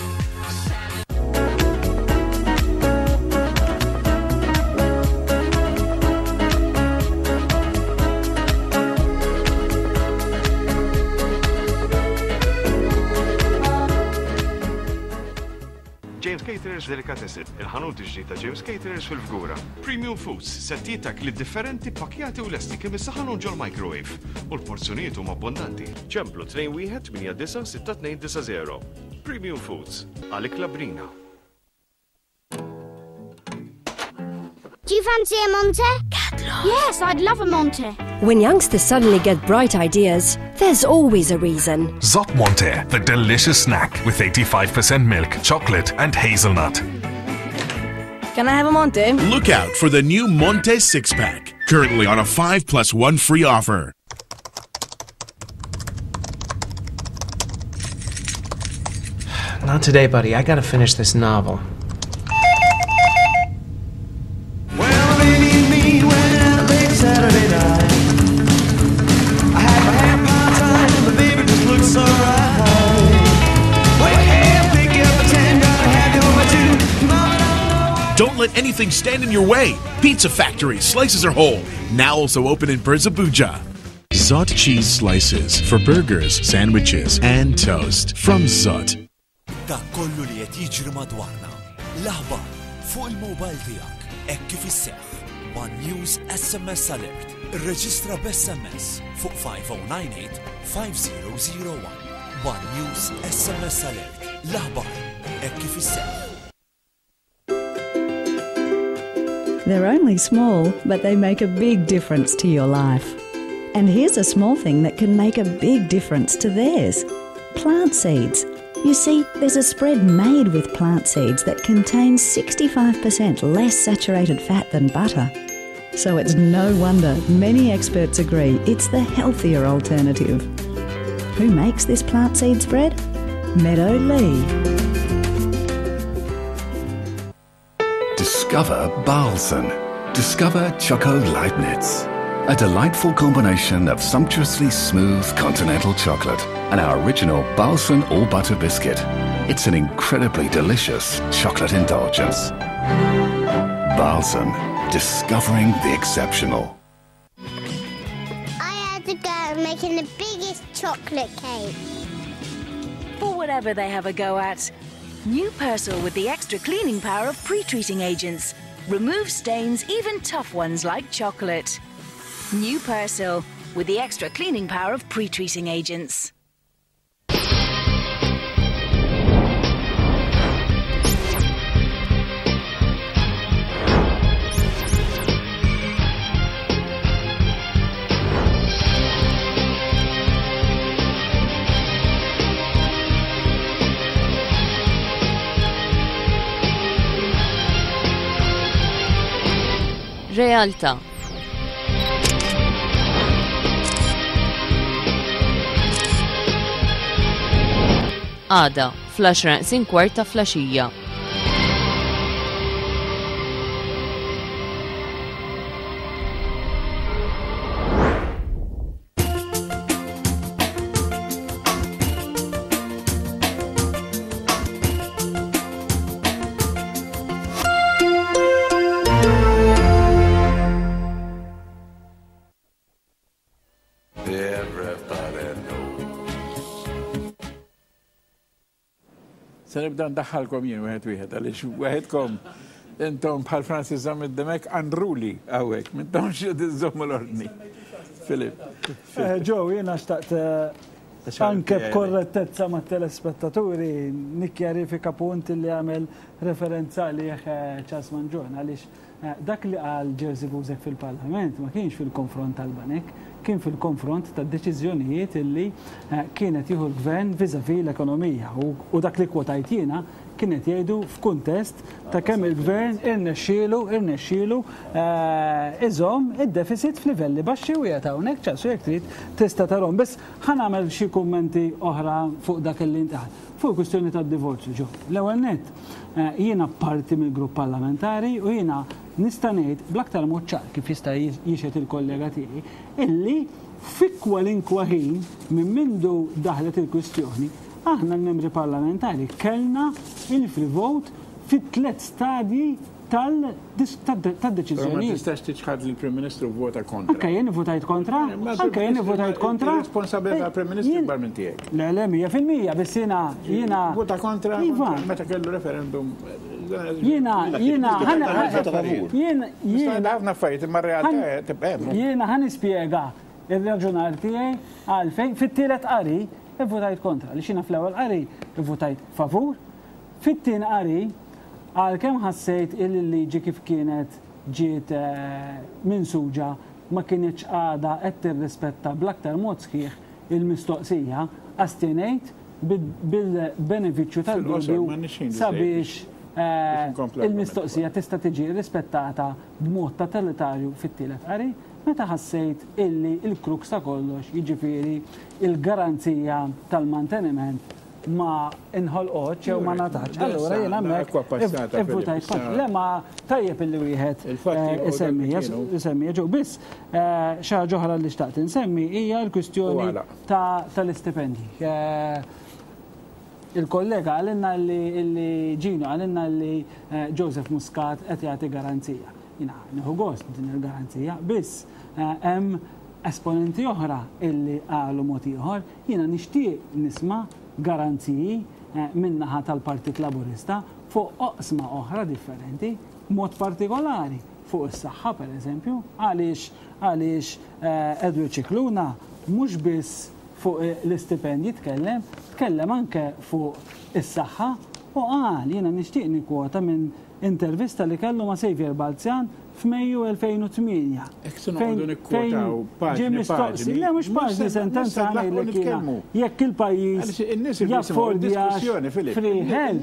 James Caterers Delicatessen, il-ħanut ġdid ta' James Caterers fil-Fgura. Premium Foods, settijiet ta' ikliet differenti pakkjati u lesti kemm issaħħanhom ġol-microwave u l-porzjonijiet huma abbondanti. Ċemplu tnejn wieħed tmienja disa' sitta tnejn disa' zero. Premium Foods, għal ikla bnina. Do you fancy a Monte? Yes, I'd love a Monte. When youngsters suddenly get bright ideas, there's always a reason. Zott Monte, the delicious snack with eighty-five percent milk, chocolate and hazelnut. Can I have a Monte? Look out for the new Monte six-pack, currently on a five plus one free offer. Not today, buddy. I gotta finish this novel. Well, baby and me went out late Saturday night. I had my hair part tied and the baby just looked so right. Well, hey, pick up a ten, gotta have you over two. Mama, don't know why. Don't let anything stand in your way. Pizza Factory slices are whole. Now also open in Birżebbuġa. Zott cheese slices for burgers, sandwiches, and toast from Zott. Dak kollu li qed jiġri madwarna. L-aħbar fuq il-mobile tiegħek hekk kif isseħħ. One News S M S Alert. Irreġistra b'S M S fuq five oh nine eight five zero zero one. One News S M S Alert. L-aħbar hekk kif isseħħ. They're only small, but they make a big difference to your life. And here's a small thing that can make a big difference to theirs. Plant seeds. You see, there's a spread made with plant seeds that contains sixty-five percent less saturated fat than butter. So it's no wonder many experts agree it's the healthier alternative. Who makes this plant seed spread? Meadow Lea. Discover Bahlsen. Discover Choco Leibniz. A delightful combination of sumptuously smooth continental chocolate and our original Bahlsen all-butter biscuit. It's an incredibly delicious chocolate indulgence. Bahlsen, discovering the exceptional. I had to go making the biggest chocolate cake. For whatever they have a go at. New Persil with the extra cleaning power of pre-treating agents. Remove stains, even tough ones like chocolate. New Persil with the extra cleaning power of pre-treating agents. Realtà. Għada, fl-għaxra neqsin kwart ta' flaxija. Se nibda ndaħħalkom jien wieħed wieħed għaliex wieħedkom intom bħal Francis Zammit Dimech unruly hawnhekk, m'intomx qed iżommu l-ordni. Filip. Joe, jiena xtaqt anke b'korrettezza mat-telespettaturi nikkjarifika punt li għamel referenza għalih Charles Mangion għaliex dak li qal Jerzy Buzek fil-Parlament ma kienx fil-konfront tal-Banek, kien fil-konfront tad-deċiżjonijiet illi kienet jieħu l-gvern vis-à-vis l-ekonomija u dak li kwotajt jiena kienet jgħidu f'kuntest ta' kemm il-gvern irnexxielu, irnexxielu iżomm id-deficit f'livelli baxxi u qiegħed hawnhekk ċasu jekk trid tista' tarhom. Biss ħa nagħmel xi kummenti oħra fuq dak li intqal. Fuq il-kwistjoni tad-divorzju, ġo. L-ewwel nett, jiena parti mill-grupp parlamentari u jiena nista' ngħid bl-aktar mod ċar kif jista' jixhed il-kollega tiegħi illi fi kwalinkwa ħin minn mindu daħlet il-kwistjoni aħna l-membri parlamentari kellna il-free vote fit tliet stadji tad-deċiżjoni. Ma tistax tiċħad li l-Prim Ministru vota kontra. Anke jien votajt kontra, anke jien votajt kontra. Responsabilità tal-Prim Ministru ikbar minn tiegħek. Le, le, mija fil-mija, biss jiena jiena. Vota kontra meta kellu referendum. Jiena, jiena, jiena, jiena. Ħafna affarijiet imma r-realtà tibqa' hemm. Jiena ħa nispjega ir-raġunar tiegħi għalfejn fit-tielet qari votajt kontra, li xina fl-ewwel qari votajt favur, fit-tieni qari għalkemm ħassejt il-liġi kif kienet ġiet minsuġa ma kienx għada qed tirrispetta bl-aktar mod sħiħ il-mistoqsija, astinejt bil-benefiċċju tal-dubju sabiex il-mistoqsija tista' tiġi rispettata b'mod totalitarju fit-tielet qari, meta ħassejt illi il-kruks ta' kollox, jiġifieri il-garanzija tal-manteniment ma inħolqotx jew ma ngħatatx. Allura jien hemmhekk ivvutajt kontra. Le ma tajjeb illi wieħed isemmija isemmija ġew biss xi ħaġa oħra li xtaqt insemmi hija l-kwistjoni tal-istipendji. Il-kollega għalinna li Ġino għalinna li Joseph Muscat qed jagħti garanzija. Jiena nieħu gost din il-garanzija, biss hemm esponenti oħra illi qalu mod ieħor, jiena nixtieq nisma' garanziji min-naħa tal-Partit Laburista fuq oqsma oħra differenti, mod partikolari fuq is-saħħa pereżempju, għaliex għaliex Edward Scicluna mhux biss fuq l-istipendji tkellem, tkellem anke fuq is-saħħa u qal jiena nixtieq nikkwota minn intervista li kellu ma' Xavier Balzjan f'Mejju elfejn u tmienja. Ġie mistoqsi, le mhux paġni sentenza ngħidlek jiena. Jekk il-pajjiż jaffordjax free health.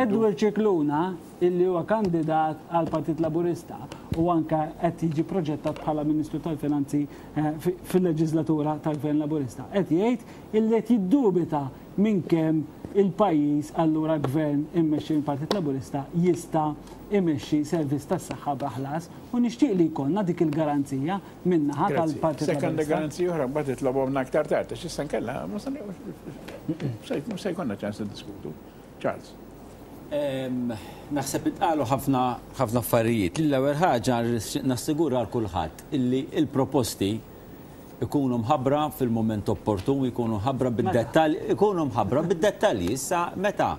Edward Scicluna, illi huwa kandidat għal Partit Laburista u anke qed jiġi proġettat bħala Ministru tal-Finanzi fil-leġislatura tal-Gvern Laburista, qed jgħid illi qed jiddubita minn kemm il-pajjiż allura gvern immexxi mill-Partit Laburista jista' imexxi servizz tas-saħħa b'ħlas u nixtieq li jkollna dik il-garanzija min-naħa tal-Partit Laburista. Sekk għandek garanzija oħra mbagħad titlobhomna aktar tard għax issa nkella mhux se jkollna ċans niddiskutu. Charles. Naħseb itqalu ħafna ħafna affarijiet. L-ewwel ħaġa nassigura għal kulħadd illi l-proposti ikunu mħabbra fil-moment opportun, ikunu mħabbra bid-dettalji, ikunu mħabbra bid-dettalji. Issa meta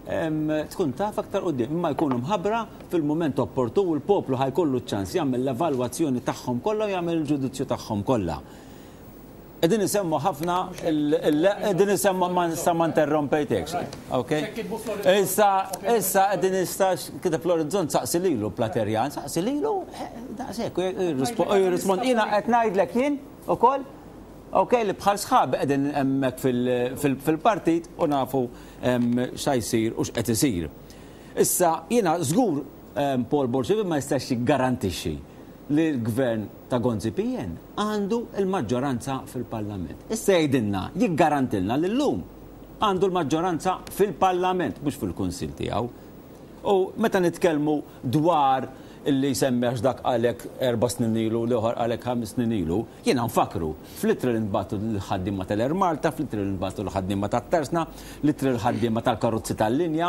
tkun taf aktar quddiem, imma jkunu mħabbra fil-moment opportun u l-poplu ħajkollu ċ-ċans jagħmel l-evalwazzjoni tagħhom kollha u jagħmel il-ġudizzju tagħhom kollha. Qegħdin isemmu ħafna, qegħdin isemmu ma nista' ma interrompejtekx. Okay? Issa issa qegħdin issa kiteb l-orizzont saqsi lilu Platerjan, saqsi lilu daqshekk jirrispond. Jiena qed ngħidlek jien ukoll, ok, li bħal sħab qegħdin hemmhekk fil-partit u nafu x'ha jsir u x'qed isir. Issa jiena żgur Paul Borg ma jistax jiggarantixxi li l-gvern ta' Gonzi P N għandu l-maġġoranza fil-Parlament. Issa jgħidilna, jiggarantilna li llum għandu l-maġġoranza fil-Parlament, mhux fil-Kunsill tiegħu. U meta nitkellmu dwar illi jsemmi għax dak għalek erba' snin ilu, l-ieħor għalek ħames snin ilu, jiena nfakru fl-itri li nbagħtu l-ħaddiema tal-Air Malta, fl-itri li nbagħtu l-ħaddiema tat-Tersna, l-itri l-ħaddiema tal-karozzi tal-linja,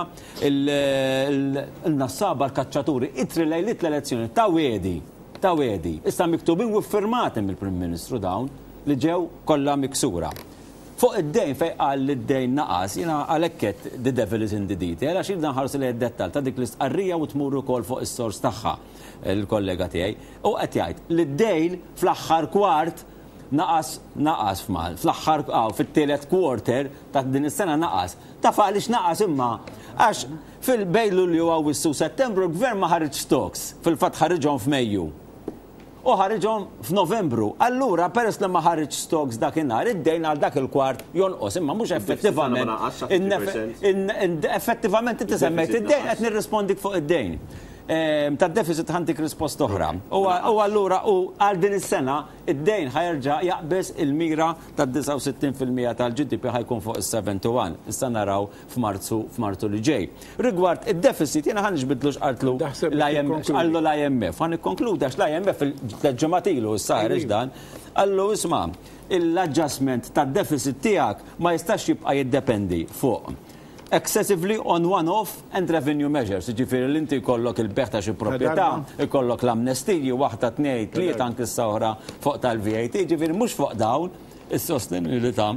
il-nassaba, l-kaċċaturi, itri lejliet l-elezzjoni ta' wedi, ta' wedi. Issa miktubin u ffirmati mill-Prim Ministru dawn li ġew kollha miksura. Fuq id-dejn fej qal li d-dejn naqas, jiena għalhekk qed the devil is in the detail, għax irrid nħarsu lejn id-dettall ta' dik l-istqarrija u tmur ukoll fuq is-sors tagħha il-kollega tiegħi. U qed jgħid li d-dejn fl-aħħar kwart naqas, naqas f'Mal, fl-aħħar, aw, fit-tielet quarter ta' din is-sena naqas. Taf għaliex naqas imma għax fil-bejn Lulju u Awwissu Settembru l-gvern ma ħareġ stocks, fil-fatt ħariġhom f'Mejju. U ħariġhom f'Novembru. Allura, peress li ma ħareġ stocks dakinhar, id-dejn għal dak il-kwart jonqos, imma mhux effettivament. Effettivament inti semmejt id-dejn qed nirrispondik fuq id-dejn. Tad-deficit ħantik risposta oħra. U allura u għal din is-sena id-dejn ħajerġa' jaqbeż il-mira tad-disgħa u sittin fil-mija tal-G D P ħajkun fuq is-seven to one. Issa naraw f'Marzu, f'Marzu li ġej. Rigward id-deficit jiena ħa nixbidlu x'qaltlu l-I M F, x'qallu l-I M F. Ħa nikkonkludi għax l-I M F il-tliet ġimgħat ilu issa ħareġ dan, qallu isma' l-adjustment tad-deficit tiegħek ma jistax jibqa' jiddependi fuq excessively on one-off and revenue measures. Ġifieri li inti jkollok il-bejgħ ta' xi proprjetà, jkollok l-amnestiji, waħda tnejn, tlieta anke issa oħra fuq tal-V A T, ġifieri mhux fuq dawn is-sostenibilità.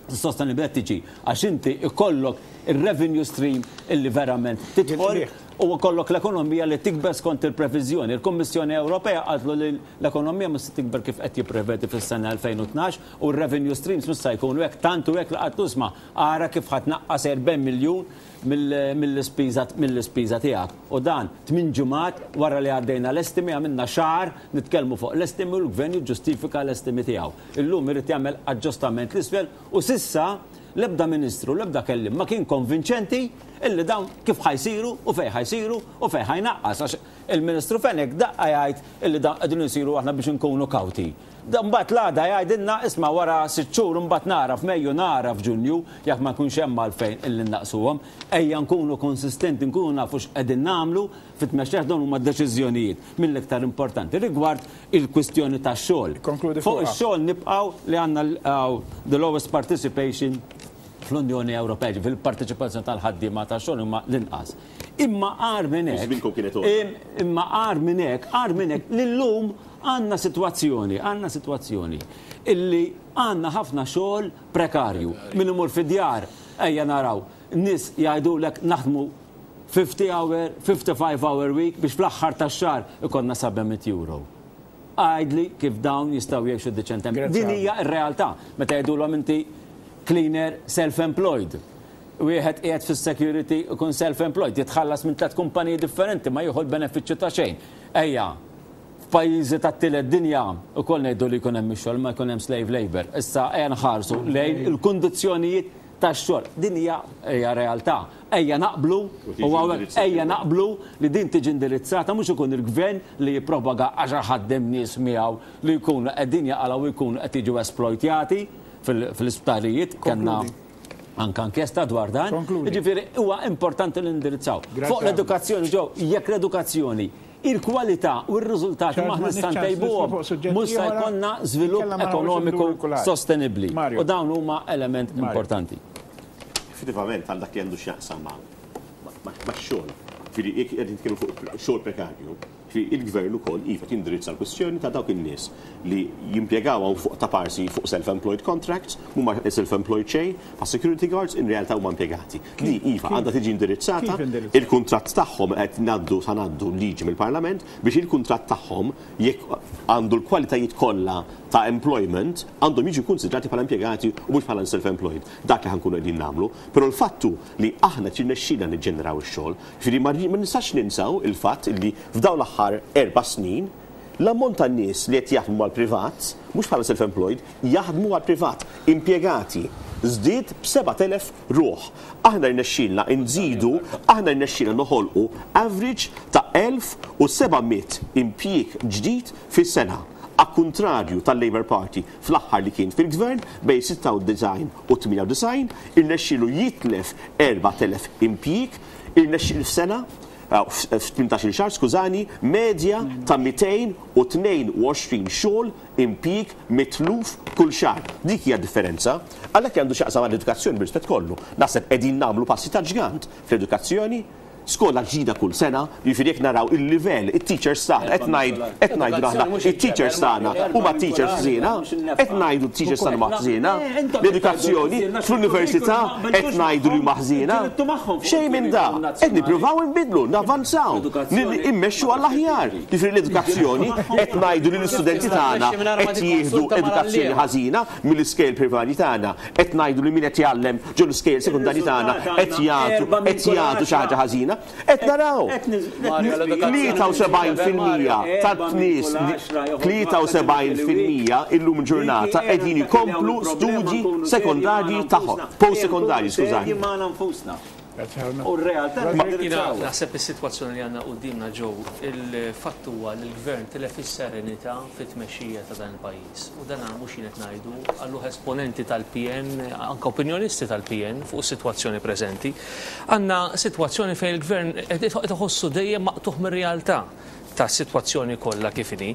Is-sostenibilità tiġi għax inti ikollok il-revenue stream illi verament tidħol u kollok l-ekonomija li tikber skont il-previżjoni. Il-Kommissjoni Ewropea qaltlu li l-ekonomija mhux se tikber kif qed jipprevedi fis-sena elfejn u tnax u r-revenue streams mhux se jkunu hekk, tantu hekk li qatlu isma' ara kif ħa tnaqqas erbgħin miljun mill-ispiża mill-ispiża tiegħek. U dan tmien ġimgħat wara li għaddejna l-estimi, għamilna xahar nitkellmu fuq l-estimi u l-gvern jiġġustifika l-estimi tiegħu. Illum irid jagħmel aġġustament l-isfel u s'issa l-ebda ministru, l-ebda kellim ma kien konvinċenti illi dawn kif ħa jsiru u fejn ħa jsiru u fejn ħa jnaqqas. Għax il-Ministru Fenech daqqa jgħid illi dawn qegħdin isiru aħna biex inkunu kawti. Mbagħad l-għada jgħidilna isma' wara sitt xhur mbagħad nara f'Mejju, nara f'Ġunju jekk ma jkunx hemm għalfejn illi naqsuhom. Ejja nkunu konsistenti, nkunu nafu x'qegħdin nagħmlu fit-tmexxija, dawn huma deċiżjonijiet mill-iktar importanti rigward il-kwistjoni tax-xogħol. Fuq ix-xogħol nibqgħu li għandna the lowest participation fl-Unjoni Ewropea, fil-parteċipazzjoni tal-ħaddiema tax-xogħol huma l-inqas. Imma agħar minn hekk, imma agħar minn hekk, agħar minn hekk, l-lum għandna sitwazzjoni, għandna sitwazzjoni illi għandna ħafna xogħol prekarju. Min imur fid-djar, ejja naraw, nies jgħidulek naħdmu fifty hour, fifty-five hour week biex fl-aħħar tax-xahar ikollna seba' mitt euro. Għidli kif dawn jistgħu jgħixu deċentement. Din hija r-realtà. Meta jgħidulhom inti cleaner self-employed. Wieħed qiegħed fis-security ikun self-employed, jitħallas minn tliet kumpaniji differenti, ma jieħu l-benefiċċju ta' xejn. Ejja, f'pajjiżi tat-tielet dinja ukoll ngħidu li jkun hemm ix-xogħol ma jkun hemm slave labor. Issa ejja nħarsu lejn il-kundizzjonijiet tax-xogħol. Din hija hija realtà. Ejja naqblu u ejja naqblu li din tiġi indirizzata, mhux ikun il-gvern li jippropaga għax ħaddem nies miegħu li jkunu qegħdin jaqalgħu, jkunu qed jiġu esploitjati fil-isptarijiet. Kellna anka inkjesta dwar dan. Ġifieri huwa importanti li indirizzaw. Fuq l-edukazzjoni ġew, jekk l-edukazzjoni il-kwalità u r-riżultati ma nista' ntejbuhom, mhux se jkollna żvilupp ekonomiku sostenibbli. U dawn huma element importanti. Effettivament għal dak li għandu x'jaqsam ma' xogħol. Ġifieri jekk qed nitkellmu fuq xogħol prekarju, ġifieri il-gvern ukoll iva tindirizza l-kwistjoni ta' dawk in-nies li jimpjegaw fuq ta' parsi fuq self-employed contracts, mhuma self-employed xejn, pa' security guards in realtà huma impjegati. Li iva għandha tiġi indirizzata, il-kuntratt tagħhom qed ngħaddu sa ngħaddu liġi mill-Parlament biex il-kuntratt tagħhom, jekk għandu l-kwalitajiet kollha ta' employment, għandhom jiġu konsidrati bħala impjegati u mhux bħala self-employed. Dak li ħa nkunu qegħdin nagħmlu, però l-fattu li aħna tirnexxina niġġeneraw ix-xogħol, ġifieri ma nistax ninsaw il-fatt li f'dawn l-aħħar erba' snin l-ammont ta' nies li qed jaħdmu għal privat, mhux bħala self-employed, jaħdmu għal privat, impjegati, żdied b'sebat elef ruħ. Aħna rnexxielna nżidu, aħna rnexxielna noħolqu average ta' elf u seba' mitt impjieg ġdid fis-sena. A kontrarju tal-Labour Party fl-aħħar li kien fil-gvern bejn sitta u disgħin u tmienja u disgħin, irnexxielu jitlef erbat elef impjieg, irnexxielu f'sena, f'tmintax-il xahar, skużani, medja ta' mitejn u tnejn u għoxrin xogħol impjieg mitluf kull xahar. Dik hija differenza. Għalhekk għandu x'jaqsam għall-edukazzjoni, bir-rispett kollu. Naħseb qegħdin nagħmlu passi ta' ġgant fl-edukazzjoni, skola ġdida kull sena, jiġifieri jekk naraw il-livell, it-teachers tagħna, qed ngħid qed ngħidu aħna it-teachers tagħna huma teachers ħżiena, qed ngħidu t-teachers tagħna huma ħżiena, l-edukazzjoni fl-università qed ngħidu li huma ħżiena. Xejn minn da, qed nippruvaw nbidlu, navanzaw, immexxu għall-aħjar. Jiġifieri l-edukazzjoni qed ngħidu li l-istudenti tagħna qed jieħdu edukazzjoni ħażina mill-iskejjel primarji tagħna, qed ngħidu li min qed jgħallem ġol iskejjel sekundarji tagħna qed jagħtu qed jagħtu xi ħaġa ħażina. Qed naraw tlieta u sebgħin fil-mija tat-nies, tlieta u sebgħin fil-mija illum ġurnata qegħdin ikomplu studji sekondarji tagħhom, post sekondarji, skużani. U r-realtà Naħseb is-sitwazzjoni li għandna qudiemna ġew, il-fatt huwa li l-gvern tilef is-serenità fit-tmexxija ta' dan il-pajjiż. U dan mhux jien qed ngħidu, għalluh esponenti tal-P N, anke opinjonisti tal-P N fuq is-sitwazzjoni preżenti. Għandna sitwazzjoni fejn il-gvern qed iħossu dejjem maqtuħ mir-realtà. tas-sitwazzjoni kollha kif inhi.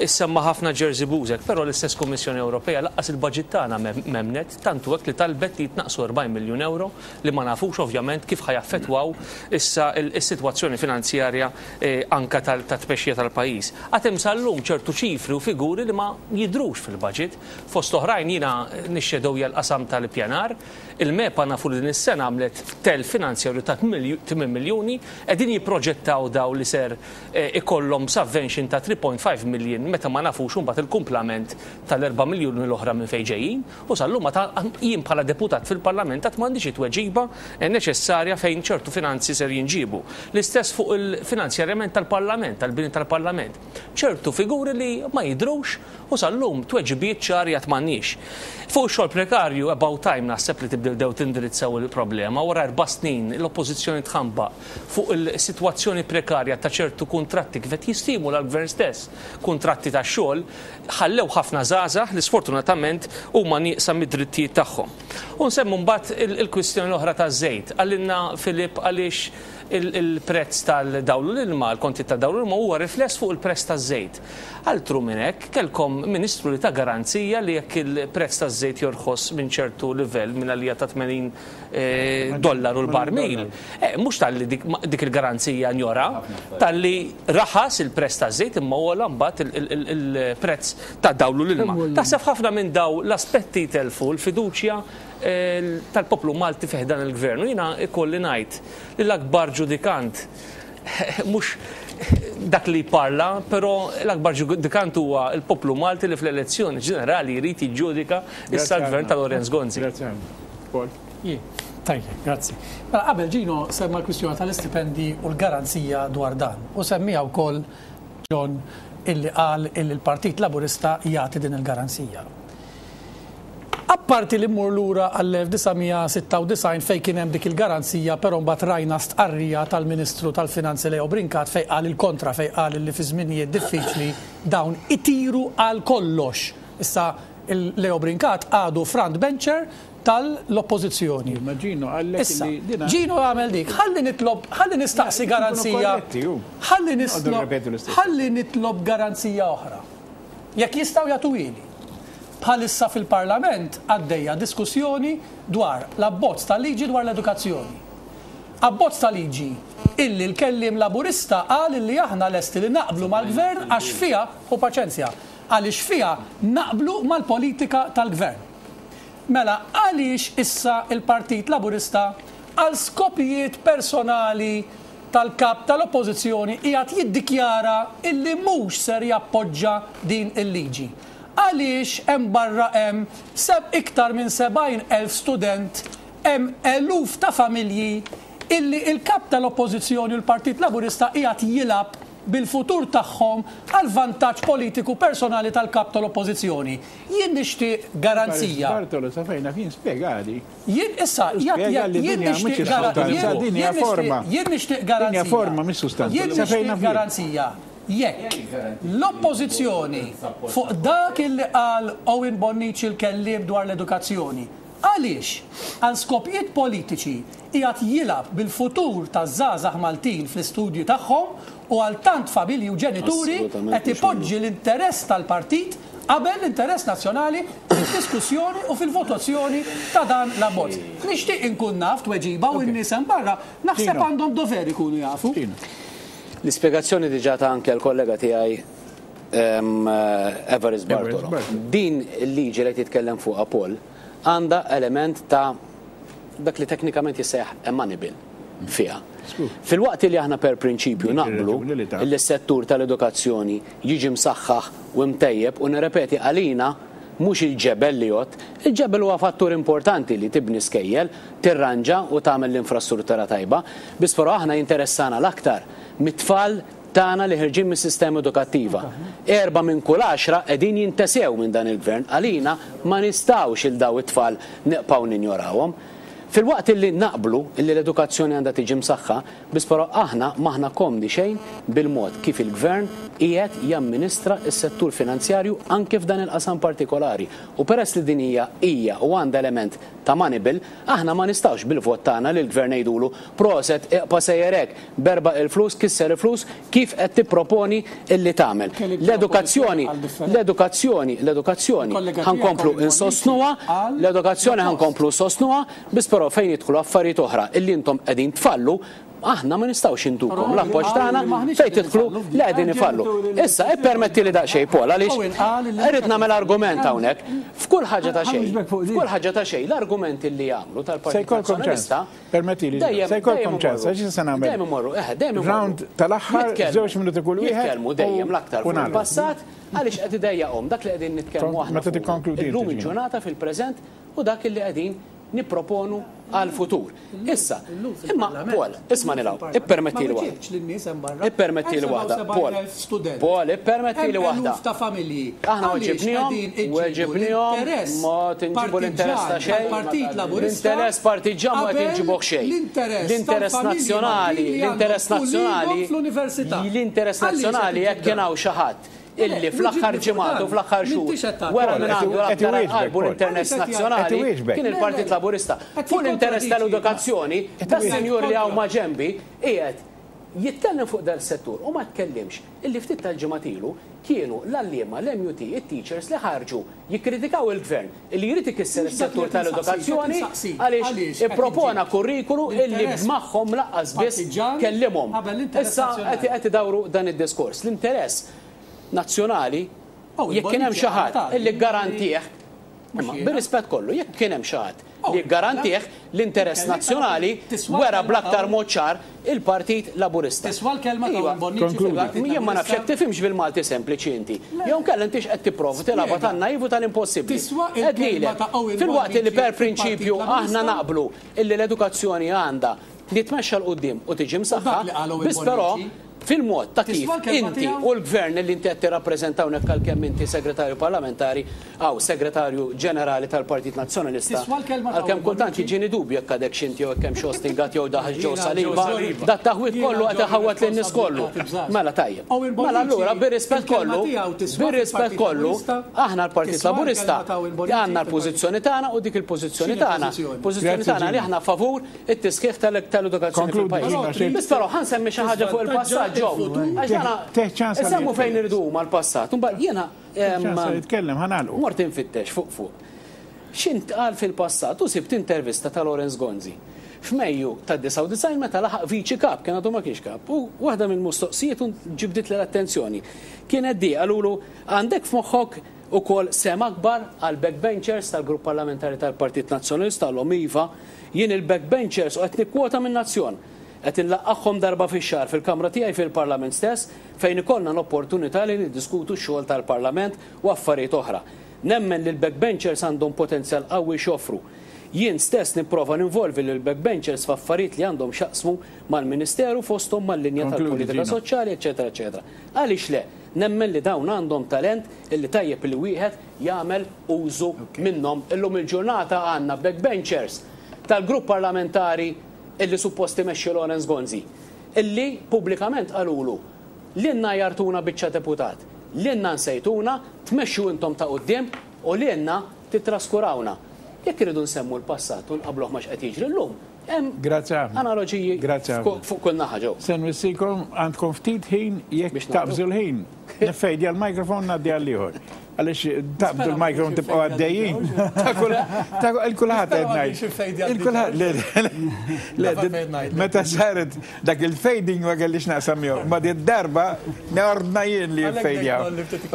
Issemma ħafna Jerzy Buzek, però l-istess Kummissjoni Ewropea lanqas il-budget tagħna m'emmnet, tantu hekk li talbet li jitnaqsu erbgħin miljun euro li ma nafux ovvjament kif ħa jaffettwaw issa is-sitwazzjoni finanzjarja anka tat-tmexxija tal-pajjiż. Għad hemm sal-lum ċertu ċifri u figuri li ma jidhrux fil-budget. Fost oħrajn jiena nixxedowja l-qasam tal-ippjanar, il-MEPA nafu li din is-sena għamlet telf finanzjarju ta' tmien miljuni, qegħdin jipproġettaw daw li ser ikollhom subvention ta' three point five million meta ma nafux imbagħad il-kumplament tal-erba' miljuni l-oħra minn fejn ġejjin, u sal-lum jien bħala deputat fil-Parlament qatt m'għandix it-tweġiba neċessarja fejn ċertu finanzi ser jinġibu. L-istess fuq il-finanzjarjament tal-Parlament, tal-bini tal-Parlament. Ċertu figuri li ma jidhrux u sal-lum tweġibiet ċari qatt m'għandniex. Fuq ix-xogħol prekarju about time naħseb li tibdew tindirizzaw il-problema. Wara erba' snin l-oppożizzjoni tħambaq fuq il-sitwazzjoni prekarja ta' ċertu kuntratti kif qed jistimula l-gvern stess, kuntratti ta' xogħol ħallew ħafna żgħażagħ li sfortunatament huma nieqsa mid-drittijiet tagħhom. U nsemmu mbagħad il-kwistjoni l-oħra taż-żejt. Qalilna Filip għaliex il-prezz tal-dawl u l-ilma, l-konti tad-dawl u l-ilma huwa rifless fuq il-prezz taż-żejt. Altru minn hekk kellkom ministru li ta' garanzija li jekk il-prezz taż-żejt jorħos minn ċertu livell minn għalija ta' tmenin dollaru l-barmil, mhux talli dik il-garanzija njora, talli raħas il-prezz taż-żejt imma huwa mbagħad il-prezz ta' dawl u l-ilma. Taħseb ħafna minn daw l-aspetti telfu l-fiduċja tal-poplu Malti fih dan il-gvern. U jiena ikolli ngħid li l-akbar ġudikant mhux dak li parla, però l-akbar ġudikant huwa l-poplu Malti li fl-elezzjoni ġenerali jrid jiġġudika issa l-gvern ta' Lawrence Gonzi. Tajjeb, grazzi. Mela qabel Gino semma l-kwistjoni tal-istipendi u l-garanzija dwar dan. U semmija wkoll John illi qal illi l-Partit Laburista jagħti din il-garanzija. Apparti li mmur lura għall-elf disa' mija sitta u disgħin fejn kien hemm dik il-garanzija, però mbagħad rajna stqarrija tal-Ministru tal-Finanzi Leo Brincat fejn qal il-kontra, fejn qal li fi żminijiet diffiċli dawn itiru għal kollox. Issa Leo Brincat għadu front bencher tal-oppożizzjoni. Ma Gino għallek Issa, Gino għamel dik, ħalli nitlob, ħalli nistaqsi garanzija. Ħalli nitlob, ħalli nitlob garanzija oħra. Jekk jistgħu jagħtuhieli. Bħalissa fil-Parlament għaddejja diskussjoni dwar l-abbozz tal-liġi dwar l-edukazzjoni. Abbozz tal-liġi illi l-kellim Laburista qal illi aħna lesti li naqblu mal-gvern għax fiha, u paċenzja, għaliex fiha naqblu mal-politika tal-gvern. Mela għaliex issa il-Partit Laburista għal skopijiet personali tal-kap tal-oppożizzjoni qiegħed jiddikjara illi mhux ser jappoġġa din il-liġi. Għaliex hemm barra hemm seb iktar minn sebgħin elf student, hemm eluf ta' familji illi il-kap tal-oppożizzjoni u l-Partit Laburista qiegħed jilgħab bil-futur tagħhom għal vantaġġ politiku personali tal-kap tal-oppożizzjoni. Jien nixtieq garanzija. Bartolo, sa fejna fin spjegali. Jien issa jien nixtieq garanzija. Jien nixtieq garanzija. Forma mis-sustanza. Jien nixtieq garanzija. Jekk l-oppożizzjoni fuq dak illi qal Owen Bonnici l-kelliem dwar l-edukazzjoni, għaliex għal skopijiet politiċi qiegħed jilgħab bil-futur taż-żgħażagħ Maltin fl-istudju tagħhom u għal tant familji u ġenituri qed ipoġġi l-interess tal-partit qabel l-interess nazzjonali fid-diskussjoni u fil-votazzjoni ta' dan l-abbozz. Nixtieq inkun naf tweġiba u n-nies hemm barra naħseb għandhom dover ikunu jafu. L-ispjegazzjoni diġà ta' anke l-kollega tiegħi Evarist Bartolo. Din il-liġi li titkellem fuqha Paul għandha element ta' dak li teknikament jissejjaħ a money bill fiha. Fil-waqt li aħna per prinċipju naqblu li s-settur tal-edukazzjoni jiġi msaħħaħ u mtejjeb u nirrepeti għalina mhux il-ġebel li jgħod, il-ġebel huwa fattur importanti li tibni skejjel, tirranġa u tagħmel l-infrastruttura tajba, biss però aħna jinteressana l-aktar mit-tfal tagħna li ħirġin mis-sistema edukattiva. Erba' minn kull għaxra qegħdin jintesew minn dan il-gvern, għalina ma nistgħux il daw it-tfal neqpaw ninjorawhom. Fil-waqt illi naqblu illi l-edukazzjoni għandha tiġi msaħħa, biss però aħna m'aħna komdi xejn bil-mod kif il-gvern qiegħed jamministra s-settur finanzjarju anke f'dan il-qasam partikolari. U peress li din hija hija u għandha element ta' money bill, aħna ma nistgħux bil-vot tagħna lil gvern ngħidulu proset iqpa' sejjer hekk, berba il-flus, kisser il-flus, kif qed tipproponi illi tagħmel. L-edukazzjoni, l-edukazzjoni, l-edukazzjoni ħankomplu insostnuha, l-edukazzjoni ħankomplu sostnuha, biss però fejn jidħlu affarijiet oħra illi intom qegħdin tfallu, aħna ma nistgħux intukom l-appoġġ tagħna fejn tidħlu li qegħdin ifallu. Issa ippermetti li daqsxejn Paul għaliex irrid nagħmel argument hawnhekk. F'kull ħaġa ta' xejn, f'kull ħaġa ta' xejn l-argumenti li jagħmlu tal-Partit Nazzjonalista. Permetti li se jkollkom ċans, għax se nagħmel. Dejjem imorru, eh, dejjem imorru. Round tal-aħħar żewġ minuti kull wieħed. Jitkellmu dejjem l-aktar fuq il-passat għaliex qed idejjaqhom dak li qegħdin nitkellmu aħna. Meta tikkonkludi. Illum il-ġurnata fil-preżent u dak li qegħdin niproponu għal-futur. Issa, imma Paul, isma' nilgħu, ippermetti li waħda. Ippermetti li waħda, Paul. Paul, ippermetti li waħda. Aħna weġibnihom, weġibnihom, ma tinġibu l-interess ta' xejn. L-interess partiġġan ma tinġibuh xejn. L-interess nazzjonali, l-interess nazzjonali, l-interess nazzjonali jekk kien hawn xi ħadd illi fl-aħħar ġimgħat u fl-aħħar xhur wara minn għandu l-aktar qalbu l-interess nazzjonali kien il-Partit Laburista. Fuq l-interess tal-edukazzjoni, tas-sinjur li hawn ma' ġenbi qiegħed jitkellem fuq dal settur u ma tkellimx illi ftit tal-ġimgħat ilu kienu l-għalliema, l-M U T, it-teachers li ħarġu jikkritikaw il-gvern illi jrid ikisser is-settur tal-edukazzjoni għaliex ippropona kurrikulu illi magħhom laqqas biss kellimhom. Issa qed idawru dan id-diskors. L-interess nazzjonali, jekk kien hemm xi ħadd illi garantih, imma bir-rispett kollu, jekk kien hemm xi ħadd li garantih l-interess nazzjonali wera bl-aktar mod ċar il-Partit Laburista. Jien ma nafx jekk tifhimx bil-Malti sempliċi inti. Jew inkella intix qed tipprova tilgħabha tan-naiv u tal-impossibbli. Qed filwaqt li per prinċipju aħna naqblu illi l-edukazzjoni għandha li tmexxa 'l quddiem u tiġi msaħħa, biss però fil-mod ta' kif inti u l-gvern li inti qed tirrappreżenta hawnhekk għalkemm inti segretarju parlamentari aw segretarju ġenerali tal-Partit Nazzjonalista, għalkemm kultant jiġini dubju jekk għadek x'inti jew hekk hemm xi ostingat jew daħal ġew saliba, dat taħwit kollu qed iħawwad lin-nies kollu. Mela tajjeb. Mela allura bir-rispett kollu, bir-rispett kollu, aħna l-Partit Laburista għandna l-pożizzjoni tagħna u dik il-pożizzjoni tagħna, pożizzjoni tagħna li aħna favur it-tisħiħ tal-edukazzjoni fil-pajjiż. Biss però ħa nsemmi xi ħaġa fuq il-passat. Għax fejn irridu mal-passat. Mbagħad jiena mort infittex fuq fuq. X'intqal fil-passat u sibt intervista ta' Lawrence Gonzi. F'Mejju ta' disgħa u disgħin meta laħaq viċi kap, kien għadu ma kienx kap, u waħda mill-mistoqsijiet ġibdit l-attenzjoni. Kienet di qalulu għandek f'moħħok ukoll sem akbar għal backbenchers tal-grupp parlamentari tal-Partit Nazzjonalista l-Omiva, jien il-backbenchers u qed nikkwota minn Nazzjon. Qed inlaqqagħhom darba fix-xahar fil-kamra tiegħi fil-Parlament stess fejn ikollna l-opportunità li niddiskutu x-xogħol tal-Parlament u affarijiet oħra. Nemmen li l-backbenchers għandhom potenzjal qawwi x'joffru. Jien stess nipprova ninvolvi lil backbenchers f'affarijiet li għandhom x'jaqsmu mal-Ministeru fosthom mal-linja tal-politika soċjali, eċetera, eċetera. Għaliex le? Nemmen li dawn għandhom talent illi tajjeb li wieħed jagħmel użu minnhom. Illum il-ġurnata għandna backbenchers tal-grupp parlamentari illi supposti imexxi Lawrence Gonzi, illi pubblikament qalulu lilna jartuna biċċa deputat, lilna nsejtuna, tmexxu intom ta' quddiem u lilna titraskurawna. Jekk iridu nsemmu l-passat u nqabluh ma x'qed jiġri llum, hemm analoġiji fuq kull naħa ġew. Se nwissikom għandkom ftit ħin jekk taqbżu l-ħin. Nifejdi għall-mikrofon ngħaddi għall-ieħor. Għaliex taqbdu l-mikrofon tibqgħu għaddejjin. Il-kulħadd qed ngħid. Il-kulħadd meta saret dak il-fading ma kellix naqsam jew. Ma di darba ordna jien li jfejdjaw.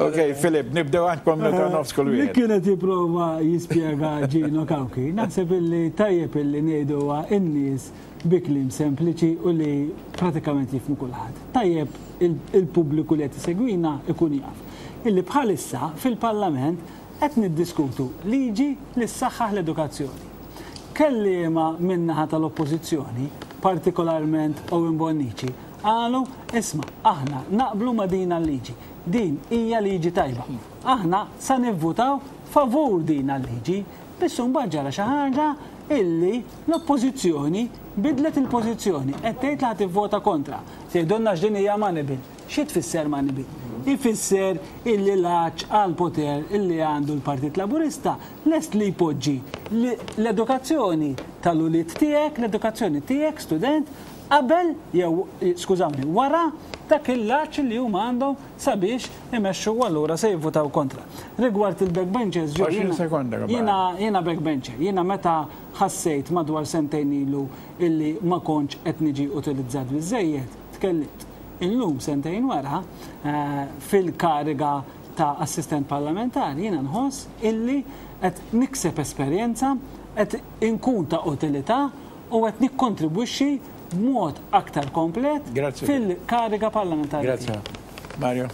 Ok, Filip, nibdew għandkom minuta nofs kull wieħed. Li kienet jipprova jispjega Gino Cauchi, naħseb illi tajjeb illi ngħiduha in-nies bi kliem sempliċi u li pratikament jifhmu kulħadd. Tajjeb il-pubbliku li qed isegwina ikun jaf illi bħalissa fil-Parlament qed niddiskutu liġi li ssaħħaħ l-edukazzjoni. Kelliema min-naħa tal-Oppożizzjoni, partikolarment Owen Bonnici, qalu isma' aħna naqblu ma' din l-liġi. Din hija liġi tajba. Aħna sa nivvutaw favur din l-liġi, biss imbagħad ġara xi ħaġa Illi l-oppożizzjoni bidlet il-pożizzjoni qed tgħid li ħa tivvota kontra. Tgħidulna x'din hija money bill. Xi tfisser money bill? Ifisser illi l-għatx għal poter illi għandu l-Partit Laburista lest li jpoġġi l-edukazzjoni tal-ulied tiegħek, l-edukazzjoni tiegħek student, qabel jew, skużawni, wara dak il-għatx li huma għandhom sabiex imexxu, u allura se jivvutaw kontra. Rigward il-backbenchers, ġo, jiena jiena backbencher, jiena meta ħassejt madwar sentejn ilu illi ma kontx qed niġi utilizzat biżejjed, tkellimt. Illum sentejn wara eh, fil-kariga ta' assistent parlamentari jiena nħoss illi qed nikseb esperjenza, qed inkun ta' utilità u qed nikkontribwixxi b'mod aktar komplet fil-kariga parlamentari. Grazie. Mario.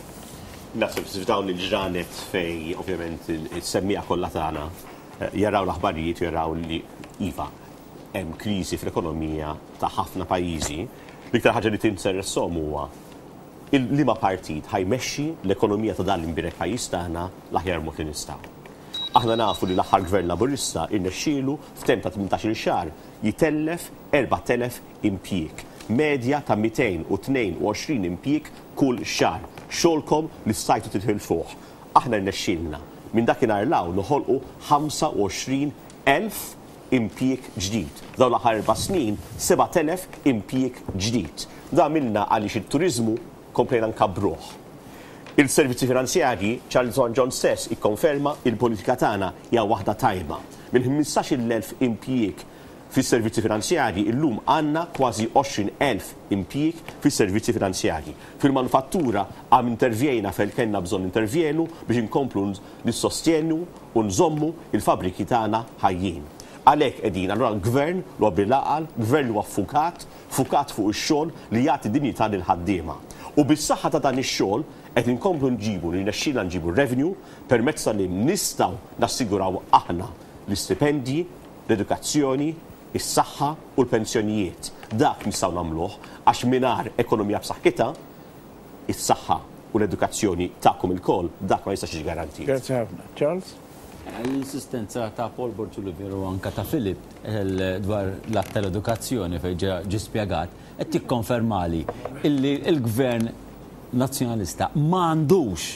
Naħseb f'dawn il-ġranet fej ovvjament is-semmiegħa kollha tagħna eh, jaraw l-aħbarijiet u jaraw li iva hemm kriżi fl-ekonomija ta' ħafna pajjiżi. L-iktar ħaġa li tinteressahom huwa liema partit ħa jmexxi l-ekonomija ta' dan l-imbierek pajjiż tagħna l-aħjar mod li nistgħu. Aħna nafu li l-aħħar gvern Laburista irnexxielu f'temp ta' tmintax-il xahar jitellef erbat elef impjieg. Medja ta' mitejn u tnejn u għoxrin impjieg kull xahar. Xogħolkom li stajtu titilfuh. Aħna rnexxielna minn dakinhar 'l hawn noħolqu ħamsa u għoxrin elf impjieg ġdid. Dawn l-aħħar erba' snin sebat elef impjieg ġdid. Dan għamilna għaliex it-turizmu komplejna nkabbruh. Il-servizzi finanzjarji, Charles John stess ikkonferma il-politika tagħna hija waħda tajba. Minn ħmistax-il elf impjieg fis-servizzi finanzjarji illum għandna kważi għoxrin elf impjieg fis-servizzi finanzjarji. Fil-manufattura għam intervjena fejn kellna bżonn intervjenu biex inkomplu nissostjenu u nżommu il-fabriki tagħna ħajjin. Għalhekk qegħdin allura gvern li huwa bil-għaqal, gvern li huwa ffukat, ffukat fuq ix-xogħol li jagħti dinjità lil ħaddiema. U bis-saħħa ta' dan ix-xogħol qed inkomplu nġibu li nexxilna nġibu revenue permezz li nistgħu nassiguraw aħna l-istipendji, l-edukazzjoni, is-saħħa u l-pensjonijiet. Dak nistgħu nagħmluh għax mingħajr ekonomija b'saħħitha, is-saħħa u l-edukazzjoni tagħkom ilkoll dak ma jistax jiġi garantit. Grazie ħafna. Charles? L-insistenza ta' Paul Borg Olivier u anka ta' Philip dwar l-att tal-edukazzjoni fejn ġie spjegat qed tikkonfermali illi l-gvern nazzjonalista m'għandux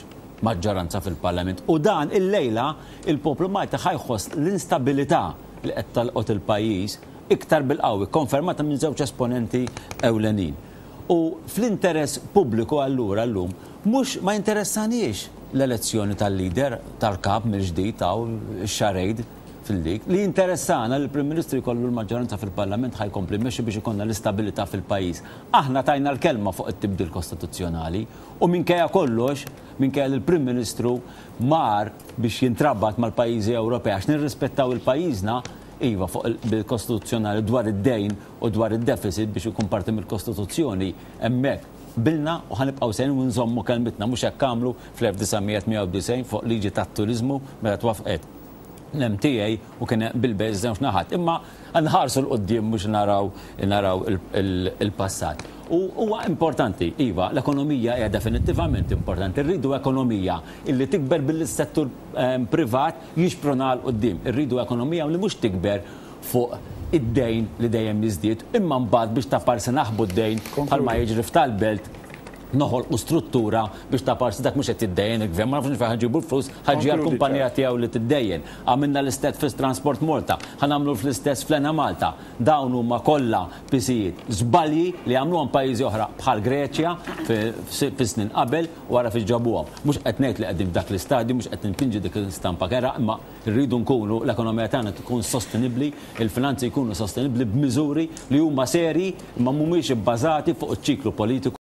maġġoranza fil-Parlament u dan il-lejla il-poplu Malti ħa jħoss l-instabilità li qed tolqot il-pajjiż iktar bil-qawwi, konfermata minn żewġ esponenti ewlenin. U fl-interess pubbliku allura llum mhux ma jinteressanix l-elezzjoni tal-leader tal-kap mill-ġdid taw charade fil-dik. Li interessana li l-Prim Ministru jkollu l-maġġoranza fil-Parlament ħa jkompli jmexxi biex ikollna l-istabilità fil-pajjiż. Aħna tajna l-kelma fuq it-tibdil kostituzzjonali u minkejja kollox, minkejja li l-Prim Ministru mar biex jintrabat mal-pajjiżi Ewropej għax nirrispettaw il-pajjiżna, iva, fuq il-kostituzzjonali dwar id-dejn u dwar id-deficit biex ikun parti mill-Kostituzzjoni, hemmhekk qbilna u ħa nibqgħu sejrin u nżommu kelmitna. Mhux hekk għamlu fl-elf disa' mija u tmienja u disgħin fuq liġi tat-turiżmu meta twafqet l-M T A u kien bil-bejn żewġ naħat. Imma nħarsu 'l quddiem, mhux naraw naraw il-passat. U huwa importanti, iva, l-ekonomija hija definittivament importanti. Irridu ekonomija illi tikber bil-settur ehm, privat jixpruna 'l quddiem. Irridu ekonomija li mhux tikber fuq id-dejn li dejjem jiżdied, imma mbagħad biex ta' parsi naħbu d-dejn bħalma jiġri f'tal-Belt, noħolqu struttura biex ta' parsi dak mhux qed tiddejjen il-gvern, ma nafux fejn ħa nġibu l-flus, ħa ġġi l-kumpanija tiegħu li tiddejjen. Għamilna l-istess fi Transport Malta, ħa nagħmlu fl-istess fl-Enemalta. Dawn huma kollha pisijiet, żbalji li għamluhom pajjiżi oħra bħal Greċja fi snin qabel wara fi ġabuhom. Mhux qed ngħid li qegħdin f'dak l-istadju, mhux qed npinġi dik l-istampa kerha, imma rridu nkunu l-ekonomija tagħna tkun sostenibbli, il-finanzi jkunu sostenibbli b'miżuri li huma seri imma mhumiex ibbażati fuq iċ-ċiklu politiku.